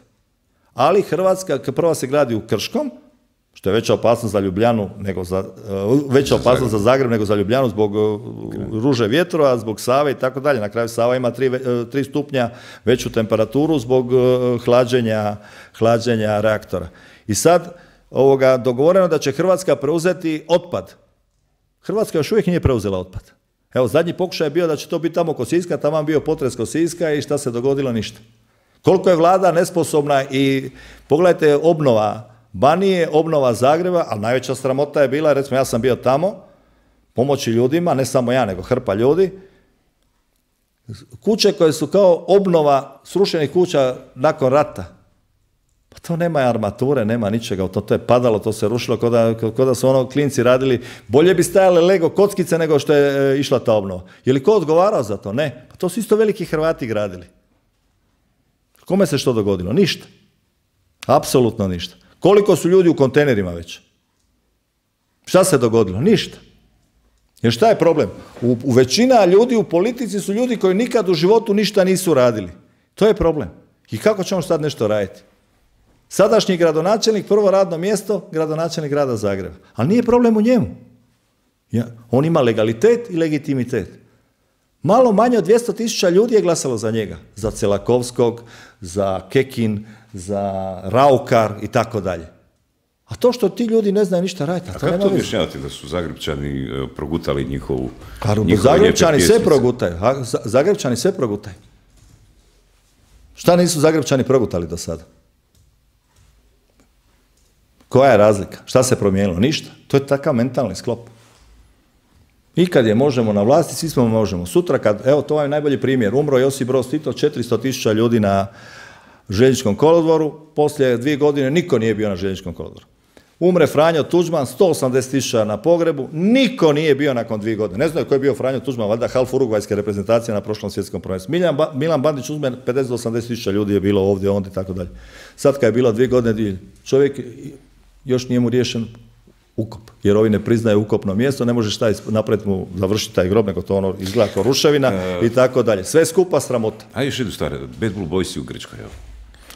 Ali Hrvatska prva se gradi u Krškom, što je veća opasnost za Ljubljanu nego veća opasnost za Zagreb nego za Ljubljanu zbog ruže vjetrova, zbog Save i tako dalje. Na kraju Sava ima 3 stupnja veću temperaturu zbog hlađenja reaktora. I sad dogovoreno da će Hrvatska preuzeti otpad. Hrvatska još uvijek nije preuzela otpad. Evo, zadnji pokušaj je bio da će to biti tamo kod Siska, tamo bio potres kod Siska i šta se dogodilo? Ništa. Koliko je vlada nesposobna i pogledajte obnova Banije, obnova Zagreba, ali najveća sramota je bila, recimo ja sam bio tamo, pomoći ljudima, ne samo ja, nego hrpa ljudi, kuće koje su kao obnova srušenih kuća nakon rata. Pa to nema armature, nema ničega, to je padalo, to se rušilo, kao da su klinci radili, bolje bi stajale Lego kockice nego što je išla ta obnova. Je li ko odgovarao za to? Ne. Pa to su isto veliki Hrvati gradili. Kome se što dogodilo? Ništa. Apsolutno ništa. Koliko su ljudi u kontejnerima već? Šta se dogodilo? Ništa. Jer šta je problem? U većina ljudi u politici su ljudi koji nikad u životu ništa nisu radili. To je problem. I kako ćemo sad nešto raditi? Sadašnji gradonačelnik, prvo radno mjesto, gradonačelnik grada Zagreba. Ali nije problem u njemu. On ima legalitet i legitimitet. Malo manje od 200.000 ljudi je glasalo za njega. Za Celakovskog, za Kekin, za Raukar i tako dalje. A to što ti ljudi ne znaju ništa raditi. A kako to objašnjavate da su Zagrebčani progutali njihovu Zagrebčani sve progutaju. Zagrebčani sve progutaju. Šta nisu Zagrebčani progutali do sada? Koja je razlika? Šta se promijenilo? Ništa. To je takav mentalni sklop. I kad je možemo na vlasti, svi smo možemo. Sutra evo to je najbolji primjer, umro Josip Broz Tito, 400.000 ljudi na željezničkom kolodvoru, poslije 2 godine niko nije bio na željezničkom kolodvoru. Umre Franjo Tuđman, 180.000 na pogrebu, niko nije bio nakon 2 godine. Ne znaju ko je bio Franjo Tuđman, valjda half urugvajske reprezentacije na prošlom svjetskom prvenstvu. Milan Bandić uzme 50 do 80.000 ljudi je bilo ovdje, onda i tako dalje. Sad kad je bilo 2 godine, čovjek još nije mu riješen ukop, jer ovi ne priznaju ukopno mjesto, ne možeš napraviti mu završiti taj grob, nego to izgleda kao ruševina i tako dalje. Sve skupa sramota. A još jednu stvar, Bad Blue Boysi u Grčkoj, evo.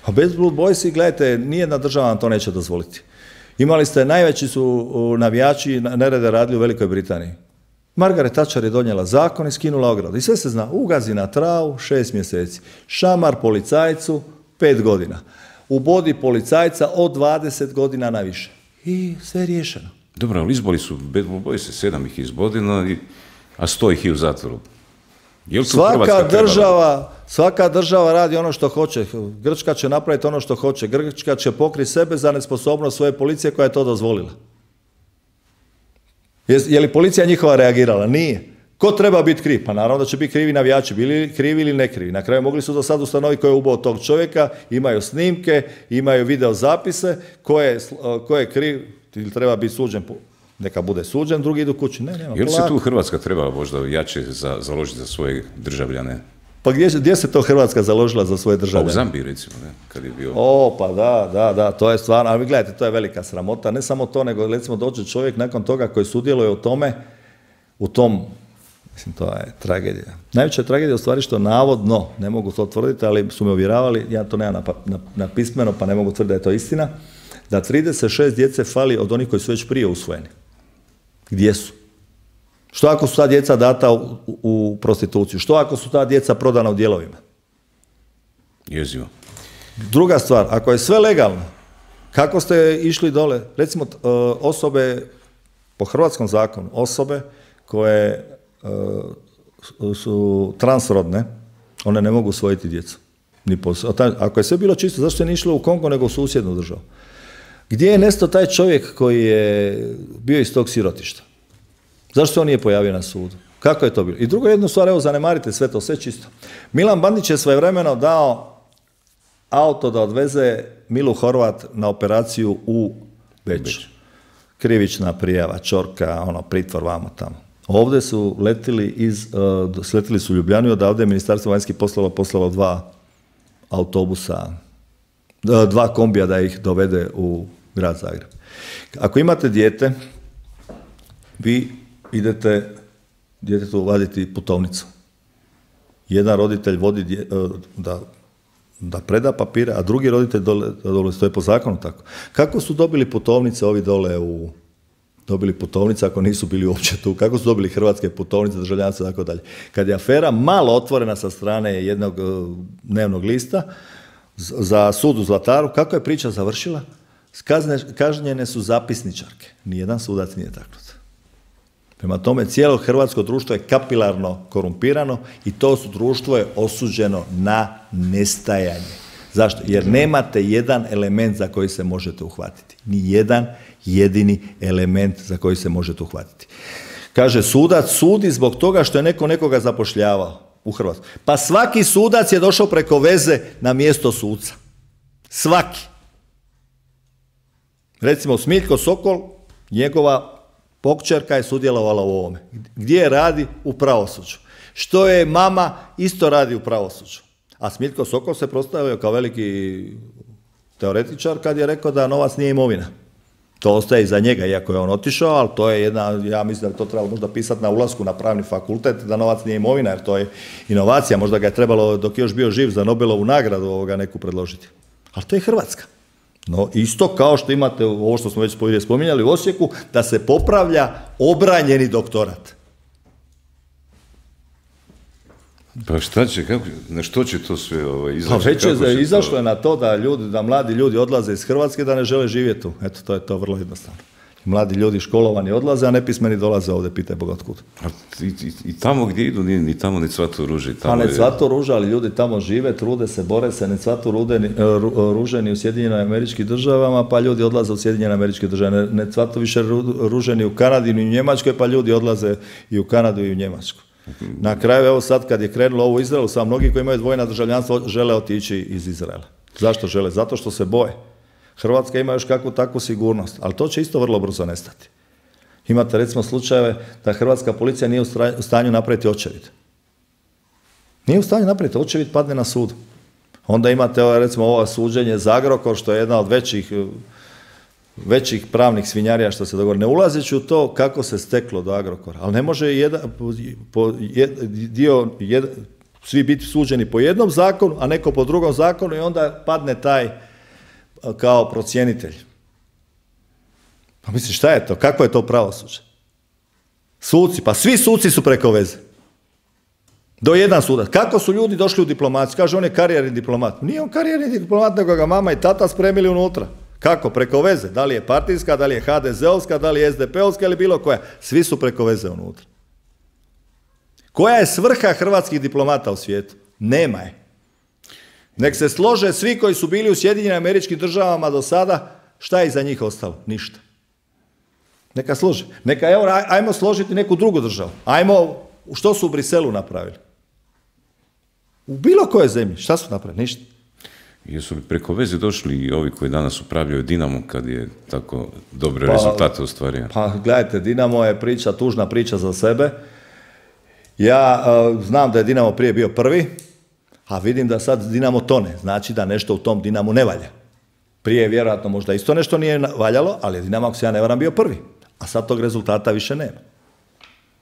A Bad Blue Boysi, gledajte, nijedna država vam to neće dozvoliti. Imali ste, najveći su navijači nerede radili u Velikoj Britaniji. Margaret Thatcher je donijela zakon i skinula ogradu. I sve se zna, ugazi na travu 6 mjeseci. Šamar policajcu 5 godina. Ubodi policajca od 20 godina na više. I sve je riješeno. Dobro, ali izbori su, Bad Blue Boys 7 ih izbodeno, a 100 ih je u zatvoru. Svaka država radi ono što hoće. Grčka će napraviti ono što hoće. Grčka će pokriti sebe za nesposobnost svoje policije koja je to dozvolila. Je li policija njihova reagirala? Nije. Ko treba biti kriv? Pa naravno da će biti krivi navijači, bili krivi ili ne krivi. Na kraju mogli su do sad ustanoviti ko je ubao tog čovjeka, imaju snimke, imaju video zapise, ko je kriv ili treba biti suđen, neka bude suđen, drugi idu kući. Nema. Je li se tu Hrvatska treba možda jače založiti za svoje državljane? Pa gdje se to Hrvatska založila za svoje državljane? Pa u Zambiji recimo, ne? Kad je bio... Pa da, to je stvarno, ali gledajte, to je velika sramota. Ne samo to, nego recimo dođe čovjek nakon toga koji sudjeluje u tom, mislim, to je tragedija. Najveća tragedija je u stvari što navodno, ne mogu to tvrditi, ali su me uvjeravali, ja to nemam na pismeno, pa ne mogu tvrditi da je to istina, da 36 djece fali od onih koji su već prije usvojeni. Gdje su? Što ako su ta djeca data u prostituciju? Što ako su ta djeca prodana u dijelovima? Jezivo. Druga stvar, ako je sve legalno, kako ste išli dole? Recimo, osobe, po hrvatskom zakonu, osobe koje su transrodne, one ne mogu usvojiti djecu. Ako je sve bilo čisto, zašto je nije išlo u Kongo nego u susjednu državu? Gdje je nestao taj čovjek koji je bio iz tog sirotišta? Zašto se on nije pojavio na sudu? Kako je to bilo? I drugo, jednu stvar, evo, zanemarite sve to, sve čisto. Milan Bandić je svojevremeno dao auto da odveze Milu Horvat na operaciju u Beč. Krivična prijava, Čorka, pritvor vamo tamo. Ovdje su sletili su u Ljubljanu i odavde je Ministarstvo vanjskih poslova poslalo 2 autobusa, 2 kombija da ih dovede u grad Zagreb. Ako imate dijete, vi idete djetetu vaditi putovnicu. Jedan roditelj vodi da preda papire, a drugi roditelj dole, to je po zakonu tako. Kako su dobili putovnice ovi dole dobili putovnice ako nisu bili uopće tu? Kako su dobili hrvatske putovnice, državljanstvo i tako dalje? Kad je afera malo otvorena sa strane jednog dnevnog lista za sud u Zlataru, kako je priča završila? Kažnjene su zapisničarke. Nijedan sudac nije taknut. Prema tome, cijelo hrvatsko društvo je kapilarno korumpirano i to društvo je osuđeno na nestajanje. Zašto? Jer nemate jedan element za koji se možete uhvatiti. Ni jedan jedini element za koji se možete uhvatiti. Kaže, sudac sudi zbog toga što je neko nekoga zapošljavao u Hrvatskoj. Pa svaki sudac je došao preko veze na mjesto suca. Svaki. Recimo, Smiljko Sokol, njegova pokćerka je sudjelovala u ovome. Gdje radi? U pravosuđu. Što je mama, isto radi u pravosuđu. A Smiljko Sokol se predstavio kao veliki teoretičar kad je rekao da novac nije imovina. To ostaje iza njega, iako je on otišao, ali to je ja mislim da to trebalo možda pisati na ulasku na pravni fakultet, da novac nije imovina, jer to je inovacija. Možda ga je trebalo, dok je još bio živ, za Nobelovu nagradu neku predložiti. Ali to je Hrvatska. No, isto kao što imate ovo što smo već spominjali u Osijeku, da se popravlja obranjeni doktorat. Pa šta će, na što će to sve izaći? Pa već je izašlo je na to da mladi ljudi odlaze iz Hrvatske, da ne žele živjeti tu. Eto, to je to vrlo jednostavno. Mladi ljudi školovani odlaze, a nepismeni dolaze ovdje, pitaj Boga otkud. I tamo gdje idu, ni tamo ni cvatu ruže. Pa ne cvatu ruže, ali ljudi tamo žive, trude se, bore se, ne cvatu ruže ni u Sjedinjenim Američkim Državama, pa ljudi odlaze u Sjedinjene Američke Države. Ne cvatu više ruže ni u Kanadi, ni u Njemačkoj, pa ljudi odlaze i u Kanadu i u Njemačku. Na kraju, evo sad kad je krenulo ovo u Izraelu, sad mnogi koji imaju dvojna državljanstva žele otići iz Izraela. Zašto žele? Zato što se boje. Hrvatska ima još kakvu takvu sigurnost, ali to će isto vrlo brzo nestati. Imate recimo slučajeve da hrvatska policija nije u stanju napraviti očevid. Nije u stanju napraviti, očevid padne na sudu. Onda imate recimo ovo suđenje za Agrokor, što je jedna od većih pravnih svinjarija što se dogovori. Ne ulazeći u to kako se steklo do Agrokora, ali ne može svi biti suđeni po jednom zakonu, a neko po drugom zakonu i onda padne taj kao procjenitelj. Pa misliš, šta je to? Kako je to pravosuđe? Suci, pa svi suci su preko veze. Do jedan sudac. Kako su ljudi došli u diplomaciju? Kaže, on je karijerni diplomat. Nije on karijerni diplomat, nego ga mama i tata spremili unutra. Kako? Preko veze. Da li je partijska, da li je HDZ-ovska, da li je SDP-ovska ili bilo koja. Svi su preko veze unutra. Koja je svrha hrvatskih diplomata u svijetu? Nema je. Nek se slože svi koji su bili u Sjedinjenim Američkim Državama do sada, šta je iza njih ostalo? Ništa. Neka slože. Neka, evo, ajmo složiti neku drugu državu. Ajmo, što su u Briselu napravili? U bilo kojoj zemlji, šta su napravili? Ništa. Jesu li preko veze došli i ovi koji danas upravljaju Dinamo kad je tako dobre rezultate ostvario? Pa gledajte, Dinamo je tužna priča za sebe. Ja znam da je Dinamo prije bio prvi, a vidim da sad Dinamo tone. Znači da nešto u tom Dinamu ne valja. Prije je vjerojatno možda isto nešto nije valjalo, ali je Dinamo, ako se ja ne varam, bio prvi. A sad tog rezultata više nema.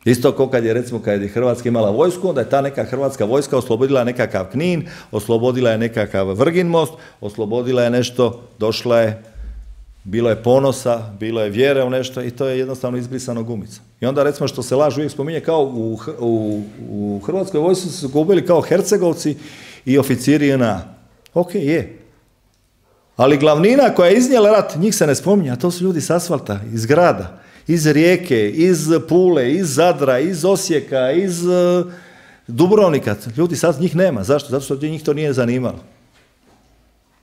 Isto kao kad je Hrvatska imala vojsku, onda je ta neka hrvatska vojska oslobodila nekakav Knin, oslobodila je nekakav Vrgin most, oslobodila je nešto, došla je bilo je ponosa, bilo je vjere u nešto i to je jednostavno izbrisano gumica. I onda recimo što se laž uvijek spominje kao u Hrvatskoj vojsci su se gubili kao Hercegovci i oficiri JNA. Ok, je. Ali glavnina koja je iznijela rat, njih se ne spominje, a to su ljudi s asfalta, iz grada, iz Rijeke, iz Pule, iz Zadra, iz Osijeka, iz Dubrovnika. Ljudi sad njih nema. Zašto? Zato što njih to nije zanimalo.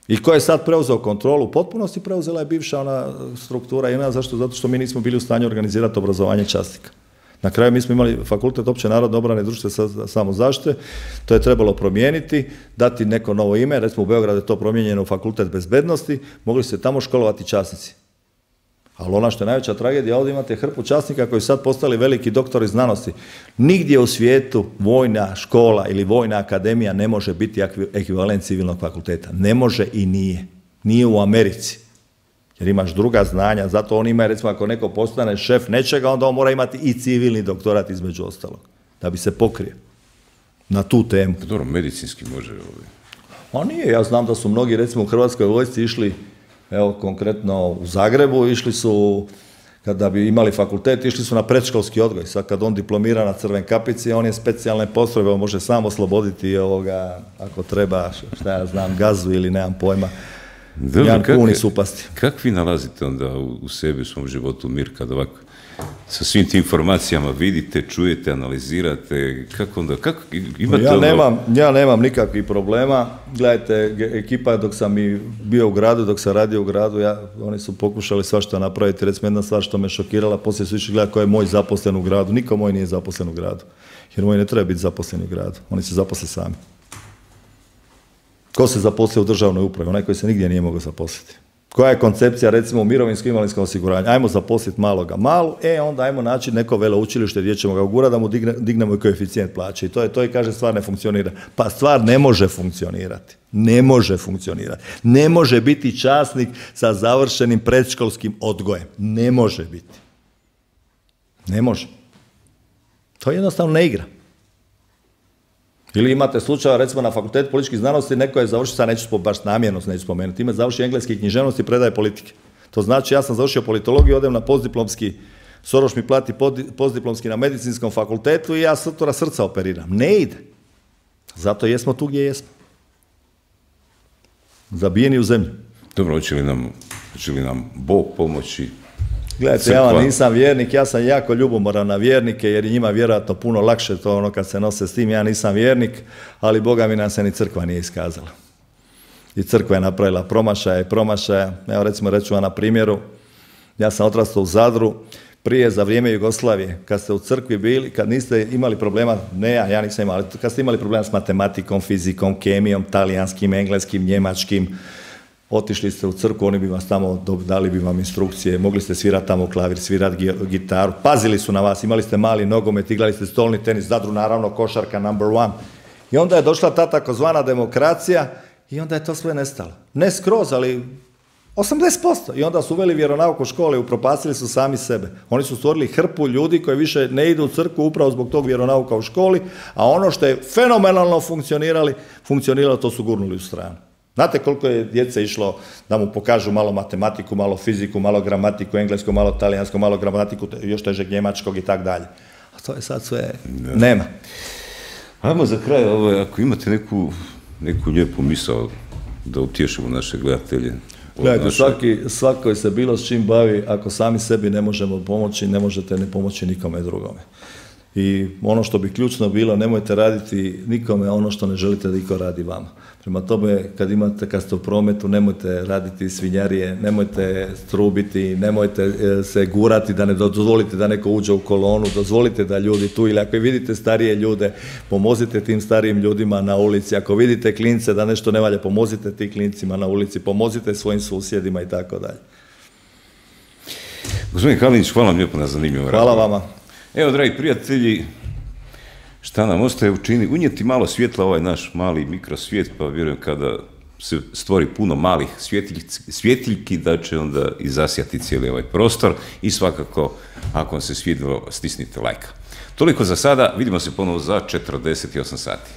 I ko je sad preuzeo kontrolu u potpunosti, preuzela je bivša ona struktura JNA. Zašto? Zato što mi nismo bili u stanju organizirati obrazovanje časnika. Na kraju mi smo imali fakultet opće narodne obrane i društvene samozaštite, to je trebalo promijeniti, dati neko novo ime, recimo u Beogradu je to promijenjeno u fakultet bezbednosti, mogli se tamo školovati časnici. Ali ono što je najveća tragedija, ovdje imate hrpu časnika koji su sad postali veliki doktori znanosti. Nigdje u svijetu vojna škola ili vojna akademija ne može biti ekvivalent civilnog fakulteta. Ne može i nije. Nije u Americi. Jer imaš druga znanja, zato on ima, recimo, ako neko postane šef nečega, onda on mora imati i civilni doktorat između ostalog, da bi se pokrio na tu temu. Dobro, medicinski može ovdje. A nije, ja znam da su mnogi, recimo, u Hrvatskoj vojsci išli, evo, konkretno u Zagrebu, išli su, kada bi imali fakultet, išli su na predškolski odgoj. Sad kad on diplomira na Crven kapici, on je specijalne postrojbe, on može sam osloboditi ovoga, ako treba, šta ja znam, gazu ili nemam pojma, jedan kun i supasti. Kako vi nalazite onda u sebi, u svom životu mir, kad ovako sa svim tim informacijama vidite, čujete, analizirate, kako onda, imate ja nemam nikakvih problema. Gledajte, ekipa dok sam i bio u gradu, dok sam radio u gradu, oni su pokušali svašta napraviti. Recimo jedna stvar što me šokirala, poslije su išli gledati ko je moj zaposlen u gradu. Niko moj nije zaposlen u gradu, jer moj ne treba biti zaposlen u gradu, oni se zaposle sami. Ko se zaposlio u državnoj upravi? Onaj koji se nigdje nije mogao zaposliti. Koja je koncepcija, recimo, u mirovinskom invalidskom osiguranju? Ajmo zaposliti malu, onda ajmo naći neko veleučilište gdje ćemo ga ugurati da mu dignemo i koeficijent plaće. I to je kaže, stvar ne funkcionira. Pa stvar ne može funkcionirati. Ne može funkcionirati. Ne može biti časnik sa završenim predškolskim odgojem. Ne može biti. Ne može. To jednostavno ne igra. Ili imate slučaja, recimo na fakultetu političkih znanosti, neko je završio, sad neću baš namjerno neću spomenuti, ima završio engleski književnost i predaje politike. To znači ja sam završio politologiju, odem na postdiplomski, Soroš mi plati postdiplomski na medicinskom fakultetu i ja sutra srca operiram. Ne ide. Zato jesmo tu gdje jesmo. Zabijeni u zemlju. Dobro, hoće li nam Bog pomoći? Gledajte, ja vam nisam vjernik, ja sam jako ljubomoran na vjernike, jer je njima vjerojatno puno lakše to ono kad se nose s tim, ja nisam vjernik, ali Boga mi nam se ni crkva nije iskazala. I crkva je napravila promašaja. Evo recimo reću vam na primjeru, ja sam odrastao u Zadru, prije za vrijeme Jugoslavije, kad ste u crkvi bili, kad niste imali problema, ja nisam imao, ali kad ste imali problema s matematikom, fizikom, kemijom, talijanskim, engleskim, njemačkim, otišli ste u crkvu, oni bi vas tamo dali bi vam instrukcije, mogli ste svirati tamo klavir, svirati gitaru, pazili su na vas, imali ste mali nogomet, igrali ste stolni tenis, Zadru naravno košarka #1. I onda je došla ta takozvana demokracija i onda je to sve nestalo. Ne skroz, ali 80%. I onda su uveli vjeronauk u škole, upropastili su sami sebe. Oni su stvorili hrpu ljudi koji više ne idu u crkvu upravo zbog tog vjeronauka u školi, a ono što je fenomenalno funkcioniralo, to su gurnuli u stranu. Znate koliko je djece išlo da mu pokažu malo matematiku, malo fiziku, malo gramatiku, englesku, malo talijansku, malo gramatiku, još težeg njemačkog i tak dalje. A to je sad sve, nema. Ajmo za kraj, ako imate neku lijepu misao da utješimo naše gledatelje. Gledajte, svako se bilo s čim bavi, ako sami sebi ne možemo pomoći, ne možete ne pomoći nikome drugome. I ono što bi ključno bilo, nemojte raditi nikome ono što ne želite da iko radi vama. Prema tome, kad ste u prometu, nemojte raditi svinjarije, nemojte strubiti, nemojte se gurati da ne dozvolite da neko uđe u kolonu, dozvolite da ljudi tu, ili ako vidite starije ljude, pomozite tim starijim ljudima na ulici, ako vidite klince da nešto ne valja, pomozite tim klincima na ulici, pomozite svojim susjedima i tako dalje. Gospodin Kalinić, hvala vam lijepo na zanimljivom razgovoru. Hvala vama. Evo, dragi prijatelji, šta nam ostaje učiniti? Unijeti malo svjetla ovaj naš mali mikrosvijet, pa vjerujem kada se stvori puno malih svjetiljki da će onda i zasjati cijeli ovaj prostor i svakako, ako vam se svidjelo, stisnite lajka. Toliko za sada, vidimo se ponovo za 48 sati.